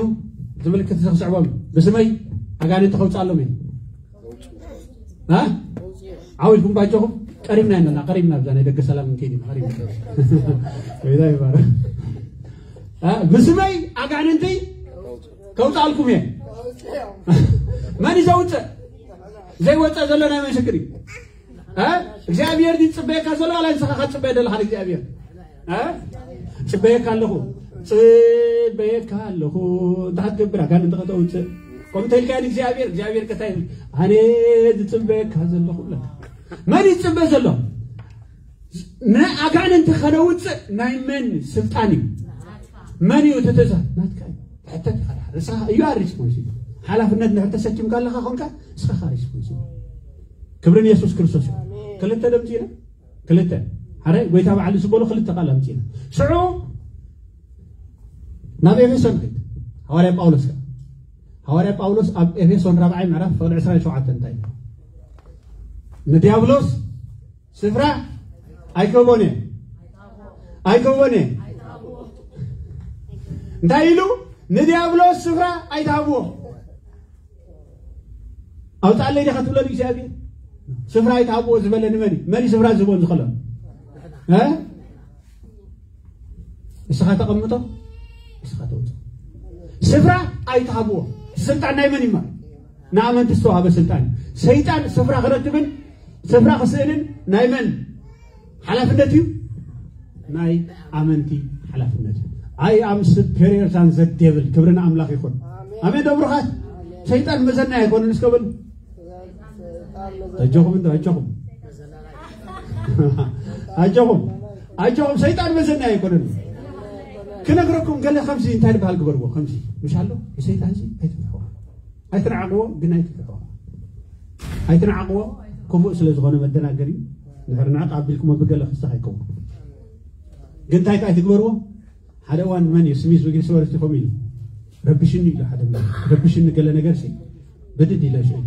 እዚ ምልክት እዚ ክስዕቦም፣ ብስመይ ኣጋንንቲ ከውፅኣሎም እየ። እ? ዓው ኢልኩም ባጆኹም፣ ቀሪብና ኢና፣ ቀሪብና፣ ብዛ ናይ ደገ ሰላም እንከይድ ኢና፣ ቀሪብና። ጎይታ ይባረክ። እ? ብስመይ ኣጋንንቲ ከውፅኣልኩም እየ። መን እዩ ዘውፅእ? ዘይወፀ ዘሎ ናይ መን ሽግር እዩ? እ እግዚኣብሔር ድዩ ዝፅበየካ ዘሎ ዋላ ንስኻ ክትፅበየ ዘለኻ ንእግዚኣብሔር? እ ፅበየካ ኣለኹ፣ ፅበየካ ኣለኹ። እንታይ ክትገብር? ኣጋንንቲ ከተውፅእ ከምኡ ተልካዮ ንእግዚኣብሔር። እግዚኣብሔር ከታይ ኣነ ዝፅበየካ ዘለኹ ብለካ። መን ይፅበ ዘሎ? ንኣጋንንቲ ከነውፅእ ናይ መን ስልጣን እዩ? መን እዩ እቲ ትእዛዝ? ናትካ እዩ። ሕተት ኢኻ ድሓር። ንስኻ እዩ ኣር ሪስፖንሲብል። ሓላፍነት ንሕር ተሰኪምካ ኣለኻ ኮንካ ንስኻ ሪስፖንሲብል። ክብርን የሱስ ክርስቶስ እዩ። ክልተ ደምፂና ክልተ ሓደ ጎይታ በዓል ዝበሎ ክልተ ቃል ኣምፂና ሽዑ ናብ ኤፌሶን ኸይድ። ሃዋርያ ጳውሎስ ከ ሃዋርያ ጳውሎስ ኣብ ኤፌሶን ራብዓይ ምዕራፍ ፍቕዲ ዕስራን ሸውዓተን እንታይ እዩ? ንዲያብሎስ ስፍራ ኣይከቦን እየ ኣይከቦን እየ እንታይ ኢሉ? ንዲያብሎስ ስፍራ ኣይትሃብዎ። ኣውጣለይ ዲኻ ትብሎ ንእግዚኣብሔር? ስፍራ ኣይትሃብዎ ዝበለ ንመን እዩ? መን እዩ ስፍራ ዝህቦ ዝኸሎ? ንስኻ ተቐምጦ ንስኻ ተውፅኦ። ስፍራ ኣይትሃብዎ። ስልጣን ናይ መን እዩ? ንኣመንቲ ዝተዋህበ ስልጣን። ሰይጣን ስፍራ ክረክብን ስፍራ ክስእንን ናይ መን ሓላፍነት እዩ? ናይ ኣመንቲ ሓላፍነት እዩ። I am superior than the devil። ክብሪ ንኣምላኽ ይኹን። ኣሜን። ዶ ብሩኻት? ሰይጣን መዘና ኣይኮነን። እስከ በሉ። ኣጆኹም እንዶ ኣጆኹም ኣጆኹም ኣጆኹም ሰይጣን መዘና ኣይኮነን። ክነግረኩም ገለ ከምዚ እንታይ ዝበሃል ግበርዎ ከምዚ ምሽ ኣሎ ሰይጣን ዚ ኣይትፍርሕዎ ኣይትንዓቕዎ ግን ኣይትፍርሕዎ ኣይትንዓቕዎ። ክፉእ ስለ ዝኾነ መደናገሪ ድሕሪ ንዕቕ ኣቢልኩሞ ብገለ ክስኽ ኣይከውን። ግን እንታይ ከኣ ኣይትግበርዎ። ሓደ እዋን መን እዩ ስሚዝ ዊግልስወርዝ ኮም ኢሉ ረብሽኒ ኢሉ ሓደ ረብሽኒ ገለ ነገር ሲ ብድድ ኢለ ሽዑ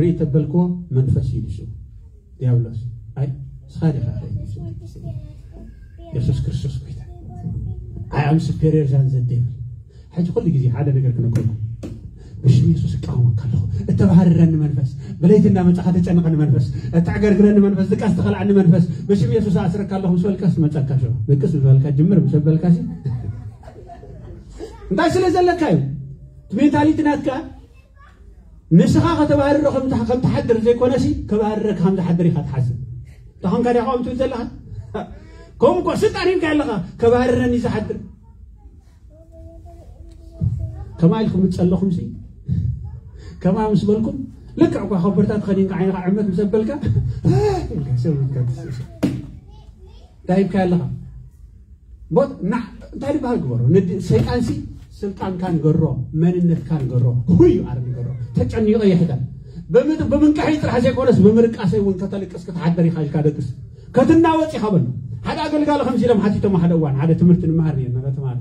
ርኢ ተበልክዎ መንፈስ እዩ ንሱ ዲያብሎስ ኣይ ንስኻ ዲኻ የሱስ ክርስቶስ ጎይታ ኣይ ኣም ሱፔሪየር ዛን ዘዴብል። ሕጂ ኩሉ ግዜ ሓደ ነገር ክነግረኩም ብሽም የሱስ እቃወመካ ኣለኹ። እተባህርረኒ መንፈስ ብለይቲ እንዳመጻኻ ተጨንቐኒ መንፈስ እተዕገርግረኒ መንፈስ ድቃስ ተኸልዓኒ መንፈስ ብሽም የሱስ ኣስረካ ኣለኹ ምስ በልካስ መጸካ ሸ ድቅስ ምስ በልካ ጅምር ምስ በልካ ሲ እንታይ ስለ ዘለካ እዩ እቲ ሜንታሊቲ ናትካ ንስኻ ከተባህርሮ ከም ትሓድር ዘይኮነሲ ከባህርረካ ከም ዝሓድር ኢኻ ትሓስብ። ተኾንካ ዲኻ ከምኡ ትብል ዘለኻ? ከምኡ እኮ ስልጣን ሂብካ ኣለኻ ከባህርረኒ ዝሓድር። ከማ ኢልኩም ምጸለኹም ሲ ከማ ምስ በልኩም ልክዕ እኳ ከበርታ ተኸዲንካ ዓይንኻ ዕመት ምስ ኣበልካ እንታይ ሂብካ ኣለኻ? ቦት ና እንታይ ዝበሃል ግበሮ ንድ ሰይጣንሲ ስልጣንካ ንገሮ መንነትካ ንገሮ ሁዩ ኣር ንገሮ ተጨኒቐ ይሕደር ብምንቅሒ ጥራሕ ዘይኮነስ ብምርቃሰይ እውን ከተልቅስ ክትሓደር ኢኻ ኢልካ ደቅስ ከትናወፅ ኢኻ በሉ ሓደ ኣገልጋሊ ከምዚ ኢሎም ሓቲቶም ሓደ እዋን ሓደ ትምህርቲ ንመሃር ነርና ተማሃር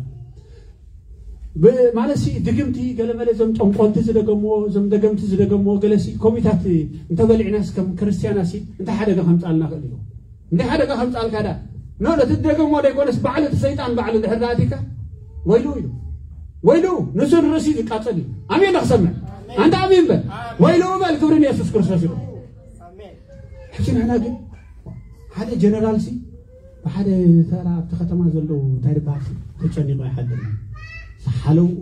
ማለት ሲ ድግምቲ ገለመለ ዞም ጠንቆልቲ ዝደገምዎ ዞም ደገምቲ ዝደገምዎ ገለሲ ኮሚታት እንተበሊዕናስ ከም ክርስትያናሲ እንታይ ሓደጋ ከምፃልና ክእል እዩ እንታይ ሓደጋ ከምፃልካ ዳ ኖ ነቲ ደገሞ ዘይኮነስ ባዕሉ እቲ ሰይጣን ባዕሉ ድሕር ዳኣቲካ ወይሉ ኢሉ ወይሉ ንሱ ንርእሲ ዝቃፀል እዩ ኣሜን ዶ ክሰምዕ ኣንተ ኣሜን በል ወይሉ በል ክብሪ ንየሱስ ክርስቶስ ይኹን ሕጂ ንሕና ግን ሓደ ጀነራል ሲ ብሓደ ተራ ኣብቲ ከተማ ዘለዉ እንታይ ዝበሃል ሲ ተጨኒቆ ይሓድር ሓለውኡ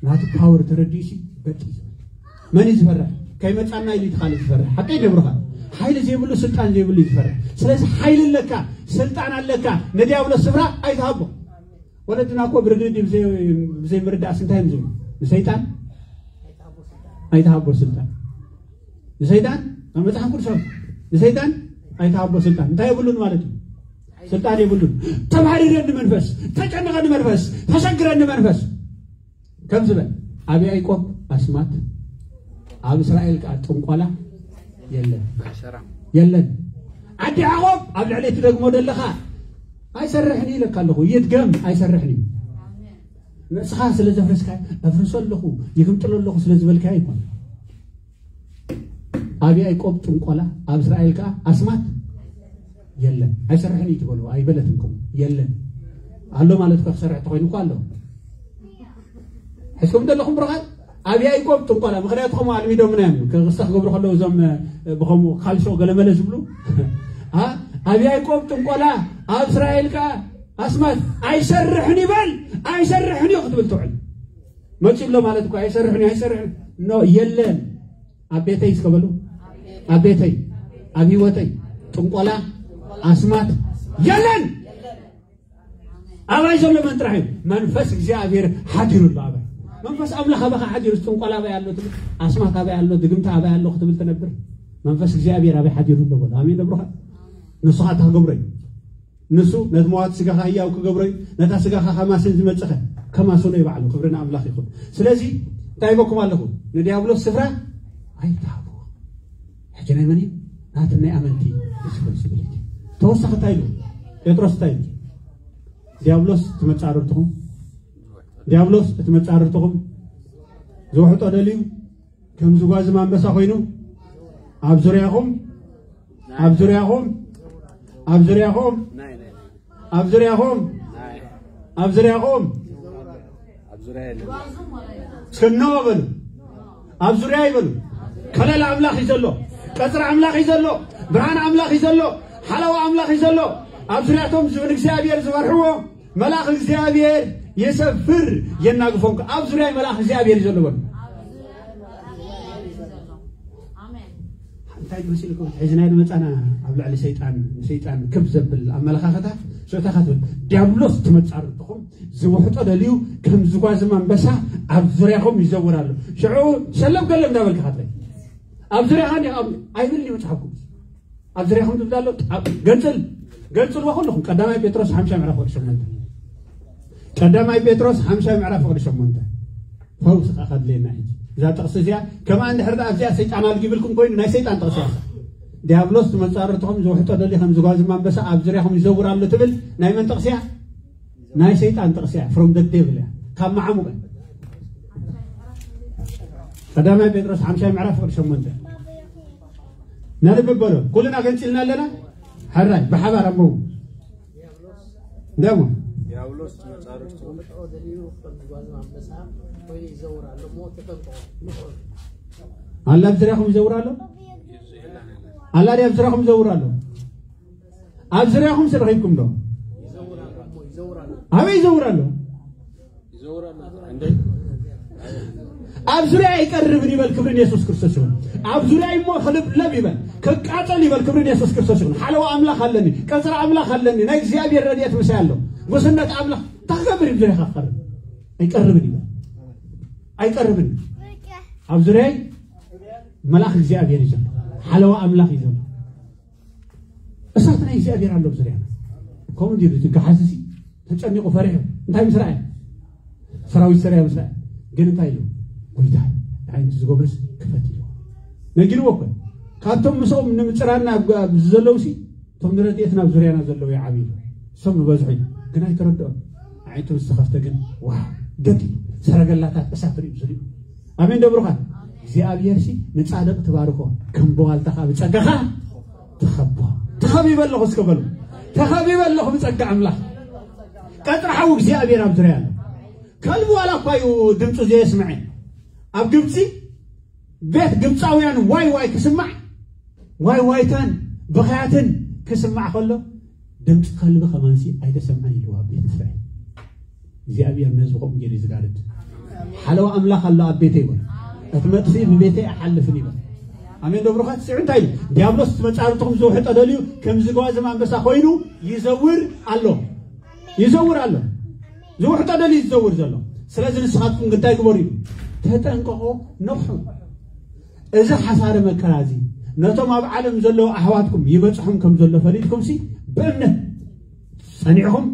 ናቲ ፓወር ተረዲኡ ሲ በጥ እዩ ዝብል መን እዩ ዝፈርሕ ከይመፃና ኢሉ እቲ ካልእ ዝፈርሕ ሓቀይ ደብርኻ ሓይሊ ዘይብሉ ስልጣን ዘይብሉ እዩ ዝፈርሕ ስለዚ ሓይሊ ኣለካ ስልጣን ኣለካ ንዲያብሎስ ስፍራ ኣይትሃቦ ወለድና እኮ ብርግዲ ብዘይ ምርዳእስ እንታይ እዮም ዝብሉ ንሰይጣን ኣይትሃቦ ስልጣን ንሰይጣን ኣብ መፅሓፍ ቅዱስ ኣሎ ንሰይጣን ኣይትሃቦ ስልጣን እንታይ የብሉን ማለት እዩ ስልጣን የብሉን ተባህሪረኒ መንፈስ ተጨንቐኒ መንፈስ ተሸግረኒ መንፈስ ከም ዝበል ኣብ ያዕቆብ ኣስማት ኣብ እስራኤል ከዓ ጥንቆላ የለን የለን ዓዲ ያዕቆብ ኣብ ልዕሊ እቲ ደግሞ ዘለኻ ኣይሰርሕን ኢለካ ኣለኹ ይድገም ኣይሰርሕን እዩ ንስኻ ስለ ዘፍረስካ ኣፍርሶ ኣለኹ ይግምጥሎ ኣለኹ ስለ ዝበልካ ይኮን ኣብ ያዕቆብ ጥንቆላ ኣብ እስራኤል ከዓ ኣስማት የለን ኣይሰርሕን እዩ ትበሉ ኣይበለትም ከምኡ የለን ኣሎ ማለት እኮ ክሰርሕ ተኮይኑ እኮ ኣሎ ሕዝኩም ዘለኹም ብሩኻት ኣብ ያዕቆብ ጥንቆላ ምክንያቱ ከምኡ ኣልሚዶምና እዮም ክስተ ክገብሩ ከለዉ እዞም ብከምኡ ካልሾ ገለመለ ዝብሉ ኣብ ያዕቆብ ጥንቆላ ኣብ እስራኤል ከዓ ኣስማት ኣይሰርሕን ይበል ኣይሰርሕን እዩ ክትብል ትውዕል መፂ ኣሎ ማለት እኮ ኣይሰርሕን እዩ ኣይሰርሕን ኖ የለን ኣብ ቤተይ እስከበሉ ኣብ ቤተይ ኣብ ህይወተይ ጥንቆላ፣ ኣስማት የለን። ኣባይ ዘሎ መን ጥራሕ እዩ? መንፈስ እግዚኣብሔር ሓዲሩ ኣሎ ኣባይ። መንፈስ ኣምላኽ ኣባኻ ሓዲሩ፣ ጥንቆላ ኣባይ ኣሎ ትብል፣ ኣስማት ኣባይ ኣሎ፣ ድግምቲ ኣባይ ኣሎ ክትብል ትነብር? መንፈስ እግዚኣብሔር ኣባይ ሓዲሩ ኣሎ በሎ። ኣሜን ደብሩኻ። ንሱ ኸኣ እንታይ ክገብሮ እዩ? ንሱ ነቲ መዋቲ ስጋኻ ህያው ክገብሮ እዩ። ነታ ስጋኻ ከማስን ዝመጽኸ ከማስኖ እዩ ባዕሉ። ክብሪ ንኣምላኽ ይኹን። ስለዚ እንታይ ይበኩም ኣለኹ? ንዲያብሎስ ስፍራ ኣይትሃብዎ። ሕጂ ናይ መን እዩ? ናትን ናይ ኣመንቲ ሪስፖንሲቢሊቲ። ተወሳኺ እንታይ ኢሉ? ጴጥሮስ እንታይ ኢሉ? ዲያብሎስ እቲ መጻርርትኹም፣ ዲያብሎስ እቲ መጻርርትኹም ዝውሕጦ ደልዩ ከም ዝጓዝም ኣንበሳ ኮይኑ ኣብ ዙርያኹም፣ ኣብ ዙርያኹም፣ ኣብ ዙርያኹም፣ ኣብ ዙርያኹም፣ ኣብ ዙርያኹም እስከ ኖ በሉ። ኣብ ዙርያ ይበሉ። ከለላ ኣምላኽ እዩ ዘሎ። ቀጽሪ ኣምላኽ እዩ ዘሎ። ብርሃን ኣምላኽ እዩ ዘሎ። ሓለዋ ኣምላኽ እዩ ዘሎ። ኣብ ዙርያቶም ዝ- ንእግዚኣብሔር ዝፈርሕዎ መልኣኽ እግዚኣብሔር የሰፍር፣ የናግፎም። ኣብ ዙርያ መልኣኽ እግዚኣብሔር እዩ ዘሎ በሉ። እንታይ መሲልኩም ሕዚ ናይ መጻና ኣብ ልዕሊ ሰይጣን፣ ንሰይጣን ክብ ዘብል ኣመለኻኸታ ሽታ ክትብል ዲያብሎስ ትመጻርትኹም ዝውሕጦ ደልዩ ከም ዝጓዝም ኣንበሳ ኣብ ዙርያኹም ይዘውር ኣሎ። ሽዑ ሸለም ገለም እንዳበልካ ካትለይ ኣብ ዙርያኻ እንዲ ኣብ ኣይብል እዩ መጽሓፍ ቅዱስ። ኣብ ዙርያኹም ዝብል ኣሎ። ኣብ- ገንጽል ገንጽልዎ ኩልኹም። ቀዳማይ ጴጥሮስ ሓምሻይ ምዕራፍ ወዲ ሸሞንተ። ቀዳማይ ጴጥሮስ ሓምሻይ ምዕራፍ ወዲ ሸሞንተ። ፈውሲ ኸኣ ከድልየና ሕጂ እዛ ጥቕሲ እዚኣ ከምኣ እንድሕር ደኣ ኣብዚኣ ሰይጣን ኣልጊብልኩም ኮይኑ ናይ ሰይጣን ጥቕሲ እያ። ዲያብሎስ ትመጻርትኹም ዝውሕጦ ደሊ ከም ዝጓዝም ኣንበሳ ኣብ ዙርያኹም ይዘውር ኣሎ ትብል ናይ መን ጥቕሲ እያ? ናይ ሰይጣን ጥቕሲ እያ። From the devil እያ። ካብ መዓሙቕ እያ። ቀዳማይ ጴጥሮስ ሓምሻይ ምዕራፍ ፍቕዲ ሸሞንተ። ነንብብ በሎ። ኩልና ገንጺልና ኣለና። ሕራይ ብሓባር ኣንብቡ። ደሞ ዲያብሎስ መጻርፍቱ ኣላ ኣብ ዙርያኹም ይዘውር ኣሎ። ኣላ ድያ ኣብ ዙርያኹም ይዘውር ኣሎ። ኣብ ዙርያኹም ስለ ረኺብኩም ዶ? ኣበይ ይዘውር ኣሎ? ኣብ ዙርያ ይቀርብን ይበል። ክብርን የሱስ ክርስቶስ ይሁን። ኣብ ዙርያ እሞ ክልብለብ ይበል፣ ክቃጸል ይበል። ክብርን የሱስ ክርስቶስ ይሁን። ሓለዋ ኣምላኽ ኣለኒ፣ ቀጽሪ ኣምላኽ ኣለኒ፣ ናይ እግዚኣብሔር ረድኤት ምሳይ ኣሎ። ጉስነት ኣምላኽ እንታይ ክገብር እዩ? ዙርያ ክቐርብ ኣይቀርብን ይበል። ኣይቀርብን። ኣብ ዙርያይ መልኣኽ እግዚኣብሔር እዩ ዘሎ፣ ሓለዋ ኣምላኽ እዩ ዘሎ። እሳት ናይ እግዚኣብሔር ኣሎ ኣብ ዙርያና። ከምኡ እንዲሉ እቲ ገሓዚ ሲ ተጨኒቑ ፈሪሑ እንታይ ምስ ረኣየ? ሰራዊት ሰሪያ ምስ ረኣየ ግን እንታይ ኢሉ? ጎይታ ዓይንቲ ዝጎብርስ ክፈት ኢሉ ነጊርዎ እኮ። ካብቶም ምስኦም ንምፅራና ኣብ ኣብ ዘለዉ ሲ እቶም ንረድኤትና ኣብ ዙርያና ዘለዉ ይዓብዩ እዮም። እሶም ዝበዝሑ እዮም ግን ኣይተረድኦም። ዓይንቱ ምስ ተኸፍተ ግን ዋው ገዲሉ ሰረገላታት እሳት ርእዩ ዝሪኡ። ኣሜን ደብሩኻ እግዚኣብሔር ሲ ንጻድቕ ትባርኮ ከም በዋልታ ከዓ ብጸጋኻ ትኸቦ። ተኸቢበ ኣለኹ እስከ በሉ። ተኸቢበ ኣለኹ ብጸጋ ኣምላኽ። ቀጽሪ ሓዊ እግዚኣብሔር ኣብ ዙርያ ኣሎ። ከልቢ ዋላ እኳ እዩ ድምፁ ዘየስምዐ። ኣብ ግብፂ ቤት ግብፃውያን ዋይ ዋይ ክስማዕ ዋይ ዋይታን ብኽያትን ክስማዕ ከሎ ድምፂ ከልቢ ከማንሲ ኣይተሰምዐን ኢልዎ ኣብ ቤት እስራኤል። እግዚኣብሔር ነዚ ከምኡ ገይሩ እዩ ዝጋርድ። ሓለዋ ኣምላኽ ኣሎ ኣብ ቤተይ ይበል። እቲ መጥፍኢ ብቤተይ ኣይሓልፍን ይበል። ኣሜን ዶ ብሩኻት? ስዑ እንታይ ኢሉ? ዲያብሎስ እቲ መጻርትኹም ዝውሕጦ ደልዩ ከም ዝጓዝም ኣንበሳ ኮይኑ ይዘውር ኣሎ። ይዘውር ኣሎ። ዝውሕጦ ደልዩ ዝዘውር ዘሎ። ስለዚ ንስኻትኩም ግን እንታይ ግበሩ እዩ? ተጠንቀቑ፣ ንቕሑ። እዚ ሓሳረ መከራ እዚ ነቶም ኣብ ዓለም ዘለዉ ኣሕዋትኩም ይበጽሖም ከም ዘሎ ፈሊጥኩም ሲ ብእምነት ጸኒዕኹም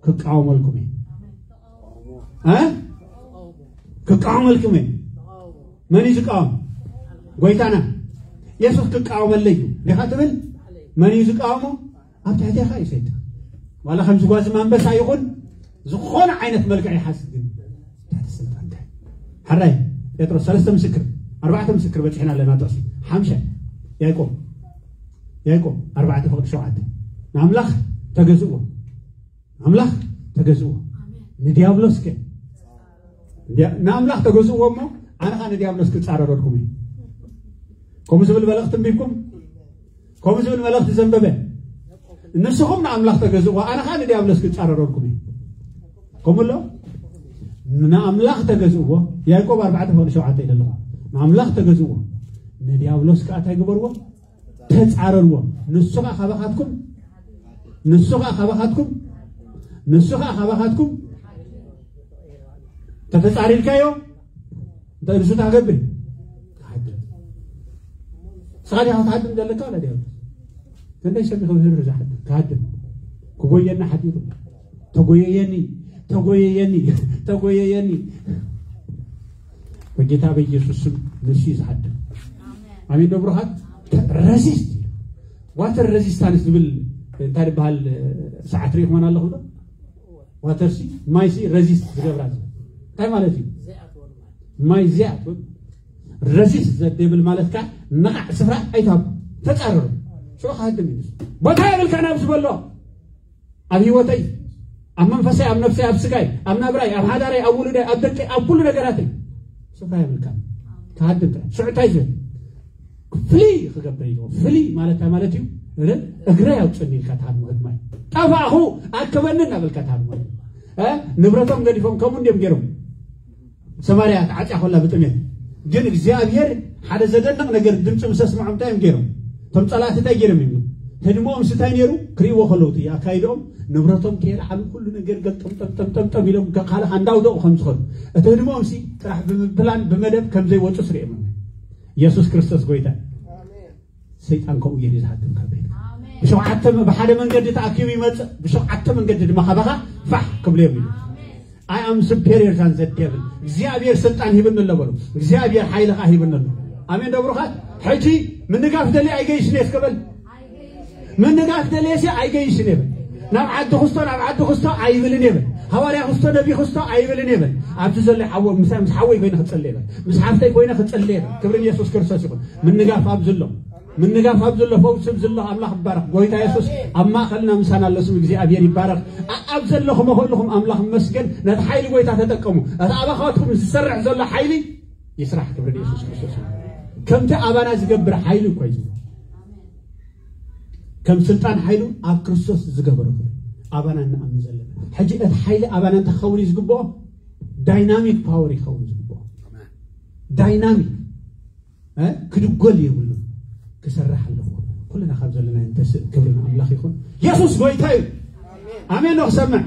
ክቃወመልኩም እዩ። እ? ክቃወመልኩም እዩ። መን እዩ ዝቃወም? ጎይታና የሱስ ክቃወመለይ እዩ ዲኻ ትብል? መን እዩ ዝቃወሞ? ኣብ ትሕቴኻ እዩ ሰይጣን። ዋላ ከም ዝጓዝም ኣንበሳ ይኹን ዝኾነ ዓይነት መልክዕ ይሓዝ ግን ትሕቲ ስልጣንካ። ሕራይ ጴጥሮስ ሰለስተ ምስክር፣ ኣርባዕተ ምስክር በጺሕና ኣለና። ጥቕሲ ሓምሻይ ያዕቆብ፣ ያዕቆብ ኣርባዕተ ፍቕዲ ሸውዓተ ንኣምላኽ ተገዝእዎ፣ ንኣምላኽ ተገዝእዎ፣ ንዲያብሎስ ከ ንኣምላኽ ተገዝእዎ እሞ ኣነ ኸኣ ንዲያብሎስ ክጻረረልኩም እዩ። ከምኡ ዝብል መልእኽቲ ኣንቢብኩም፣ ከምኡ ዝብል መልእኽቲ ዘንበበ ንስኹም ንኣምላኽ ተገዝእዎ፣ ኣነ ኸኣ ንዲያብሎስ ክጻረረልኩም እዩ። ከምኡ ኣሎ ንኣምላኽ ተገዝእዎ። ያዕቆብ ኣርባዕተ ፍቕዲ ሸውዓተ ኢለ ኣለኹ። ንኣምላኽ ተገዝእዎ፣ ንዲያብሎስ ከኣ እንታይ ግበርዎ? ተጻረርዎ። ንሱ ኸኣ ካባኻትኩም ንሱ ኸኣ ካባኻትኩም ንሱ ኸኣ ካባኻትኩም ተተጻሪርካዮ እንታይ ንሱ ታገብር ትሓድም። ስኻ ዲኻ ክትሓድም ዘለካ ወላ ዲያብሎስ? ክንደይ ሰብ ክምህር ዝሓድም ክሃድም ክጎየና ሓዲሩ ተጎየየኒ ተጎየየኒ ተጎየየኒ። በጌታ በኢየሱስ ስም ንሱ እዩ ዝሓድም። ኣሜን። ዶ ብሩኻት ረዚስት ዋተር ረዚስታንስ ዝብል እንታይ ዝበሃል ሰዓት ርኢኹም ኣለኹም ዶ? ዋተር ሲ ማይ ሲ ረዚስት ዝገብራ እንታይ ማለት እዩ? ማይ ዚኣትውን ረዚስት ዘደብል ማለት ካ ነቓዕ ስፍራ ኣይትሃቡ። ተጻረሩ። ሽዑ ክሃድም እዩ። ቦታ የብልካ ናብ ዝበሎ ኣብ ህይወተይ ኣብ መንፈሰይ ኣብ ነፍሰይ ኣብ ስጋይ ኣብ ናብራይ ኣብ ሓዳረይ ኣብ ውሉደይ ኣብ ደቀይ ኣብ ኩሉ ነገራተይ ስፍራ የብልካ። ክሃድም ጥራይ ሽዑ እንታይ ዝብል ፍሊ ክገብር እዩ። ፍሊ ማለት እንታይ ማለት እዩ? እግረ ያውፅኒ ኢልካ ትሃድሞ ህድማይ ጠፋእኹ ኣከበኒ እናበልካ ትሃድሞ ንብረቶም ገዲፎም ከምኡ እንዲም ገይሮም ሰማርያ ተዓፅያ ኮላ ብጥሜት ግን እግዚኣብሔር ሓደ ዘደንቕ ነገር ድምፂ ምስ ኣስምዖም እንታይ እዮም ገይሮም? እቶም ፀላእቲ እንታይ ገይሮም እዮም? ህድሞኦም ስታይ ነይሩ ክርእይዎ ከለዉ እቲ ኣካይድኦም ንብረቶም ከየልዓሉ ኩሉ ነገር ገልጠምጠምጠምጠምጠም ኢሎም ካልእ እንዳውደቑ ከም ዝኸዱ እቲ ህድሞኦም ሲ ጥራሕ ብምብላን ብመደብ ከም ዘይወፁ ስሪኦም እዮም። ኢየሱስ ክርስቶስ ጎይታ። ሰይጣን ከምኡ ገይሩ ዝሃድም ካብ ቤት ብሸውዓተ ብሓደ መንገዲ ተኣኪቡ ይመፅእ ብሸውዓተ መንገዲ ድማ ካባኻ ፋሕ ክብሉ እዮም ኢሉ። I am superior than the devil። እግዚኣብሔር ስልጣን ሂብኒ ኣሎ በሉ። እግዚኣብሔር ሓይሊ ኸዓ ሂብኒ ኣሎ። ኣሜን ዶ ብሩኻት? ሕጂ ምንጋፍ ደልየ ኣይገይሽን እየ እስከ በል። ምንጋፍ ደልየሲ ኣይገይሽን እየ በል። ናብ ዓዲ ክስቶ ናብ ዓዲ ክስቶ ኣይብልን እየ በል። ሃዋርያ ክስቶ ነቢ ክስቶ ኣይብልን እየ በል። ኣብዚ ዘሎ ሓወ ምስ ምስ ሓወይ ኮይነ ክጽልየ በል። ምስ ሓፍተይ ኮይነ ክጽልየ በል። ክብሪ ንየሱስ ክርስቶስ ይኹን። ምንጋፍ ኣብዚ ኣሎ። ምንጋፍ ኣብ ዘሎ ፈውሲ ኣብ ዘሎ ኣምላኽ ይባረኽ። ጎይታ የሱስ ኣብ ማእኸልና ምሳና ኣሎ። ስም እግዚኣብሔር ይባረኽ። ኣብ ዘለኹም ከለኹም ኣምላኽ ይመስገን። ነቲ ሓይሊ ጎይታ ተጠቀሙ። እቲ ኣባኻትኩም ዝሰርሕ ዘሎ ሓይሊ ይስራሕ። ክብሪ ንየሱስ ክርስቶስ ይኹን። ከምቲ ኣባና ዝገብር ሓይሊ እኮ እዩ ዝብሎ። ከም ስልጣን ሓይሉ ኣብ ክርስቶስ ዝገበሮ ክብሪ ኣባና እንኣምን ዘለና። ሕጂ እቲ ሓይሊ ኣባና እንታይ ክኸውን እዩ ዝግብኦ? ዳይናሚክ ፓወር ይኸውን ዝግብኦ። ዳይናሚክ እ? ክድጎል የብሉን። ክሰርሕ ኣለዎ። ኩልና ካብ ዘለና እንተስእ ክብሪ ንኣምላኽ ይኹን። የሱስ ጎይታ እዩ። ኣሜን ነው ክሰምዕ።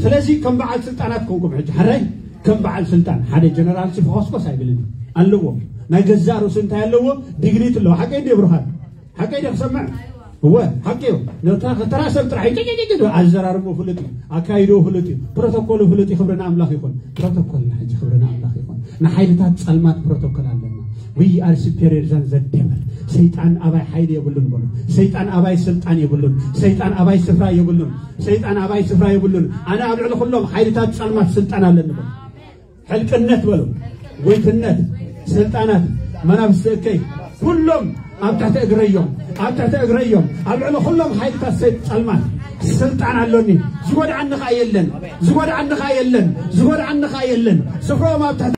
ስለዚ ከም በዓል ስልጣናት ኮንኩም ሕጂ ሕራይ ከም በዓል ስልጣን ሓደ ጀነራል ሲ ፈኾስኮስ ኣይብልን ኣለዎ። ናይ ገዛእ ርእሱ እንታይ ኣለዎ? ዲግኒት ኣለዎ። ሓቀይ እንደ ብሩኻን ሓቀይ ደ ክሰምዕ እወ ሓቂ እዩ። ነታ ከተራ ሰብ ጥራሕ ይጭጭጭጭ ኣዘራርቦ ፍሉጥ እዩ። ኣካይዶ ፍሉጥ እዩ። ፕሮቶኮሉ ፍሉጥ እዩ። ክብሪ ንኣምላኽ ይኹን። ፕሮቶኮልና ሕጂ ክብሪ ንኣምላኽ ይኹን። ንሓይልታት ጸልማት ፕሮቶኮል ኣለና። We are superior than the devil። ሰይጣን ኣባይ ሓይሊ የብሉን በሉ። ሰይጣን ኣባይ ስልጣን የብሉን። ሰይጣን ኣባይ ስፍራ የብሉን። ሰይጣን ኣባይ ስፍራ የብሉን። ኣነ ኣብ ልዕሊ ኩሎም ሓይልታት ጸልማት ስልጣን ኣለኒ በሉ። ሕልቅነት በሉ። ጎይትነት ስልጣናት መናፍስቲ እከይ ኩሎም ኣብ ትሕቲ እግረዮም ኣብ ትሕቲ እግረዮም ኣብ ልዕሊ ኩሎም ሓይልታት ሰይጣን ጸልማት ስልጣን ኣሎኒ። ዝጎድዓኒ ኸኣ የለን። ዝጎድዓኒ ኸኣ የለን። ዝጎድዓኒ ኸኣ የለን። ስፍራኦም ኣብ ትሕቲ